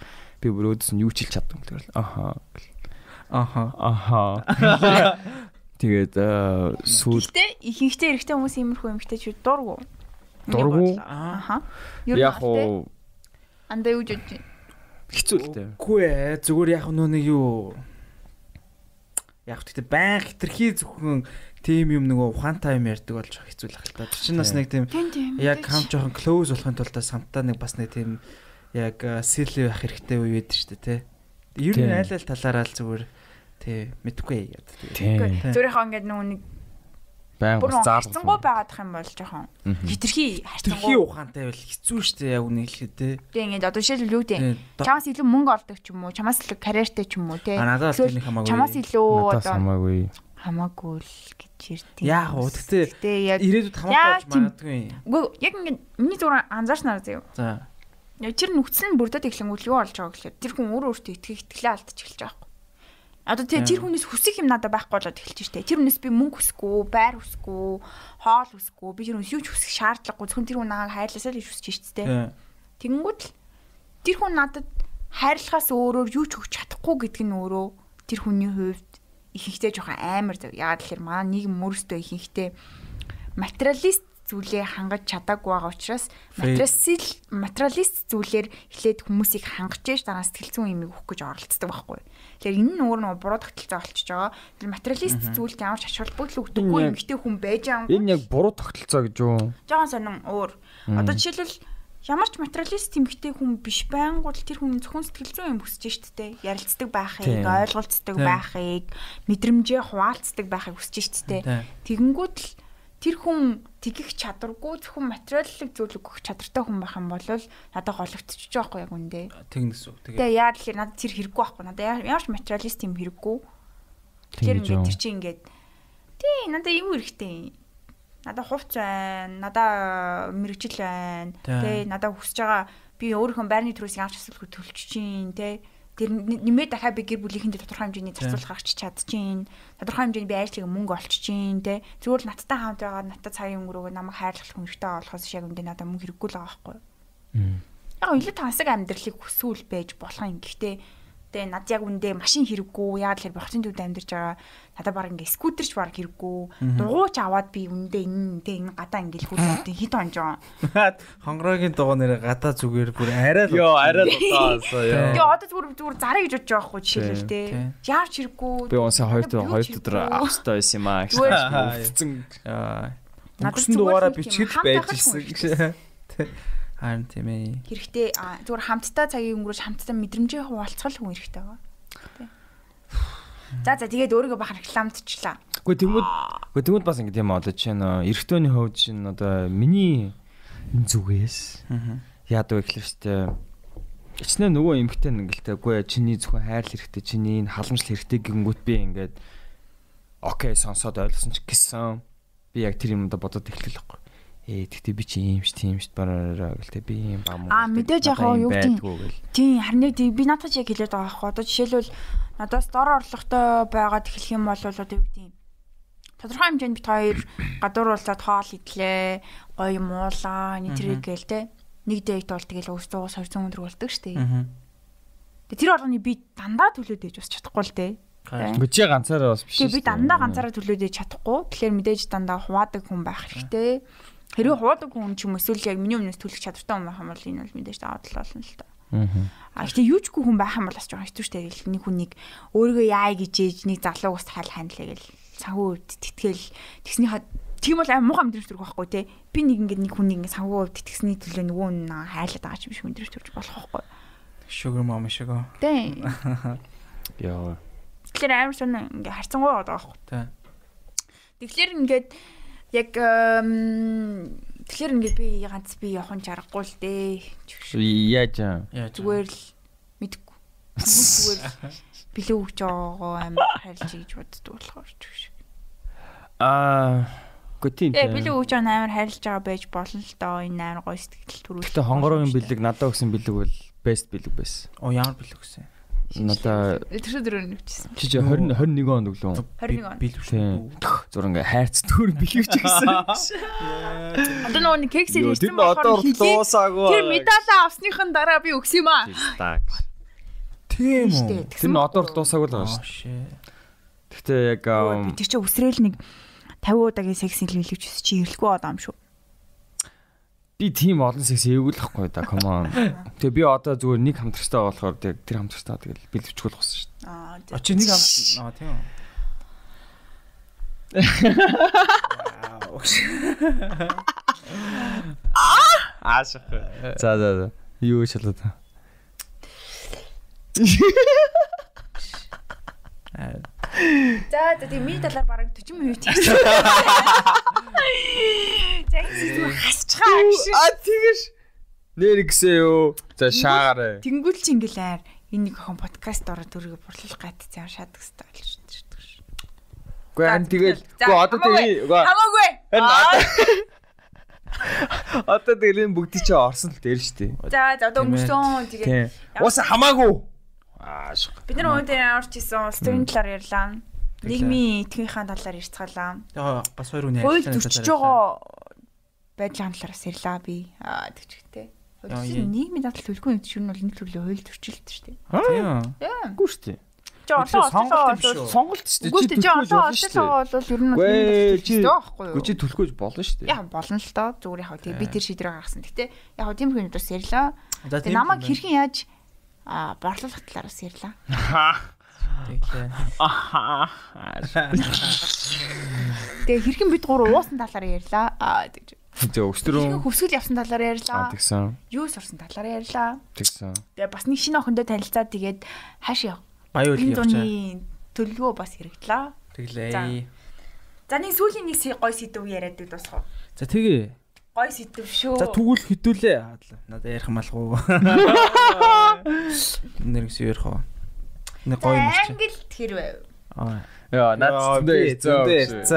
би бүр өөдөөс нь юу ч хэлж чаддаг юм тэгэл. Тэгээд сүүл. Гэхдээ ихэнхдээ эрэгтэй хүмүүс иймэрхүү юмхтэй чи дургу. Яг уу андаа юу гэж хэцүү л дээ. Үгүй ээ зүгээр яг нөө нэг юу яг тэгтээ баян хитрхи зөвхөн тим юм нөгөө ухаантай юм ярьдаг болж хэцүү л ахaltaа. Тэр чинь бас нэг тийм яг хам жоохон close болохын тулд самтаа нэг бас нэг тийм яг silly байх хэрэгтэй үе байдаг шүү дээ тий. Ер нь айл талаараа л зүгээр тий мэдгүй яа. Зүрийнхаа ингээд нөгөө нэг баян бас заалгах. Хацсангуй байгаадах юм бол жоохон хитрхи хитрхи ухаантай байл хэцүү шүү дээ яг үнийг хэлэхэд тий. Тэг ингээд одоо жишээл юу дээ. Чамаас илүү мөнгө олдог ч юм уу, чамаас илүү карьертэй ч юм уу тий. Надаас тийм хамаагүй. Чамаас илүү одоо хамаагүй л гэж ярьдаг. Яг уу тэгтээ яг ирээдүйд хамаагүй болж магадгүй. Үгүй яг ингээд миний зүгээр анзаарснаар заяа. За. Яг тэр нүцэн бүрдээд эхлэнгүүт юу болж байгааг гэхэлээ. Тэр хүн өөртөө итгэлээ алдчих эхэлж байгаа. Одоо тэр хүнээс хүсэх юм надад байхгүй болоод эхэлж штэ. Тэр хүнээс би мөнгө хүсэхгүй, байр хүсэхгүй, хоол хүсэхгүй, би тэр хүнээс юу ч хүсэх шаардлагагүй. Зөвхөн тэр хүн нааг хайрласаа л хүсэж штэ. Тэгэнгүүт л тэр хүн надад хайрлахаас өөрөөр юу ч өгч чадахгүй гэдг нь өөрөө тэр хүний хувьд ихэнхдээ жоохон амар зав. Яагаад гэхээр манай нийгэм мөрөстөө ихэнхдээ материалист зүйлээ хангаж чадаагүй байгаа учраас материалист зүйлээр эхлээд хүмүүсийг хангаж яаж дараа сэтгэл зүйн юмыг өгөх гэж оролцдог байхгүй. Тэгэхээр энэ нь өөр нэг буруу тогтолцоо болчихж байгаа. Тэр материалист зүйлд ямар ч ач холбогдол өгдөггүй юм ихтэй хүн байж байгаа. Энэ яг буруу тогтолцоо гэж юу? Жохон сонин өөр. Одоо жишээлбэл ямар ч материалист эмгтэй хүн биш байнгут тэр хүн зөвхөн сэтгэл зүйн юм хүсэж штэ. Ярилцдаг байхыг, ойлголцдог байхыг, мэдрэмжээ хуваалцдаг байхыг хүсэж штэ. Тэгэнгүүт л тэр хүн тэгэх чадваргүй зөвхөн материаллык зүйлийг өгөх чадвартай хүн байх юм бол надад гологдчихж байгаа байхгүй яг үндэ. Тэгнэс үү. Тэгээ яа тэгэхээр надад тэр хэрэггүй байхгүй. Надад ямар ч материалист юм хэрэггүй. Тэгэхээр ингээд тэр чинь ингээд тий надад юу хэрэгтэй. Надад хувц байна. Надад мэрэгжил байна. Тий надад хүсэж байгаа би өөрийнхөө байрны төрөөс ямар ч асуудалгүй төлчих чинь тий. Тэр нэмээд дахиад би гэр бүлийнхэндээ тодорхой хэмжээний зарцуулах гаргач чадчихээн. Тодорхой хэмжээний би ажлыг мөнгө олчихчихээн те. Зүгээр л надтай хамт байгаа надтай цагийн өнгөрөөгөө намайг хайрлах хүнтэй болохоос шиг юм дэ надад мөнгө хэрэггүй л байгаа байхгүй юу. Яг илүү тансаг амьдралыг хүсвэл байж болох юм. Гэхдээ Тэгээ над яг үндэ машин хэрэггүй. Яагаад тэгэхээр би хотын төвд амьдарч байгаа. Надад баг ингээ скутерч баг хэрэггүй. Дугуйч аваад би үндэ энэ гадаа ингээл хөлтэй хит онжоо. Хонгорогийн дугуй нэрэ гадаа зүгээр бүр арай л. Йоо, арай л удаасаа ёо. Тэгээ одоо зүгээр зараа гэж бодож байгаа хгүй жишээлбэл те. Яарч хэрэггүй. Би унсаа 2 өдөр австай байсан юм аа. Хэцэн. Надад дугаараа бичгэд байж ирсэн. Харин тийм ээ. Хэрэгтэй зүгээр хамтдаа цагийг өнгөрөөж хамтдаа мэдрэмжээ хуваалцгал хүн хэрэгтэй байгаа. За тэгээд өөрийгөө бахар рекламдчихлаа. Тэгмүүд бас ингэ тийм одоо чинь эрэгтэйний хувьд чинь одоо миний зүгээс яадаг вэ гэхэлээ штэ. Ичнээ нөгөө эмэгтэй ингэлтэй үгүй чиний зөвхөн хайр хэрэгтэй, чиний энэ халамжлал хэрэгтэй гингүүт би ингээд окей сонсоод ойлгосон ч гэсэн би яг тэр юмдаа бодоод эхлэх байхгүй. Тэгтээ би чи юм ш тийм ш бараа гэлтэй би юм бам. Мэдээж яг юу гэдэг. Тийм харин би надад яг хэлээд байгаа байхгүй. Одоо жишээлбэл надаас дор орлоготой байгаад эхлэх юм бол одоо юу гэдэг. Тодорхой хэмжээнд бит хоёр гадуур уулзаад хоол идлээ, гоё муулаа, нэтрэг гээл те. Нэг дэйт бол тэгэл өөстөөс 200 өндөр болдог штэ. Тэгээ тэр болгоны би дандаа төлөөд ээж бас чадахгүй л те. Гэхдээ чи ганцаараа бас биш. Тэгээ би дандаа ганцаараа төлөөд ээж чадахгүй. Тэгэхээр мэдээж дандаа хуваадаг хүн байх хэрэгтэй. Хэрвээ хуваадаг хүн ч юм эсвэл яг миний өмнөөс төлөх чадвартай хүн байх юм бол энэ бол мэдээж даваад л болно л та. Гэхдээ юучгүй хүн байх юм бол бас жоохон хэцүүштэй гэл нэг хүнийг өөрийгөө яа гэж ээж нэг залуу ус хайл хандлаа гэл санхүү тэтгэл тэгснийхаа тийм бол аим муухай мэдрэмж төрөх байхгүй те. Би нэг ингээд нэг хүнийг ингээд санхүү тэтгэсний төлөө нөгөө нь хайлаад байгаа ч юм шиг мэдрэмж төрж болох байхгүй. Sugar mama sugar. Тэ. Яа. Тэгэхээр амар сонь ингээд харцангуй байгаа байхгүй. Тэ. Тэгэхээр ингээд яг тэгэхээр ингээд би ганц би явахын чаргагүй л дээ. Яаж зүгээр л мэдгүй. Зүгээр билүү гэж байгаа амар харилж гэж боддог болохоор ч гэж. Готин. Билүү гэж амар харилж байгаа байж болно л доо энэ амар гоё сэтгэл төрүүлж. Гэтэ хонгорогийн бэлэг надад өгсөн бэлэг бол best бэлэг байсан. Ямар бэлэг гэсэн. Надаа тэр дөрөв нүчсэн. Чи 21 онд өглөө. 21 онд. Бэлэг. Зур ингээ хайрц төр бэлэгч гэсэн. Одоо нөгөө кексээр ирсэн болохоор тэр медалаа авсныхан дараа би өгс юм аа. Тийм үү. Тэр нь одоор дуусаагүй л байгаа шүү. Гэхдээ яг тэр чинь өсрөөл нэг 50 удаагийн секси хэлүүлж чи ирлэхгүй одоо юм шүү. Би тийм олон секс эвгүүлэхгүй да come on. Тэгээ би одоо зүгээр нэг хамтрагчтай болохоор тэр хамтрагчтай тэгэл бэлэвчгүүл болсон шүү дээ. Очи нэг тийм үү. Аашх. За. Юу шалаа та. За тийм миний талаар бараг 40 минут хийсэн. Тэгээс хасчихаа гэж. Тэгэж нэр гисээ юу. За шаагаарэ. Тэнгүүл чи ингээл энэ нэг охин подкаст ороод өөрийгөө бурлах гайтцсан шаадаг хэвээр болж ирдэг ш. Үгүй харин тэгэл одоо тэгээ хамаагүй. Одоо тэгэл энэ бүгд чи орсон л дээр штий. За одоо өнгөрсөн тэгээ. Уус хамаагүй. Бид нар өнөөдөр орж исэн сторийн талаар ярьлаа. Нийгмийн этгээхийн талаар ярьцгаалаа. Бас хоёр үний ажиллагааны талаар ярьлаа. Байдлын талаараас ярьлаа би. Тэгчтэй. Нийгмийн дадал төлгүй юм чинь бол нэг төрлийн хууль төрчлөлт шүү дээ. Тийм. Үгүй шүү дээ. Сонголт шүү дээ. Үгүй чи одоо бол ер нь Үгүй чи төлөхөж болно шүү дээ. Яа болно л доо. Зүгээр яг тийм би тэр шийдрээ гаргасан. Гэтэ яг тийм хүн бас ярьлаа. Тэгээ намайг хэрхэн яаж борлуулах талаараас ярьлаа. Тэглээ. Тэгээ хэрхэн бид гур уусан талаар ярьлаа. Тэгж. Тэгээ өстрөө хөвсгөл явсан талаар ярьлаа. Тэгсэн. Юу сурсан талаар ярьлаа. Тэгсэн. Тэгээ бас нэг шинэ охиндоо танилцаад тэгээд хаашаа баян үйл явчаа. Төлөвлөгөө бас хэрэгдлээ. Тэглээ. За нэг сүүлийн нэг гоё сэдв яриад дуусах. За тэгээ. Гоё сэдв шүү. За тэгвэл хөдөлөө. Надад ярих малгүй. Нэрс ярих уу. Нэг гоё юм чи. Англи тэр байв. Яа, надад зөндөө.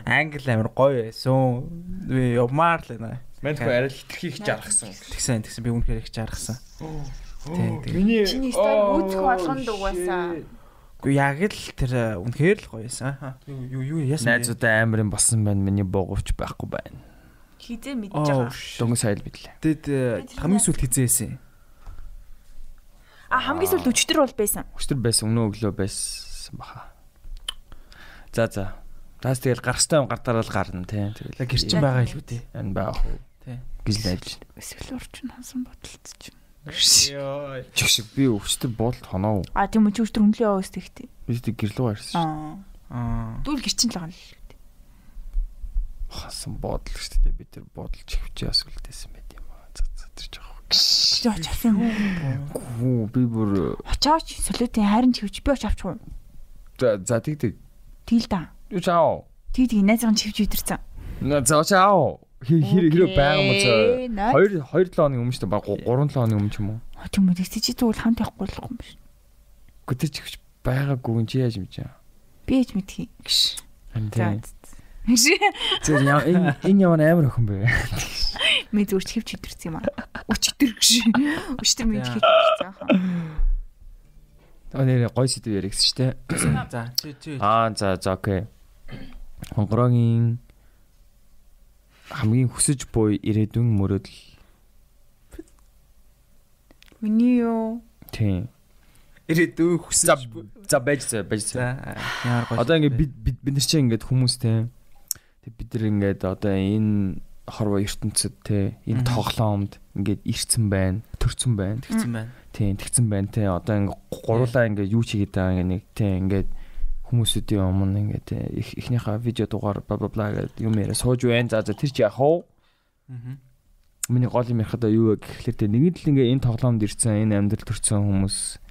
Англи амир гоё байсан. Би явмаар л нэ. Мэнтгүй арай л хитрхийг жаргасан. Тэгсэн би үнэхээр их жаргасан. Миний чиний стайл үүсэх болгонд угаасаа. Гэхдээ яг л тэр үнэхээр л гоё байсан. Юу яасан. Найзуудаа амирын болсон байна. Миний буугавч байхгүй байна. Хизээ мэдэж байгаа. Дөнгөж сайл бидлээ. Тэгэд хамгийн сүүлд хизээсэн. Хамгийн сүүлд өчтөр бол байсан. Өчтөр байсан, өнөө өглөө байсан баха. За. Таас тэгэл гарахтай гартаараа л гарна тий. Тэгэл гэрчин байгаа илүү тий. Энэ байгаа хөө. Тий. Гэж найдаж. Эсвэл урчин хансан бодолцож. Йоо. Чигшиг би өчтөр буудалд хоноо. Тийм үү өчтөр хөндлөө яваа өстэйгтэй. Би тэг гэрлөө гарсан. Дүүл гэрчин л байгаа л. Хасан буудал шүү дээ. Би тэр буудал чихвчээ бас үлдээсэн байт юм аа. За тэр жоох. Очсон хөө. Би бүр очооч солиотын хайрын чивч би очиж авчих уу? За тэг. Тэгэл да. Юу чаав? Тэг найзгын чивч идэрсэн. За чаав. Хэрэг байгаа мó цаа. 2-7 хоногийн өмнө шүү дээ. Баг 3-7 хоногийн өмнө ч юм уу. Тийм үү. Тэгтээ чи тэгвэл хамт явахгүй л юм биш. Гэтэ чихвч байгаагүй чи яаж мэдэж байгаа? Би яаж мэдхий гэж. Тэр энэ ямар амар охин бэ? Ми зүгээр чивч идэрсэн юм аа. Өчтөр гэж. Өчтөр ми идэх гэсэн хаа. Нэр гой сэдв яригсэн шүү дээ. За чи. За окей. Хонгорогийн хамгийн хүсэж буй ирээдүйн мөрөөдөл. Миний юу? Тийм. Ирээдүйн хүсэж за байж. Ямар гоё. Одоо ингээд бид нар чинь ингээд хүмүүстэй тэг бид нар ингээд одоо энэ хорвоо ертөнцид те энэ тоглоомд ингээд ирцэн байна, төрцөн байна. Тийм тэгсэн байна те. Одоо ингээд гурлаа ингээд юу чигээд байгаа нэг те ингээд хүмүүсүүдийн өмнө ингээд эхнийхээ видео дугаар бла гэдэг юм яриа сууж байна. За тэр чи яах вэ? Миний гол юм ярихад юу вэ гэхлээр те нэгэн л ингээд энэ тоглоомд ирсэн, энэ амьдрал төрсэн хүмүүс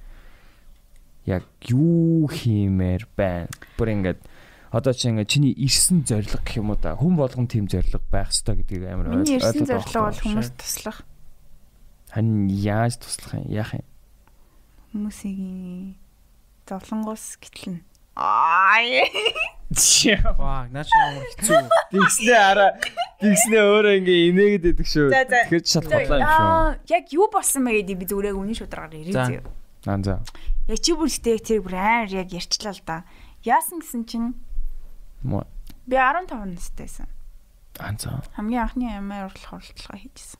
яг юу хиймээр байна. Бүр ингээд одоо чи ингээд чиний ирсэн зориг гэх юм уу та хүн болгон тийм зориг байх ёстой гэдгийг амар ойлгож байна. Ирсэн зориг бол хүмүүст туслах. Харин яаж туслах юм? Яах юм? Хүмүүсийн зовлонгоос гэтлэн. Ваа, наач ямар хэцүү. Тэгснээ өөрөө ингээ инээгээд байдаг шүү. Тэгэхээр шал бодлоо юм шүү. Яг юу болсон бэ гэдэг би зүгээр үнэн шударгаар ирээ зөө. За. Яг чи бүртэй тэр бүр яг ярьчлаа л да. Яасан гэсэн чинь би 15 настайсан. За. Хамгийн анхны амар уралдлага хийжсэн.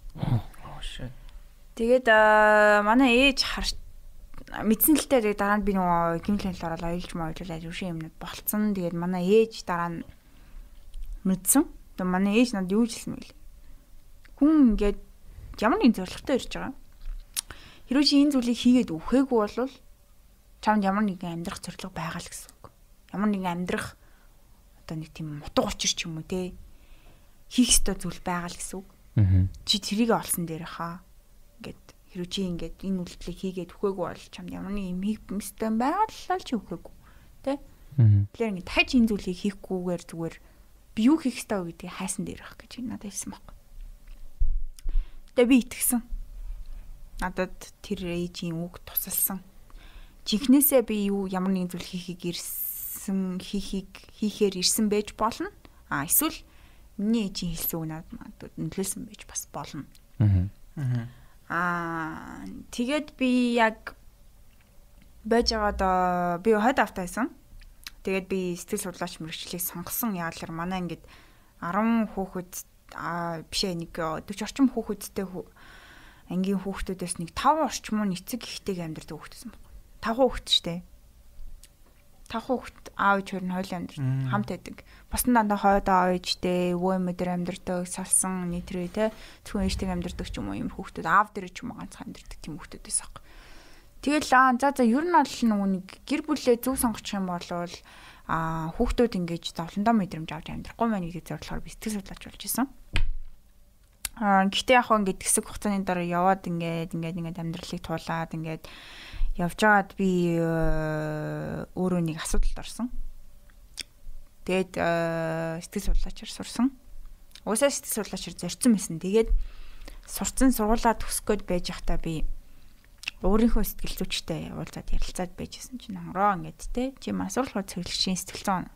Shit. Тэгээд манай ээж мэдсэн л дээ дараа нь би нөгөө гимлэнэл ороод аялж маялуулаад юу шиг юмнууд болцсон. Тэгээд манай ээж дараа нь мэдсэн. Тэгээд манай ээж надад юу хэлсэн бэ? Хүн ингээд ямар нэг зорилготой ирж байгаа. Хэрвээ чи энэ зүйлийг хийгээд өвхөөгүй бол чамд ямар нэгэн амьдрах зорилго байгаа л гэсэн үг. Ямар нэгэн амьдрах одоо нэг тийм утга учир ч юм уу те хийх ёстой зүйл байгаа л гэсэн үг. Чи тэрийг олсон дээр хаа. Ингээд хэрвээ чи ингээд энэ үйлдэлийг хийгээд өхөөгүй бол чамд ямар нэг юм хийх юмстай байгаа л чи өхөөгүй. Тэ? Тэгэхээр ингээд дахиж энэ зүйлийг хийхгүйгээр зүгээр би юу хийх ёстой вэ гэдгийг хайсан дээр ах гэж надад хэлсэн байхгүй. Тэгээ би итгэсэн. Надад тэр ээжийн үг тусалсан. Жинхнээсээ би ямар нэгэн зүйл хийхээр ирсэн байж болно. Эсвэл миний ээжийн хэлсэн үг надад нөлөөлсөн байж бас болно. Тэгээд би яг байж байгаад би хойд автайсан. Тэгээд би сэтгэл судлаач мэргэжлийг сонгосон. Яагаад манай ингээд 10 хүүхэд бишээ нэг 40 орчим хүүхэдтэй ангийн хүүхдүүдээс нэг 5 орчим уу эцэг ихтэйг амьдардаг хүүхдсэн байна. 5 хүүхэд штэ. 5 хүүхэд аав ээж хоёр нь хойлоо амьдардаг. Хамт байдаг. Бас нь дандаа хойд аав ээжтэй өвөө эмээр амьдардаг, салсан нийтрээ те зөвхөн ээжтэйг амьдардаг ч юм уу юм хүүхдүүд аав дээр ч юм уу ганцхан амьдардаг тийм хүүхдүүдээс ах. Тэгэл за ер нь бол нөгөө нэг гэр бүлээ зөв сонгочих юм бол хүүхдүүд ингэж зовлондоо мэдрэмж авч амьдрахгүй мэн гэдэг зорилгоор би сэтгэл судлаач болж исэн. Гэхдээ яг хөө ингээд хэсэг хугацааны дараа яваад ингээд амьдралыг туулаад ингээд явж байгаад би өөрөө нэг асуудалд орсон. Тэгээд сэтгэл судлаачаар сурсан. Уусаа сэтгэл судлаачаар зорьсон байсан. Тэгээд сурцсан сургуулаа төгсгөөд байж байхдаа би өөрийнхөө сэтгэл зүйчтэй уулзаад ярилцаад байжсэн чинь хонгороо ингээд те чи масуурлахад цэвэрлэгчийн сэтгэл зүйн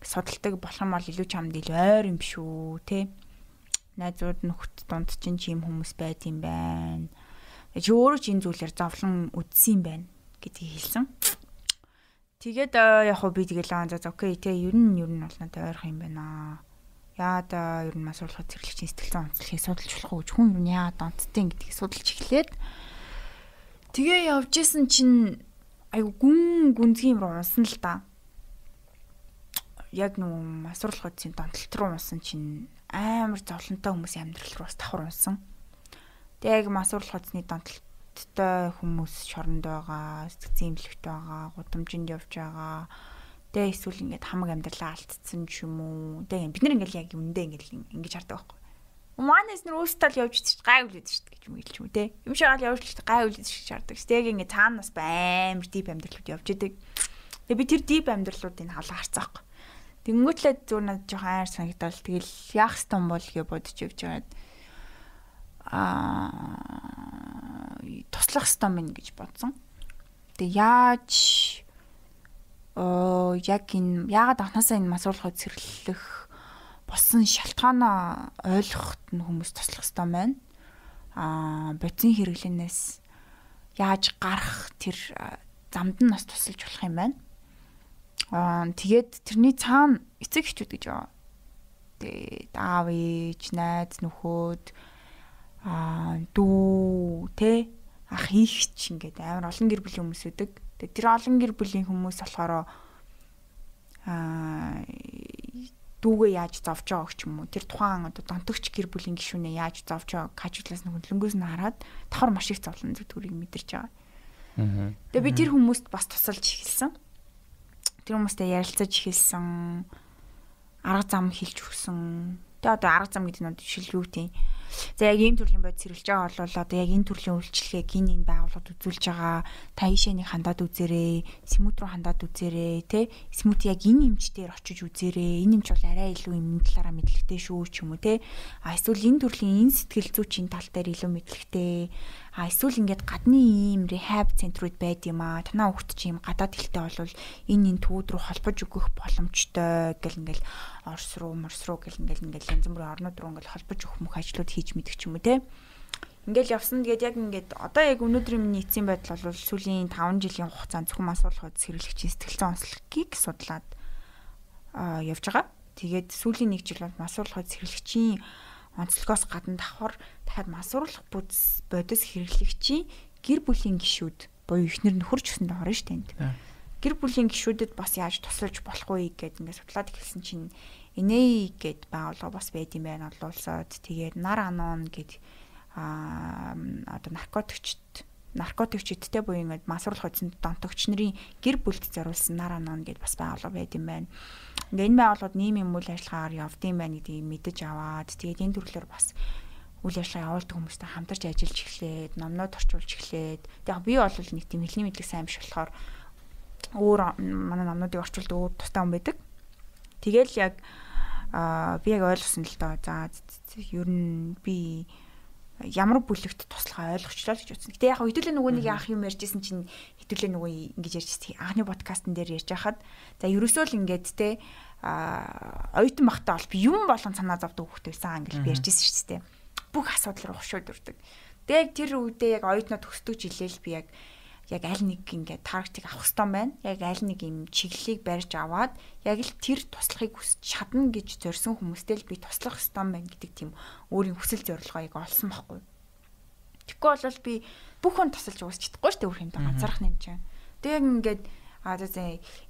судалдаг болох юм бол илүү чамд илүү ойр юм шүү те найзууд нөхд дунд чинь чи юм хүмүүс байт юм байна. Чи өөрөө ч энэ зүйлээр зовлон үдсэн юм байна гэдгийг хэлсэн. Тэгээд яг хөө би тэгэл за окей те ер нь бол надад ойрхон юм байна. Яа да ер нь масуурлахад цэвэрлэгчийн сэтгэл зүйн онцлогийг судалж болох уу? Хүн ер нь яа донттой гэдгийг судалж эхлээд Тэгээ явж исэн чинь айгу гүнзгий юм руу унсан л да. Яг нэг масуурлах үдсийн донтолт руу унсан чинь амар зовлонтой хүмүүсийн амьдрал руу бас давхар унсан. Тэгээ яг масуурлах үдсний донтолттой хүмүүс шоронд байгаа, сэтгцэн имлэгт байгаа, гудамжинд явж байгаа. Тэгээ эсвэл ингээд хамаг амьдралаа алдсан ч юм уу. Тэгээ бид нар ингээд яг үндэ ингээд ингэж хардаг байхгүй. Манайс нэр өөртөө л явж чиж гай үлээд шүү дээ гэж юм хэлж юм те. Юм шагаал явж л гай үлээд шиг шаарддаг. Тэгээ ингээд цаанаас амар дип амьдралууд явж идэг. Тэгээ би тэр дип амьдралуудыг халаа харцаахгүй. Тэнгүүтлээ зүгээр надад жоохон айр санагдал. Тэгэл яах стом бол гэж бодож явж байгаад туслах стом юм гэж бодсон. Тэгээ яаж яг энэ яагаад анхнаасаа энэ масуурлахыг цэрлэх болсон шалтгаанаа ойлгоход нь хүмүүс туслах ёстой байна. Бодис хэрэглэнээс яаж гарах тэр замд нь бас тусалж болох юм байна. Тэгээд тэрний цаана эцэг эхчүүд гэж байгаа. Тэгээд аав ээж, найз нөхөд дүү тэ ах ихч ингээд амар олон гэр бүлийн хүмүүс үүдэг. Тэгээд тэр олон гэр бүлийн хүмүүс болохоор дүүгээ яаж зовж байгааг ч юм уу тэр тухайн одоо донтогч гэр бүлийн гишүүнээ яаж зовж байгааг хажуудлаас нь хөндлөнгөөс нь хараад давхар маш их зовлон зүтгүүрийг мэдэрч байгаа. Тэгээ би тэр хүмүүст бас тусалж эхэлсэн. Тэр хүмүүстэй ярилцаж эхэлсэн. Арга зам хэлж өгсөн. Тэгээ одоо арга зам гэдэг нь жишээл юу тийм. За яг ийм төрлийн бодис хэрэглэж байгаа бол одоо яг энэ төрлийн үйлчлэгийг энэ байгууллагад үзүүлж байгаа. Та ийшээнийг хандаад үзээрэй, смут руу хандаад үзээрэй, тэ? Смут яг энэ эмчтээр очиж үзээрэй. Энэ эмч бол арай илүү юм талаараа мэдлэгтэй шүү ч юм уу, тэ? Эсвэл энэ төрлийн энэ сэтгэл зүйчийн тал дээр илүү мэдлэгтэй. Эсвэл ингээд гадны ийм рехаб центрүүд байд юм аа. Танаа хүүхд чи ийм гадаад хэлтэй болвол энэ төвд рүү холбож өгөх боломжтой гэл ингээл Орос руу, Морс руу гэл ингээл янз бүрийн орнууд руу ингээл холбож өгөх мөх ажлууд хийж мэдэх ч юм уу те. Ингээл явсан тэгээд яг ингээд одоо яг өнөөдрийн миний эцсийн байдал бол сүүлийн 5 жилийн хугацаанд зөвхөн масуурлахад хэрэглэгчийн сэтгэл зүйн онцлогийг судлаад явж байгаа. Тэгээд сүүлийн 1 жил бол масуурлахад хэрэглэгчийн онцлогоос гадна давхар дахиад масуурлах бодис хэрэглэгчийн гэр бүлийн гишүүд буюу эхнэр нөхөр ч гэсэндээ орно шүү дээ. Гэр бүлийн гишүүдэд бас яаж тусалж болох вэ гэдээ ингээд судлаад эхэлсэн чинь Инэй гэд байгууллага бас байд юм байна олон улсад. Тэгээд нар анон гэд одоо наркотикчдтэй буюу ингээд масуурлах үдсэнд донтогч нарын гэр бүлд зориулсан нар анон гэд бас байгууллага байд юм байна. Ингээд энэ байгууллагууд нийгмийн үйл ажиллагаагаар явдсан байна гэдгийг мэдэж аваад тэгээд энэ төрлөөр бас үйл ажиллагаа явуулдаг хүмүүстэй хамтарч ажиллаж эхлээд, номнод орчуулж эхлээд. Тэгээд би бол нэг тийм хэлний мэдлэг сайн биш болохоор өөр манай номнуудыг орчуулдаг өөр тустай хүн байдаг. Тэгэл яг би яг ойлгосон л доо. За ер нь би ямар бүлэгт туслахаа ойлгочлоо гэж утсан. Гэтэ яг хэдүүлээ нөгөө нэг яах юм ярьжсэн чинь хэдүүлээ нөгөө ингэж ярьжсэн. Анхны подкастн дээр ярьж байхад за ерөөсөө л ингээд те оюутан багтаа бол би юм болгон санаа зовдөг хөхтэй байсан англи би ярьжсэн шүү дээ. Бүх асуудал руу хушууд урдаг. Тэгээ тэр үедээ яг оюутнууд төсдөг жилээл би яг аль нэг ингээд таргетыг авах хэрэгтэй байна. Яг аль нэг юм чиглэлийг барьж аваад яг л тэр туслахыг хүсч чадна гэж зорьсон хүмүүстэй л би туслах хэрэгтэй байна гэдэг тийм өөрийн хүсэл зорилгоо яг олсон байхгүй. Тэгэхгүй бол би бүх хүн тусалж уусч чадахгүй шүү дээ өөр юмтай ганцаарх юм чинь. Тэгээ ингээд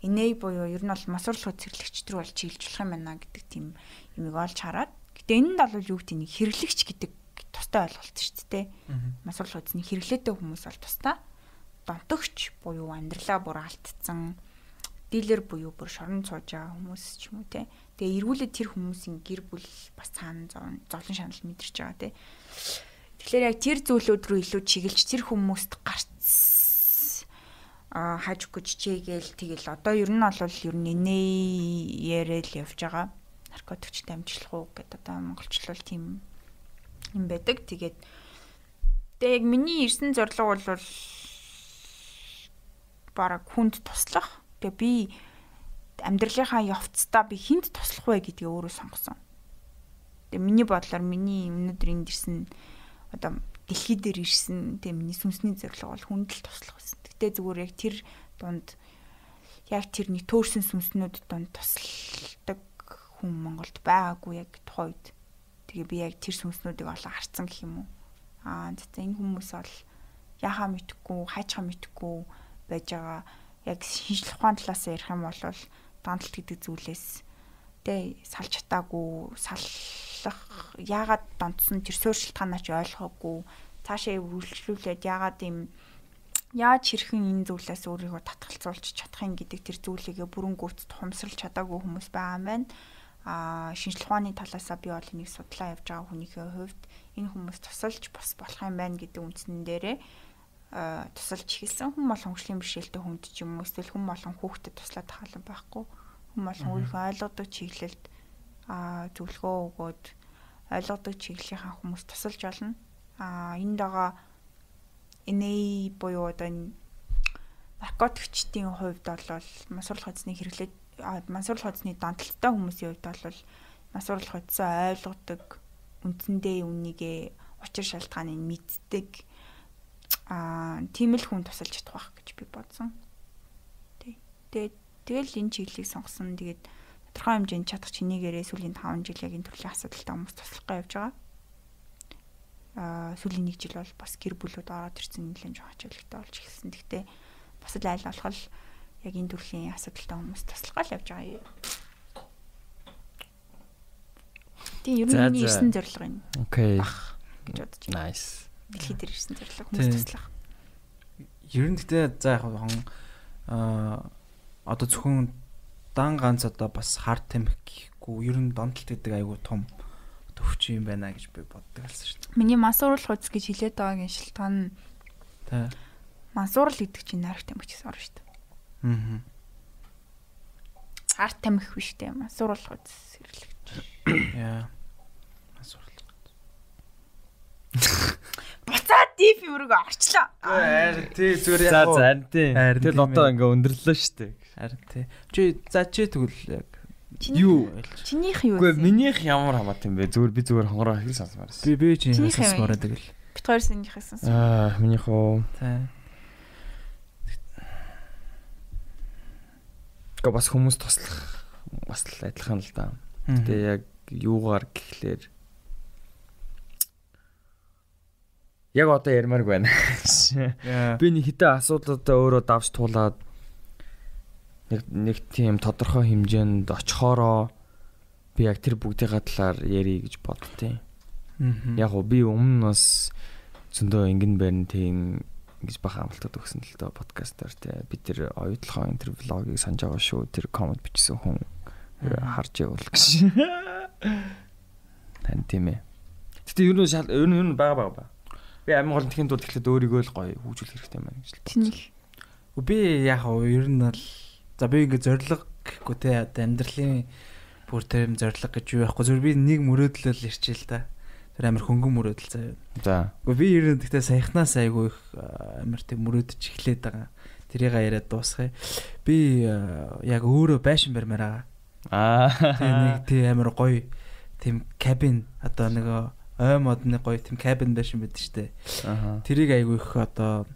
инэй буюу ер нь бол масуурлах цэрлэгч төр бол чиглэж болох юм байна гэдэг тийм юмыг олж хараад. Гэтэ энэ нь бол юу гэдэг нэг хэрэглэгч гэдэг тустай ойлголт шүү дээ. Масуурлах үзний хэрэглээтэй хүмүүс бол тустай. Донтогч буюу амьдралаа бүр алдсан дилер буюу бүр шоронд сууж байгаа хүмүүс ч юм уу те. Тэгээ эргүүлээд тэр хүмүүсийн гэр бүл бас цаана зовлон шанал мэдэрч байгаа те. Тэгэхээр яг тэр зүйлүүд рүү илүү чиглэж тэр хүмүүст гарц хажиггүй чигээл тэгэл одоо ер нь бол ер нь яриад явж байгаа. Наркотикчд амжилах уу гэдэг одоо монголчлол тийм юм байдаг. Тэгээд яг миний ирсэн зорилго бол бараг хүнд туслах. Тэгээ би амьдралынхаа явцдаа би хүнд туслах вэ гэдгийг өөрөө сонгосон. Тэгээ миний бодлоор миний өнөөдөр энд ирсэн одоо дэлхий дээр ирсэн тэгээ миний сүнсний зорилго бол хүнд л туслах гэсэн. Гэтэ зүгээр яг тэр дунд яг тэр нэг төөрсөн сүнснүүд донд тусалдаг хүн Монголд байгаагүй яг тухайн үед. Тэгээ би яг тэр сүнснүүдийг олоо харцсан гэх юм уу. За энэ хүмүүс бол яхаа мэдхгүй, хайчхаа мэдхгүй байж байгаа. Яг шинжлэх ухааны талаас ярих юм бол дандалт гэдэг зүйлээс салж чатаагүй, саллах яагаад донтсон тэр суурь шалтгаанаа ч ойлгоогүй, цаашаа үргэлжлүүлээд яаж хэрхэн энэ зүйлээс өөрийгөө татгалзуулж чадах юм гэдэг тэр зүйлийг бүрэн гүйцэд ухамсарлаж чадаагүй хүмүүс байгаа юм байна. Шинжлэх ухааны талаасаа би бол энийг судлаа явж байгаа хүнийхээ хувьд энэ хүмүүс тусалж бас болох юм байна гэдэг үндсэн дээрээ тусалж эхэлсэн. Хүн болгон хөгжлийн бэрхшээлтэй хүнд ч юм уу эсвэл хүн болгон хүүхдэд туслаад хаалan байхгүй. Хүн болгон өөрийнхөө ойлгодог чиглэлд зөвлөгөө өгөөд ойлгодог чиглэлийнхаа хүмүүс тусалж олно. Энд байгаа NA буюу одоо наркотикчдын хувьд бол мансууруулах хүнсний хэрэглээд мансууруулах хүнсний донтолттой хүмүүсийн хувьд бол мансууруулах хүнсээ ойлгодог, үндсэндээ үнийгээ учир шалтгааныг мэддэг тийм л хүн тусалж чадах байх гэж би бодсон. Тэгэл энэ чиглэлийг сонгосон. Тэгээд тодорхой хэмжээнд чадах чинийгээрээ сүүлийн 5 жил яг энэ төрлийн асуудалтай хүмүүс туслахгаа явж байгаа. Сүүлийн 1 жил бол бас гэр бүлүүд ороод ирсэн нэлээд жоох ачаалттай болж эхэлсэн. Гэхдээ бас л айл болох яг энэ төрлийн асуудалтай хүмүүс туслахгаа л явж байгаа юм. Тийм ер нь миний ирсэн зорилго юм. Окей. Гэж бодож байна. Nice. Дэлхийд ирсэн зорилго хүмүүс туслах. Ер нь гэхдээ за яг одоо зөвхөн дан ганц одоо бас хард тамхи гэхгүй ер нь донтолт гэдэг айгүй том төвч юм байна гэж би боддог алсан шүү дээ. Миний мансууруулах хүч гэж хэлээд байгаагийн шалтгаан тий. Мансуурал гэдэг чинь нарк тамхи гэсэн орно шүү дээ. Хард тамхи биш дээ. Мансууруулах хүч сэрлэгч. Яа. Мансууруулах. Буцаад дип юмрыг орчлоо. Харин тий зүгээр яг. За тий. Тэгэл одоо ингээ өндөрлөө шүү дээ. Харин тий. Чи тэгвэл яг юу? Чинийх юу вэ? Үгүй минийх ямар хамаат юм бэ? Зүгээр би зүгээр хонгороо хэл сонсмаар байсан. Би чинийх сонсмоор тэгэл. Бид хоёр синийх хэлсэн. Минийх уу. Тий. Гэхдээ бас хүмүүс туслах бас л адилхан л да. Тэгээ яг юугаар гэхлээр яг одоо ярмаарг байна. Би нэг хитэ асуудалтай өөрөө давж туулаад нэг тийм тодорхой хэмжээнд очихороо би яг тэр бүгдийн талаар ярих гэж боддتي. Яг уу би өмнө бас зөндөө ингэн барин тийм гэж баха амлалтад өгсөн л доо подкастаар те би тэр оюутлахын энэ тэр влогийг санаж байгаа шүү. Тэр комент бичсэн хүн харж явуул гэж. Тань тийм ээ. Гэтэ юу нь бага. Би амин гол тэхийн тулд ихлэд өөрийгөө л гоё хөгжүүлэх хэрэгтэй юм байна гэж л. Чинийх. Би яг ер нь бол за би ингээ зориг гэхгүй те амьдралын бүр тэр зориг гэж юу байхгүй зөв би нэг мөрөөдлөл ирчихэл та. Тэр амар хөнгөн мөрөөдөл заяа. За. Гэхдээ би ер нь гэхдээ саяхнаас айгүй их амар тийм мөрөөдөж эхлээд байгаа. Тэрийг яриад дуусгая. Би яг өөрөө байшин барьмаар байгаа. Тийм нэг тийм амар гоё тийм кабин одоо нөгөө ой модны гоё тийм кабин байшин байдаг штэ. Тэрийг айгүй их одоо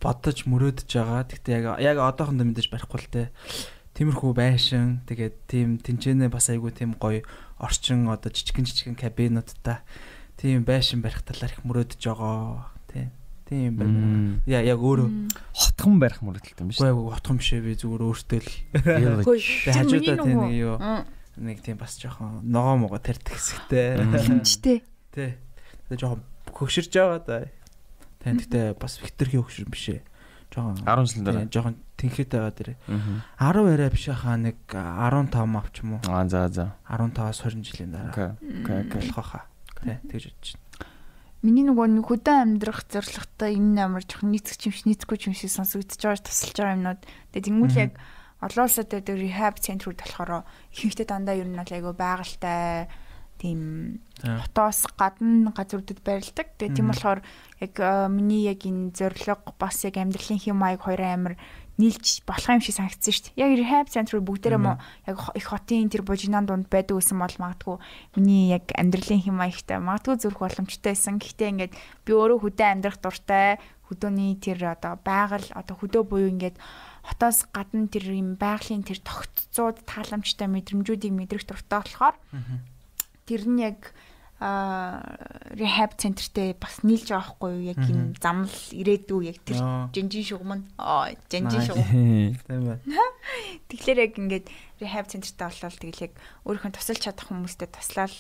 бодож мөрөөдөж байгаа. Гэхдээ яг одоохондоо мэдээж барихгүй л те. Тиймэрхүү байшин тэгээд тийм тэнцэнэ бас айгүй тийм гоё орчин одоо жижигэн кабинуудтай тийм байшин барих талаар их мөрөөдөж байгаа. Тийм байна. Яг өөрөө хотхон барих мөрөөдөлтэй юм биш үү? Үгүй хотхон биш ээ би зүгээр өөртөө л. Хажуудаа тийм нэг юу нэг тийм бас жоохон ногоо могоо тарьдаг хэсэгтэй. Хинчтэй. Тэ. Тэгээ жоохон хөгширж байгаа да. Тэгтээ бас хитрхи хөгшир биш ээ. Жоохон 10 жилийн дараа. Жоохон тэнхээтэй байгаа дэрэ. 10 яриа биш хаа нэг 15 авч юм уу? За. 15-аас 20 жилийн дараа. Окей. Болох хаа. Тэ тэгж бодож байна. Миний нөгөө хөдөө амьдрах зорилготой энэ амар жоохон нийцэхгүй юм шиг сонсогдож байгаа тусалж байгаа юмнууд. Тэгээ тэнгуүл яг олон улсад дээр рехаб центрүүд болохоор ихэнхдээ дандаа ер нь бол айгүй байгальтай тийм хотоос гадна газруудад байрладаг. Тэгээ тийм болохоор яг миний яг энэ зорилго бас яг амьдралын хэм маяг хоёрын амар нийлж болох юм шиг санагдсан шүү дээ. Яг rehab центрүүд бүгдээрээ мó яг их хотын тэр бужинан дунд байдаг гэсэн бол магадгүй миний яг амьдралын хэм маягтай магадгүй зүрх боломжтой байсан. Гэхдээ ингээд би өөрөө хөдөө амьдрах дуртай хөдөөний тэр одоо байгаль одоо хөдөө буюу ингээд хотоос гадна тэр юм байгалийн тэр тогтцоод тааламжтай мэдрэмжүүдийг мэдрэх дуртай болохоор тэр нь яг rehab центртэй бас нийлж байгаа хгүй юу? Яг юм замл ирээдүү яг тэр жинжин шугам нь. Жинжин шугам. Тийм байна. Тэгэхээр яг ингээд rehab центртэй болол тэгэл яг өөрийнхөө тусалж чадах хүмүүстэй туслаад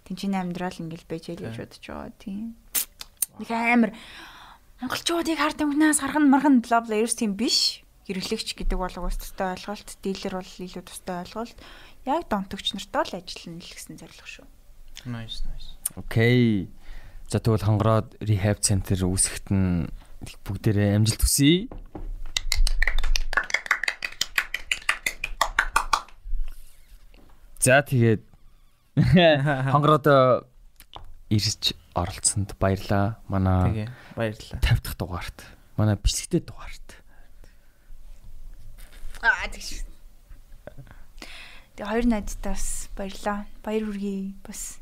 тэнцэнэ амьдрал ингээд байж яа гэж бодож байгаа тийм. Нэг амар монголчуудыг хард өмнөөс харган марган бла бла ерөөс тийм биш. Хэрэглэгч гэдэг бол уус тустай ойлголт, дилер бол илүү тустай ойлголт. Яг донтогч нартай л ажиллана л гэсэн зорилго шүү. Nice. Окей. За тэгвэл хонгороод rehab center үүсгэхэд нь бүгдээрээ амжилт хүсье. За тэгээд хонгороод ирж оролцсонд баярлаа. Манай баярлаа. 50 дахь дугаарт. Манай бэлтгэдэг дугаарт. Тэгш. Тэгээ хоёр найзтаас баярлаа. Баяр хүргэе бас.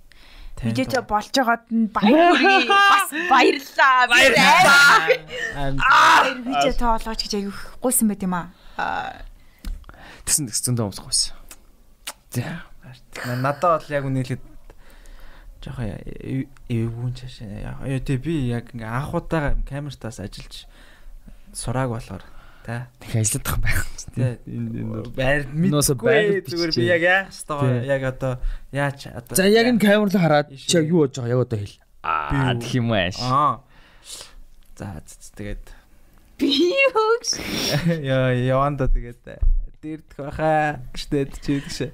Видео болж байгаад нь баяр хүргэе. Бас баярлаа. Видео тоолооч гэж аяг гуйсан байт юм аа. Тэсэн зөндөө өмсгүйсэн. За. Надад бол яг үнэхээр жоохон эвгүүн чашаа. Яа тий би яг ингээ анхудаага камертаас ажиллаж сурааг болохоор та их ажиллах байх тий байр мэдгүй зүгээр би яг яах ёстой яг одоо яач одоо за яг энэ камер руу хараад чи яг юу болж байгаа яг одоо хэл гэх юм ааш за тэгээд би юуш яванда тэгээд дэрдэх байхаа гэжтэй чи гэж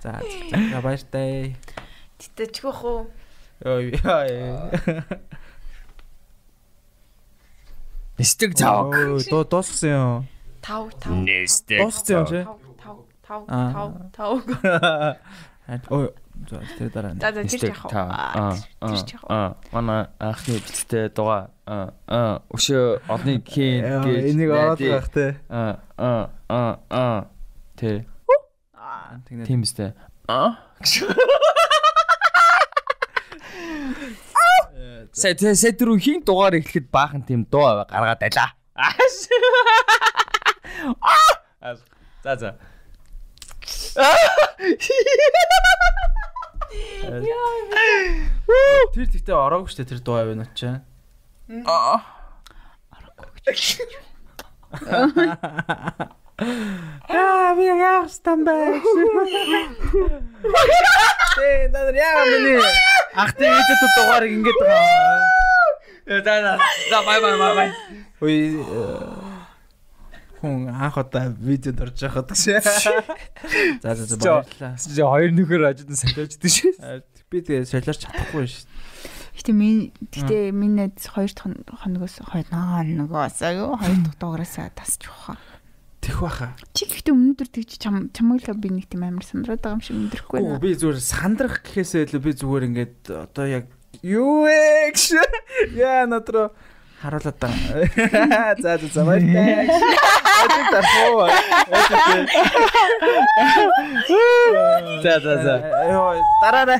за баяртай тэтчгөх үү Нистэг цааг. Дууссан юм. 5. Нистэг. Дууссан юм чи? 5. Ой, тэр дараа. Тэр яах вэ? Манай анхны бэлтгэлтэй дугаа. Өшөө одны хийн гэж энийг ороод байх те. Тэ. Тийм үстэй. Сэт рүү хин дугаар эхлэхэд баахан тийм дуу гаргаад байлаа. За. Тэр тэгтээ ороогүй штэ тэр дуу авна ч. Би яах стамбай. Тэ надар яа миний ахтай видео дугаарыг ингэж байгаа. За бай. Ой хүн анх удаа видеод орж байхад гэж. За баярлалаа. Чи хоёр нөхөр ажид нь солиочдөг шүү. Би тэгээ солиорч чадахгүй шүү. Гэтэ миний 2 хоногоос аюу 2 дахь дугаараасаа тасч баха. Тэх баха. Чи гэхдээ өнөөдөр тэгж чамайг л би нэг тийм амар сандраад байгаа юм шиг өндөрөхгүй наа. Би зүгээр сандрах гэхээсээ илүү би зүгээр ингээд одоо яг юу вэ гэж яа надруу харуулаад байгаа. За баяртай. Ажиг тархуу. За. Йоо дараарай.